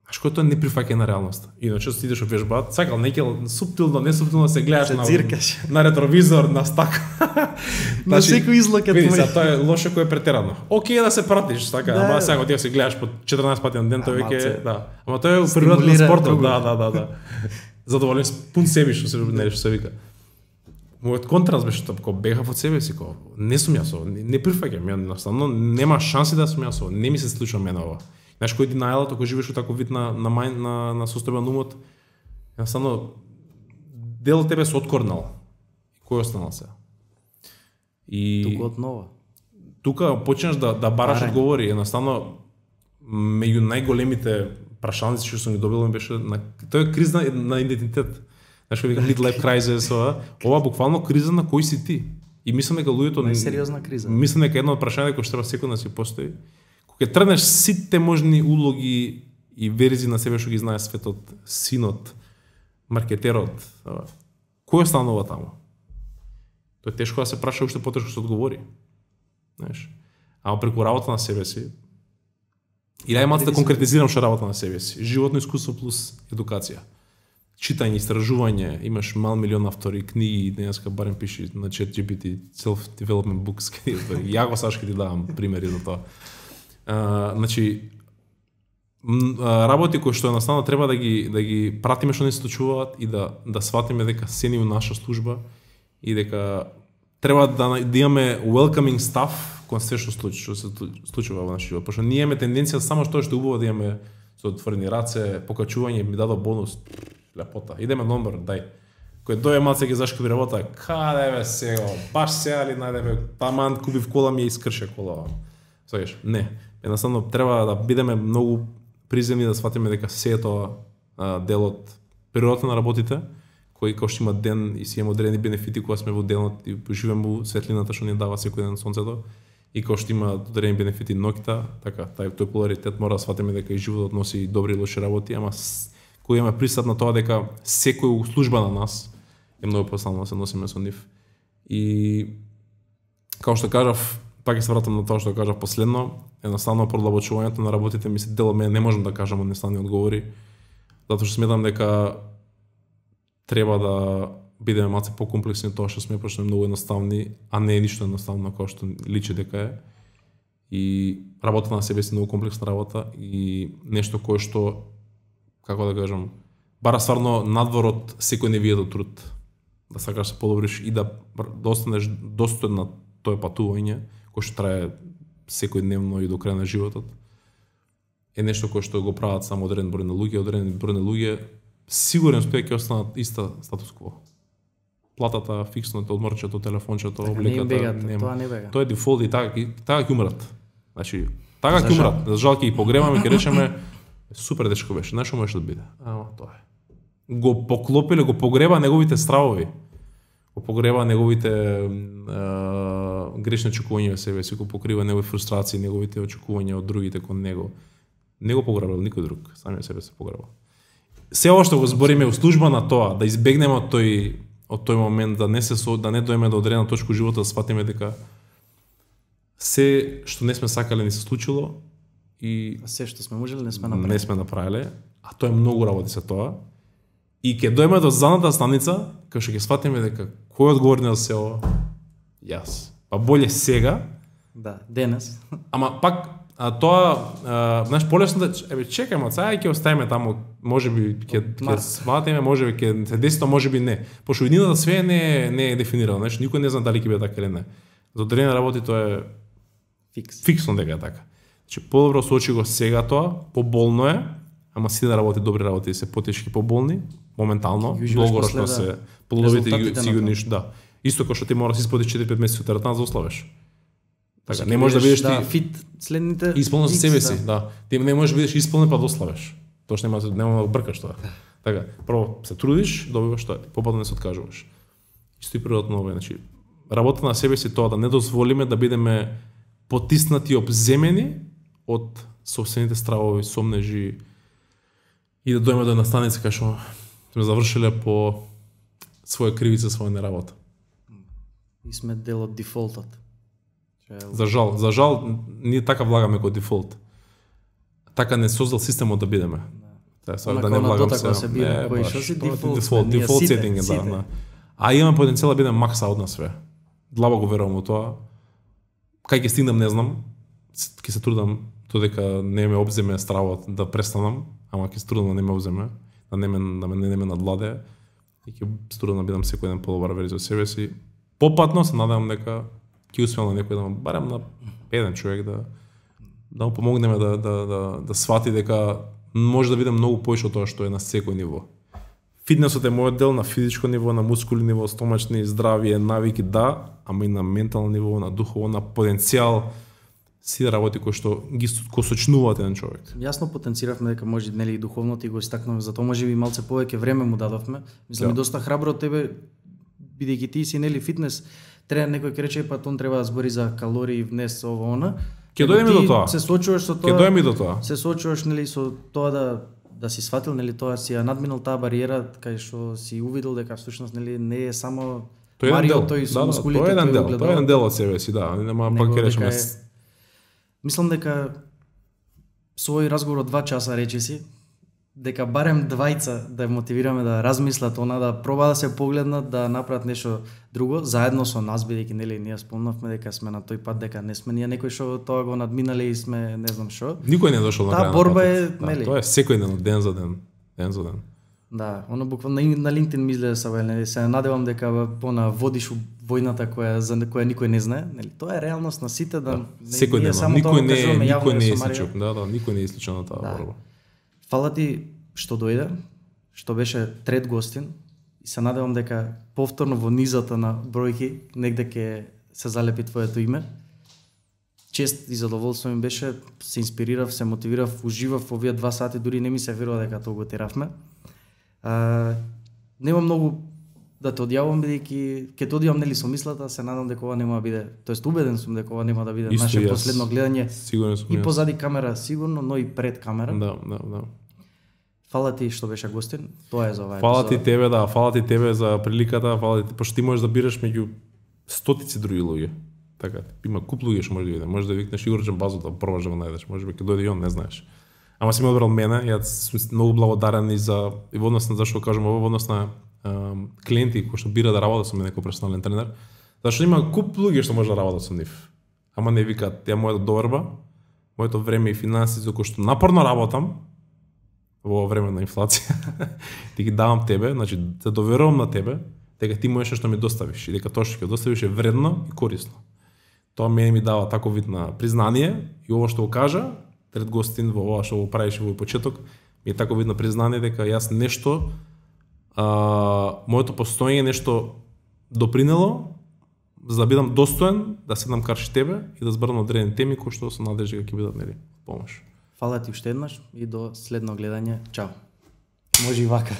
Знаеш кој тоа не прифаќа на реалноста. Иначе си идеш во вежба, сакал некел суптилно, несуптилно се гледаш на ретровизор, на стак. На секој излак види, тоа е лошо кој е претерано. Окей да се пратиш, така, ама сега ти се гледаш по 14 пати на ден, тоа веќе, да. Ама тоа е природата на спортот, да. Задоволен пун себе што се вика. Мојот контраст беше тоа, кога бегав од себе си, кога не сум јас, не прифаќам, едноставно нема шанси да сум јас, не ми се случува мене ова. Знаеш кој ти најлото кога живееш во таков вид на состојба на умот, едноставно дел од тебе се откорнал. Кој останал се? И тука однова. Тука почнеш да бараш одговори, едноставно меѓу најголемите прашалници што сум ги добил беше тоа е криза на идентитет. Знаеш кој вика midlife crisis, ова буквално криза на кој си ти. И мислам дека луѓето најсериозна криза. Мислам дека едно од прашањата кој што треба секој да си постои. Кога тргнеш сите можни улоги и верзии на себе што ги знае светот, синот, маркетерот, кој останува таму? Тоа е тешко да се праша, уште потешко се одговори. Знаеш? Ама преку работа на себе си, и најмалку да конкретизирам што работа на себе си. Животно искуство плюс едукација. Читање, истражување, имаш мал милион автори, книги, денеска барем пиши на ChatGPT, self-development books, ја го саш ќе ти давам примери за тоа. Значи, работи кои што едноставно треба да ги пратиме што не се случуваат и да сватиме дека се ни у наша служба и дека треба да имаме welcoming staff кон се што се случува во нашиот живот. Пошто ние имаме тенденција само што е убаво да имаме со отворени раце, покачување, ми дадо бонус, лепота. Идеме номер, дај. Кој дојде малце ги зашкоби работа, каде бе сега, баш сега ли најдеме, таман купив кола ми ја искрше кола. Сакаш? Не. Едноставно треба да бидеме многу приземни да сватиме дека се е тоа дел од природата на работите, кој што има ден и си има одредени бенефити кога сме во денот и живееме во светлината што ни дава секој ден сонцето и кој што има одредени бенефити ноќта, така, тој поларитет мора да сватиме дека и животот носи и добри и лоши работи, ама кој имаме пристап на тоа дека секој служба на нас е многу посилно да се носиме со нив. И како што кажав, пак се вратам на тоа што кажав последно, едноставно продлабочувањето на работите ми се дел од мене, не можам да кажам едноставни одговори, затоа што сметам дека треба да бидеме малце покомплексни тоа што сме, пошто е многу едноставни, а не е ништо едноставно како што личи дека е. И работа на себе си многу комплексна работа и нешто кое што, како да кажам, бара стварно надвор од секој невијат труд. Да сакаш се подобриш и да останеш достоен на тоа патување, кој што трае секојдневно и до крај на животот, е нешто кое што го прават само одреден број на луѓе, сигурен сум дека ќе останат иста статус кво. Платата, фиксното, одморчето, телефончето, облеката, нема. Тоа е дефолт и така ќе умрат. Значи, така ќе умрат. За жал ќе ги погребаме, ќе речеме супер дечко беше, знаеш што можеше да биде. Ама тоа е. Го поклопиле, го погреба неговите стравови. Го погреба неговите грешни очекувања во себе си, го покрива негови фрустрации, неговите очекувања од другите кон него. Не го погребал никој друг, самиот себе се погребал. Се ова што го збориме во служба на тоа, да избегнеме од тој момент, да не дојме до одредена точка во животот, да сватиме дека се што не сме сакале не се случило и се што сме можеле не сме направиле, а тоа е многу работи се тоа. И ќе дојме до задната станица, кај што ќе сватиме дека кој е одговорен за се ова? Јас. Па боле сега. Да, денес. Ама пак знаеш, полесно да чекај, сега ќе оставиме таму, можеби ќе сватиме, можеби ќе се деси тоа, можеби не. Пошто иднината све не е дефинирано, знаеш, никој не знае дали ќе биде така или не. За одредени работи тоа е фиксно дека е така. Значи подобро соочи го сега тоа, поболно е, ама си да работи добри работи, се потешки, поболни, моментално, долгороčno се плодовите сигурни, да. Исто како што ти мора да си исподиш 4-5 месеци од теретана за ославеш. Така, не можеш да бидеш ти фит следните исполнен за себе си, да. Ти не можеш да бидеш исполнен па да ославеш. Тоа што нема да бркаш тоа. Така, прво се трудиш, добиваш тоа, попатно не се откажуваш. Исто и природно, значи работа на себе си тоа да не дозволиме да бидеме потиснати, обземени од собствените стравови, сомнежи и да дојме до една станица кај што сме завршиле по своја кривица, своја неработа. И сме дел од дефолтот. За жал, ние така влагаме кој дефолт. Така не создал системот да бидеме. Да не влагам се бира, кој што си дефолт сетинг, да. А имаме потенцијал да бидеме макса од нас све. Длабоко го верувам во тоа. Кај ќе стигнам не знам. Ќе се трудам додека не ме обземе стравот да престанам, ама ќе се трудам да не ме обземе, да не ме надвладе. И ќе се трудам да бидам секој ден подобра верзија од себе си. Попатно се надевам дека ќе успеам на некој да барем на еден човек да му помогнеме да свати дека може да биде многу поише од тоа што е на секој ниво. Фитнесот е мојот дел на физичко ниво, на мускули ниво, стомачни, здравје, навики, да, ама и на ментално ниво, на духово, на потенцијал, си работи кои што ги сочнуваат еден човек. Јасно потенциравме дека може нели и духовното и го истакнуваме, затоа може би малце повеќе време му дадовме. Мислам и доста храбро од тебе, бидејќи ти си нели фитнес, треба некој ќе рече па тон треба да збори за калории, внес ово она. Ќе дојдеме до тоа. Се соочуваш со тоа. Ќе дојдеме до тоа. Се соочуваш нели со тоа да си сватил нели тоа, си ја надминал таа бариера кај што си увидел дека всушност нели не е само Марио тој со мускулите, тоа е еден дел од себе си, да, нема пак ќе речеме. Мислам дека со овој разговор од 2 часа речиси дека барем двајца да мотивираме да размислат она, да проба да се погледнат, да направат нешто друго заедно со нас, бидејќи нели ние спомнавме дека сме на тој пат, дека не сме ние некој што тоа го надминале и сме не знам што. Никој не дошол на крај. Таа борба е, нели? Тоа е секој ден, ден за ден, Да, оно буквално на LinkedIn ми изгледа сабе, нели, се надевам дека пона водиш војната за која никој не знае, нели? Тоа е реалност на сите да секој ден, никој не е сличен, никој не е сличен на таа борба. Фала ти што дојде, што беше трет гостин и се надевам дека повторно во низата на бројки негде ќе се залепи твоето име. Чест и задоволство ми беше, се инспирирав, се мотивирав, уживав овие 2 сати, дури не ми се верува дека тоа го теравме. Нема многу да те одјавам, бидејќи ќе те одјавам нели со мислата, се надам дека ова нема да биде, тоест убеден сум дека ова нема да биде наше последно гледање. Сигурен сум. И позади камера сигурно, но и пред камера. Да. Фала ти што беше гостин. Тоа е за оваа епизода. Фала ти тебе за приликата, пошто ти можеш да бираш меѓу стотици други луѓе. Така, има куп луѓе што може да биде. Може да викнеш Игор Джамбазов да пробаш да го најдеш, можеби ќе дојде и он, не знаеш. Ама си ме одбрал мене, јас сум многу благодарен и во однос на зашто кажам во однос на клиенти кои што бира да работат со мене како персонален тренер, зашто има куп луѓе што може да работат со нив. Ама не викаат, ја мојата доверба, моето време и финанси за кои што напорно работам во време на инфлација, ти ги давам тебе, значи те доверувам на тебе, дека ти можеш што ми доставиш и дека тоа што ќе доставиш е вредно и корисно. Тоа мене ми дава таков вид на признание и ово што го кажа пред гостин во ова што го правиш во почеток, ми е таков вид на признание дека јас нешто моето постоење нешто допринело за да бидам достоен да седнам карши тебе и да зборам одредени теми кои што се надежда дека ќе бидат нели помош. Фала ти уште еднаш и до следно гледање. Чао. Може и вака.